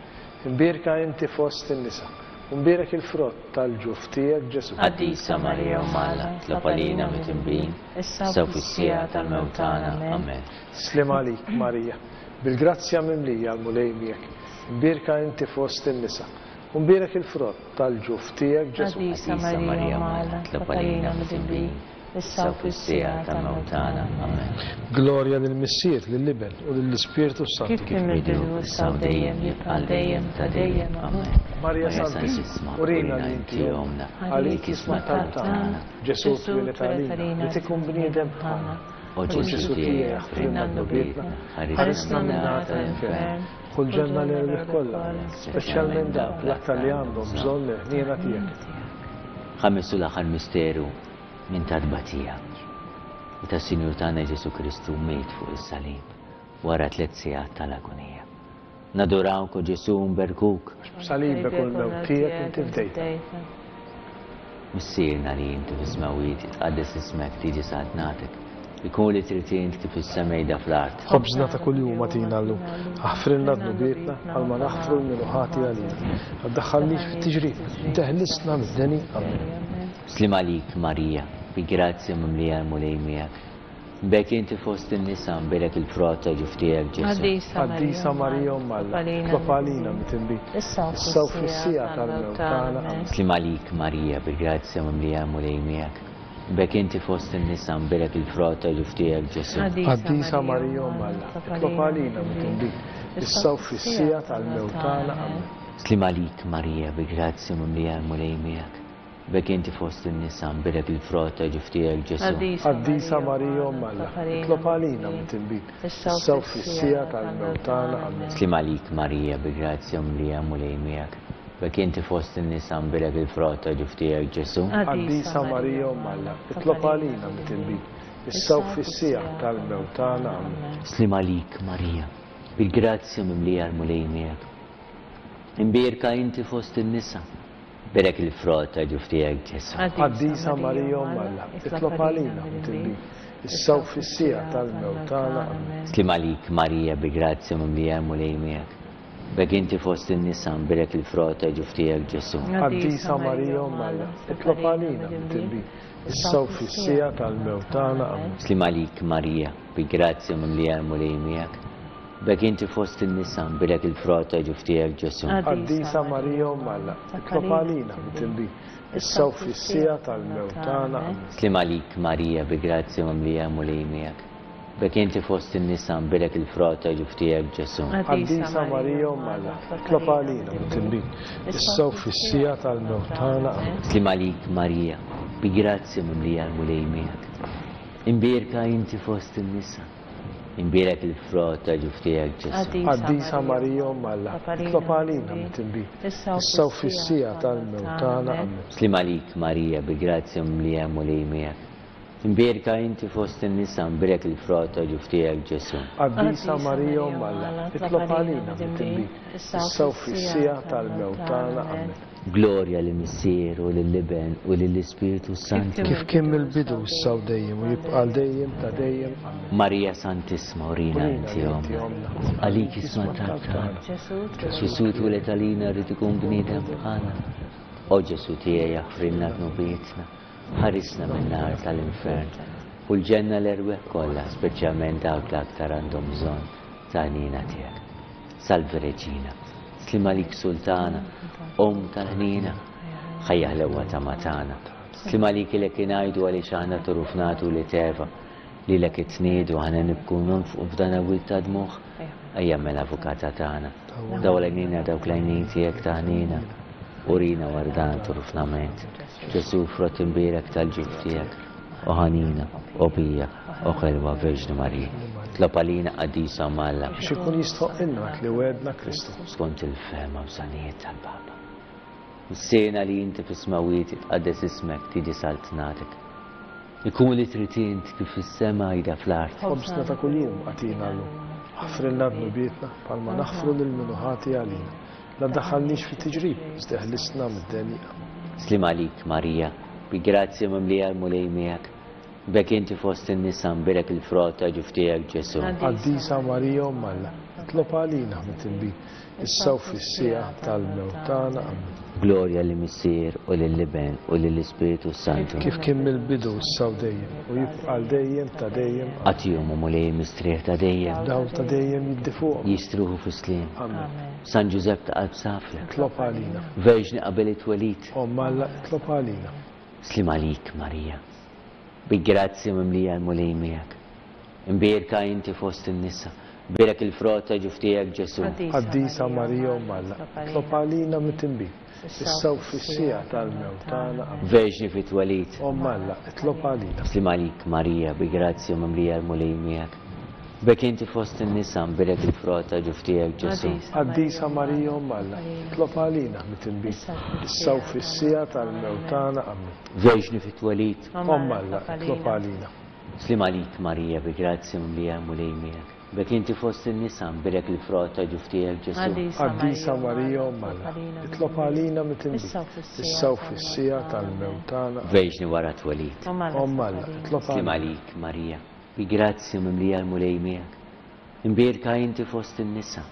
Imbierka inti fost in-nisa, u mbierek il-frott tal-ġuf tiegħek Ġesù. Qaddisa Marija Omm Alla, itlob għalina midinbin, issa u fis-siegħa tal-mewt tagħna. Amen. Sliem għalik, Marija, bil-grazzja mimlija l-Mulej miegħek. Imbierka inti fost in-nisa, u mbierek il-frott tal-ġuf tiegħek Ġesù. Qaddisa Marija Omm Alla, itlob għalina midinbin, issa u fis-siegħa tal-mewt tagħna. Amen. Glorja lill-Missier, lill-Iben u lill-Ispirtu Santu. Kif kien mill-bidu, issa u dejjem, jibqa' dejjem ta' dejjem. Amen. Marija Santissima, urina li inti ommna, għalik jisma' talb tagħna. Ġesù twieled għalina, li tikun bniedem bħalna. O Ġesù tiegħi, aħfrilna dnubietna, ħarisna min-nar tal-infern, ħu l-ġenna l-erwieħ kollha, speċjalment dawk l-aktar li għandhom bżonn il-ħniena tiegħek. Ħames u l-aħħar misteru minn ta' tbatija. Meta s-Sinjur tagħna Ġesù Kristu miet fuq is-salib wara tliet sigħat tal-agonija. Nadurawk, o Ġesù, nberkuk. Għax b'salibek u l-mewt tiegħek inti fdejtna. Missierna li inti fis-smewwiet, jitqaddes ismek, tiġi saltnatek. Ikun li trid int kif is-sema jda fl-art. Ħobżna ta' kuljum agħtina llum. Aħfrilna dnubietna bħalma naħfru lil min hu ħati għalina. Ma tdaħħalniex fit-tiġrib, teħlisna mid-deni. Amen. Sliem għalik, Marija, bi grazzja mimlija l-Mulej miegħek. Bek inti fost in-nisa, mbierek il-frott ta' ġuf tiegħek, Ġesù. Qaddisa Marija Omm Alla, itlob għalina midinbin, issa u fis-siegħa tal-mewt tagħna. Amen. Sliem għalik, Marija, bi grazzja mimlija l-Mulej miegħek. Bek inti fost in-nisa, mbierek il-frott ta' ġuf tiegħek, Ġesù. Qaddisa Marija Omm Alla, itlob għalina midinbin, issa u fis-siegħa tal-mewt tagħna. Amen. Sliem għalik, Marija, bi grazzja mimlija l-Mulej miegħek. Bek inti fost in-nisa, mbierek il-frott ta' ġuf tiegħek, Ġesù. Qaddisa Marija Omm Alla, itlob għalina midinbin, issa u fis-siegħa tal-mewt tagħna. Amen. Sliem għalik, Marija, bi grazzja mimlija l-Mulej miegħek. Bek inti fost in-nisa, mbierek il-frott ta' ġuf tiegħek, Ġesù. Qaddisa Marija Omm Alla, itlob għalina midinbin, issa u fis-siegħa tal-mewt tagħna. Amen. Sliem għalik, Marija, bil-grazzja mimlija l-Mulej miegħek. Imbierka inti fost in-nisa, mbierek il-frott ta' ġuf tiegħek, Ġesù. Qaddisa Marija Omm Alla, itlob għalina midinbin, issa u fis-siegħa tal-mewt tagħna. Amen. Sliem għalik, Marija, bi grazzja mimlija l-Mulej miegħek. Bek inti fost in-nisa, mbierek il-frott ta' ġuf tiegħek, Ġesù. Qaddisa Marija Omm Alla, itlob għalina midinbin, issa u fis-siegħa tal-mewt tagħna. Amen. Sliem għalik, Marija, bi grazzja mimlija l-Mulej miegħek. Bek inti fost in-nisa, mbierek il-frott ta' ġuf tiegħek, Ġesù. Qaddisa Marija Omm Alla, itlob għalina midinbin, issa u fis-siegħa tal-mewt tagħna. Amen. Sliem għalik, Marija, bi grazzja mimlija l-Mulej miegħek. Bek inti fost in-nisa, mbierek il-frott ta' ġuf tiegħek, Ġesù. Qaddisa Marija Omm Alla, itlob għalina midinbin, issa u fis-siegħa tal-mewt tagħna. Amen. Sliem għalik, Marija, bi grazzja mimlija l-Mulej miegħek. Imbierka inti fost in-nisa, imbierek il-frott ta' ġuf tiegħek, Ġesù. Qaddisa Marija Omm Alla, itlob għalina midinbin, issa u fis-siegħa tal-mewt tagħna. Amen. Sliem għalik, Marija, bi grazzja mimlija l-Mulej miegħek. Imbierka inti fost in-nisa, mbierek il-frott ta' ġuf tiegħek, Ġesù. Qaddisa Marija Omm Alla, itlob għalina midinbin, issa u fis-siegħa tal-mewt tagħna. Amen. Glorja lill-Missier u lill-Iben u lill-Ispirtu Santu. Kif kien mill-bidu, issa u dejjem, u jibqa' għal dejjem ta' dejjem. Amen. Marija Santissima, urina inti ommna, għalik isma' talb tagħna. Ġesù twieled għalina rrid ikun bniedem bħalna. O Ġesu tiegħi aħfrilna dnubietna, ħarisna min-nar tal-infern u l-ġenna l-erwieħ kollha, speċjalment dawk l-aktar għandhom bżonn ta' ħniena tiegħek. Salve Reġina, sliem għalik Sultana, Omm tal-ħniena, ħajja ħlewwa ta' matana. Sliem għalik ilek ingħidu għaliex aħna turuf nagħtu li teva, lilek itniedu aħna nibku nonfqu f'dan awil ta' dmuħ. Ejja mela avukata tagħna, daw l-għajnina dawk l-għajnin tiegħek ta' ħniena, urina wara dan turufnament. Ġesu frott imbierek tal-ġuf tiegħek, o ħanina, o pija, o ħelwa Verġni Marija. Tlob għalina qaddisa Alla. Biex ikun jistħoqilna dak li wegħedna Kristu. Skont il-fehma bżonnijiet tal-Papa. Missierna li inti fis-smawiet tqaddes ismek, tiġi saltnatek. Ikun li trid int kif fis-sema ida fl-art. Ħobżna ta' kuljum agħtina llum. Aħfrilna dnubietna bħalma naħfru lil min hu ħati għalina. La ddaħħalniex fit-tiġrib, iżda eħlisna mid-deni. Sliem għalik Marija, bi grazzja mimlija l-Mulej miegħek. Bek inti fost in-nisa mbierek il-frott ta' ġuf tiegħek Ġesu. Qaddisa Marija Omm Alla, itlob għalina mitinbin, issa u fis-siegħa tal-mewt tagħna. Amen. Glorja lil Missier u lill-Iben u lill-Ispiritu Santu. Kif kien mill-bidu issa u dejjem u jibqa' għal dejjem ta' dejjem. Agħtihom, o Mulej, mistrieħ ta' dejjem. Dawl ta' dejjem jiddi fuqhom. Jistruħu fis-sliem. Amen. San Ġużepp ta' qalb safja. Itlob għalina. Verġni qabel it-twelid. Omm Alla, itlob għalina. Sliem għalik Marija, bi grazzja mimlija l-Mulej miegħek. Imbierka inti fost in-nisa, bierek il-frott ta' ġuf tiegħek Ġesu. Qaddisa Marija Omm Alla, itlob għalina mitinbin, issa u fis-siegħa tal-mewt tagħna. Amen. Verġni fit-twelid. Omm Alla, itlob għalina. Sliem għalik Marija, bi grazzja mimlija l-Mulej miegħek. Bek inti fost in-nisa, mbierek il-frott ta' ġuf tiegħek Ġesu. Qaddisa Marija Omm Alla, itlob għalina mitinbin, issa u fis-siegħa tal-mewt tagħna. Amen. Verġni fit-twelid. Omm Alla, itlob għalina. Sliem għalik Marija, bi grazzja mimlija l-Mulej miegħek. Bek inti fost in-nisa, mbierek il-frott ta' ġuf tiegħek Ġesu. Qaddisa Marija Omm Alla, itlob għalina mitinbin, issa u fis-siegħa tal-mewt tagħna. Verġni wara t-twelid. Omm Alla, itlob Sliem għalina. għalik Marija, bi grazzja mimlija l-Mulej miegħek. Imbierka inti fost in-nisa,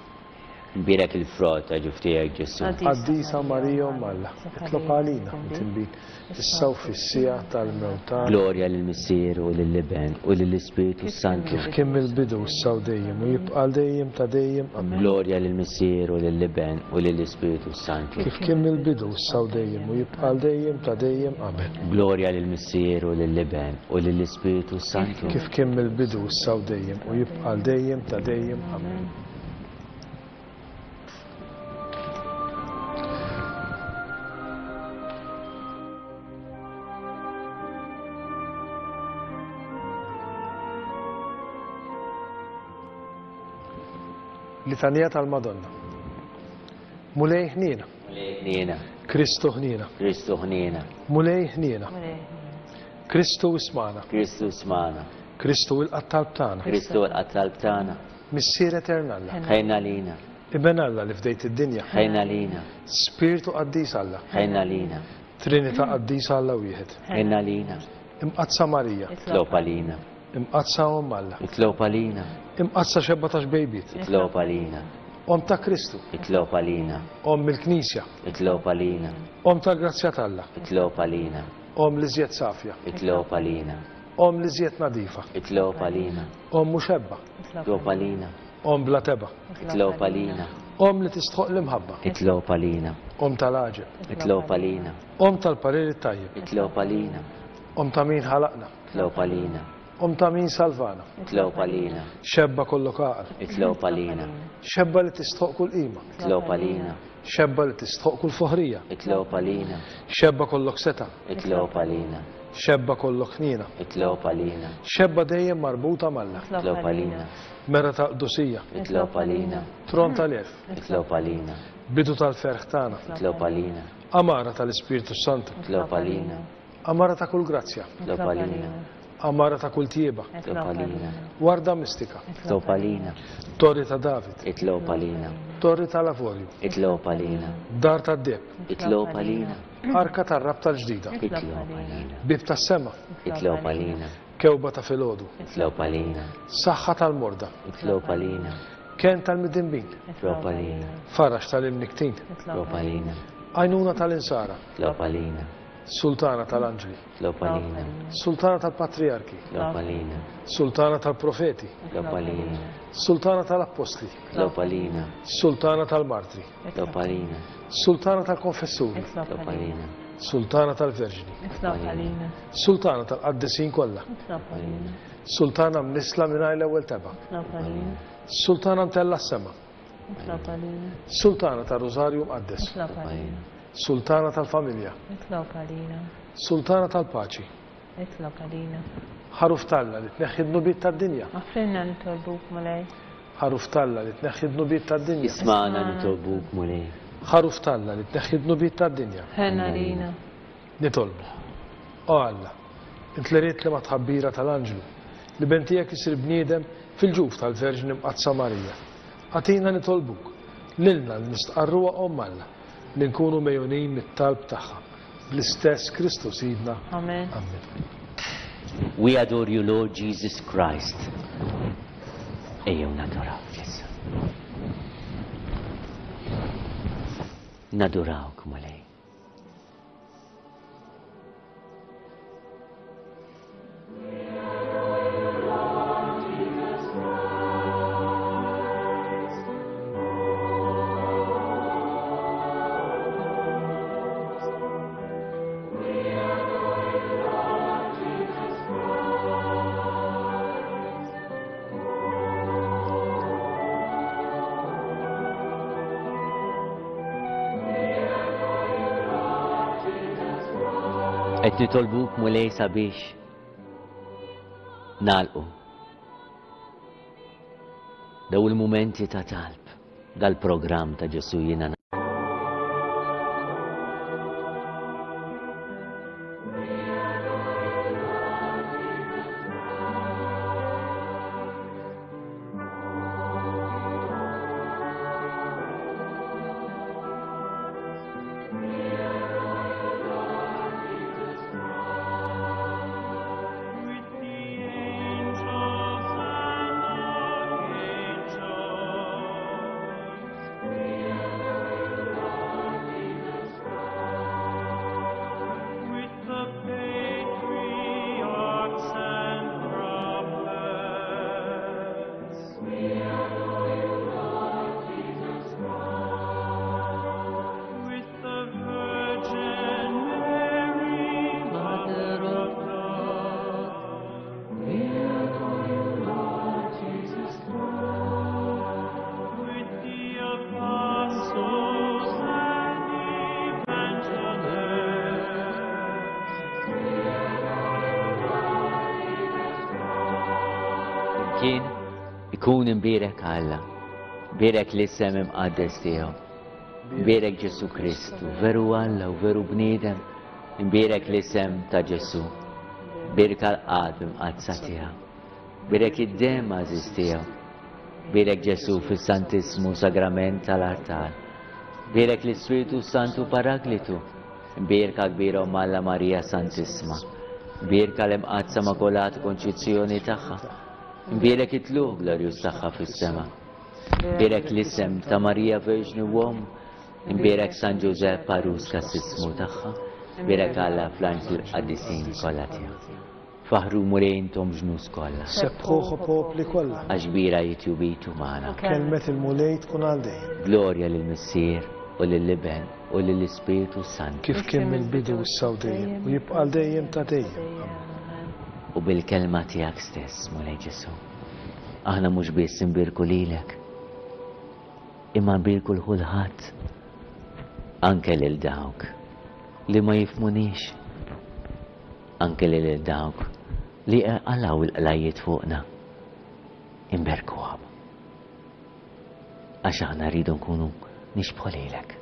imbierek il-frott ta' ġuf tiegħek Ġesu. Qaddisa Marija Omm Alla, itlob għalina mitinbin, issa u fis-siegħa tal-mewt tagħna. Glorja lill-Missier u lill-Iben u lill-Ispiritu Santu. Kif kien mill-bidu issa u dejjem u jibqa' għal dejjem ta' dejjem. Amen. Glorja lill-Missier u lill-Iben u lill-Ispiritu Santu. Kif kien mill-bidu issa u dejjem u jibqa' għal dejjem ta' dejjem. Amen. Glorja lill-Missier u lill-Iben u lill-Ispiritu Santu. Kif kien mill-bidu issa u dejjem u jibqa' għal dejjem ta' dejjem. Amen. Litanija tal-Madonna. Mulej ħniena. Mulej ħniena. Kristu ħniena. Kristu ħniena. Mulej ħniena. Kristu ismana. Kristu ismana. Kristu ilqa' t-talb tagħna. Kristu ilqa' t-talb tagħna. Missier etern Alla. Ħejna lina. Iben Alla li fdejt id-dinja. Ħejna lina. Spiritu Qaddis Alla. Ħejna lina. Trinità Qaddisa Alla wieħed. Ħejna lina. Imqaddsa Marija. Itlob għalina. Imqaddsa Omm Alla. Itlob għalina. Imqaddsa xebba ta' xbejbiet. Itlob għalina. Omm ta' Kristu. Itlob għalina. Omm il-Knisja. Itlob għalina. Omm tal-grazzja t'Alla. Itlob għalina. Omm li żjed safja. Itlob għalina. Omm li żjed nadifa. Itlob għalina. Omm muxebba. Itlob għalina. Omm bla teba. Itlob għalina. Omm li tistħoq l-imħabba. Itlob għalina. Omm tal-għaġeb. Itlob għalina. Omm tal-parir it-tajjeb. Itlob għalina. Omm ta' min ħalaqna. Itlob għalina. Omm ta' min salvana. Itlob għalina. Xebba kollok għaqal. Itlob għalina. Xebba li tistħoq kull qima. Itlob għalina. Xebba li tistħoq kull foħrija. Itlob għalina. Xebba kollok seta. Itlob għalina. Xebba kollok ħniena. Itlob għalina. Xebba dejjem marbuta m'Alla. Itlob għalina. Mera ta' qdusija. Itlob għalina. Tron tal-għerf. Itlob għalina. Bidu tal-ferħ tagħna. Itlob għalina. Amara tal-Ispirtu Santu. Itlob għalina. Amara ta' kull grazzja. Itlob għalina. Amara ta' kull tjieba. Itlob għalina. Warda mistika. Itlob għalina. Torri ta' David. Itlob għalina. Torri tal-Avorju. Itlob għalina. Dar tad-deheb. Itlob għalina. Arka tar-rabta l-ġdida. Itlob għalina. Bib tas-sema. Itlob għalina. Kewba ta' filgħodu. Itlob għalina. Saħħa tal-morda. Itlob għalina. Ken tal-midinbin. Itlob għalina. Farax tal-imniktin. Itlob għalina. Għajnuna tal-insara. Itlob għalina. Sultana tal-anġli. Itlob għalina. Sultana tal-patriarki. Itlob għalina. Sultana tal-profeti. Itlob għalina. Sultana tal-appostli. Itlob għalina. Sultana tal-martri. Itlob għalina. Sultana tal-konfessuri. Itlob għalina. Sultana tal-verġni. Itlob għalina. Sultana tal-qaddisin kollha. Itlob għalina. Sultana mnissla mingħajr l-ewwel tebgħa. Itlob għalina. Sultana mtellgħa s-sema. Itlob għalina. Sultana tar-Rużarju Mqaddes. Itlob għalina. Sultana tal-familja. Itlob għalina. Sultana tal-paċi. Itlob għalina. Ħaruf t'Alla li tneħħi d-dnubiet tad-dinja. Aħfrilna nitolbuk, Mulej. Ħaruf t'Alla li tneħħi d-dnubiet tad-dinja. Ismagħna nitolbuk, Mulej. Ħaruf t'Alla li tneħħi d-dnubiet tad-dinja. Ħenn għalina. Nitolbu. O Alla, int li ridt li mat-tħabbira tal-anġlu, l-Iben tiegħek isir bniedem fil-ġuf tal-Verġni Mqaddsa Marija. Agħtina nitolbuk, lilna li nistqarruha Omm Alla, li nkunu megħjunin mit-talb tagħha, bl-istess Kristu Sidna. Amen. Amen. We adore you, Lord Jesus Christ. Ejjew nadurawk issa. Nadurawk, Mulej. Qed nitolbuk, Mulej, sabiex nagħlqu daw il-mumenti ta' talb dal-programm ta' Ġesù jiena. Kien ikun imbierek Alla, bierek l-isem imqaddes tiegħu, bierek Ġesù Kristu, veru Alla u veru bniedem, imbierek l-isem ta' Ġesù, bierek l-qalb imqaddsa tiegħu, bierek id-demm għażiż tiegħu, bierek Ġesù fis-Santissmu Sagrament tal-Artal, bierek l-Ispiritu Santu Paraklitu, bierka kbira Omm Alla Marija Santissma, bierka l-Imqaddsa Immakulata Konċizzjoni tagħha, Bierek it-tluq glorjuż tagħha fis-sema. Bierek l-isem ta' Marija Verġni u Omm. Bierek San Ġużepp għarus kassismu tagħha. Bierek Alla fl-anġli l-qaddisin kollha tiegħu. Faħru Mulej intom ġnus kollha. Sebbħuh o popli kollha. Għax kbira hi tjubitu magħna. Kelmet il-Mulej tkun għal dejjem. Glorja lill-Missier u lill-Iben u lill-Ispirtu Santu. Kif kien mill-bidu issa u dejjem u jibqa' għal dejjem ta' dejjem. Amen. U bil-kelma tiegħek stess, Mulej Ġesù, aħna mhux biss nbierku lilek, imma nbierku l kulħadd, anke lil dawk li ma jifhmunix, anke lil dawk li qalgħu l-qlajjiet fuqna, imberkuhom. Għax aħna rridu nkunu nixbħu lilek.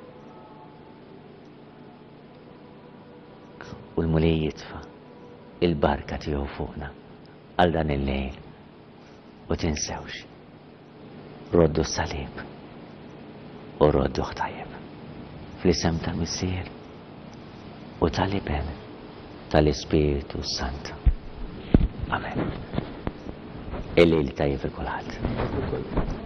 U l-Mulej jitfa' il-barka tiegħu fuqna għal dan il-lejl. U tinsewx, roddu s-salib u rodduh tajjeb. Fl-isem tal-Missier u tal-Iben tal-Ispirtu Santu. Amen. Il-lejl tajjeb il kulħadd.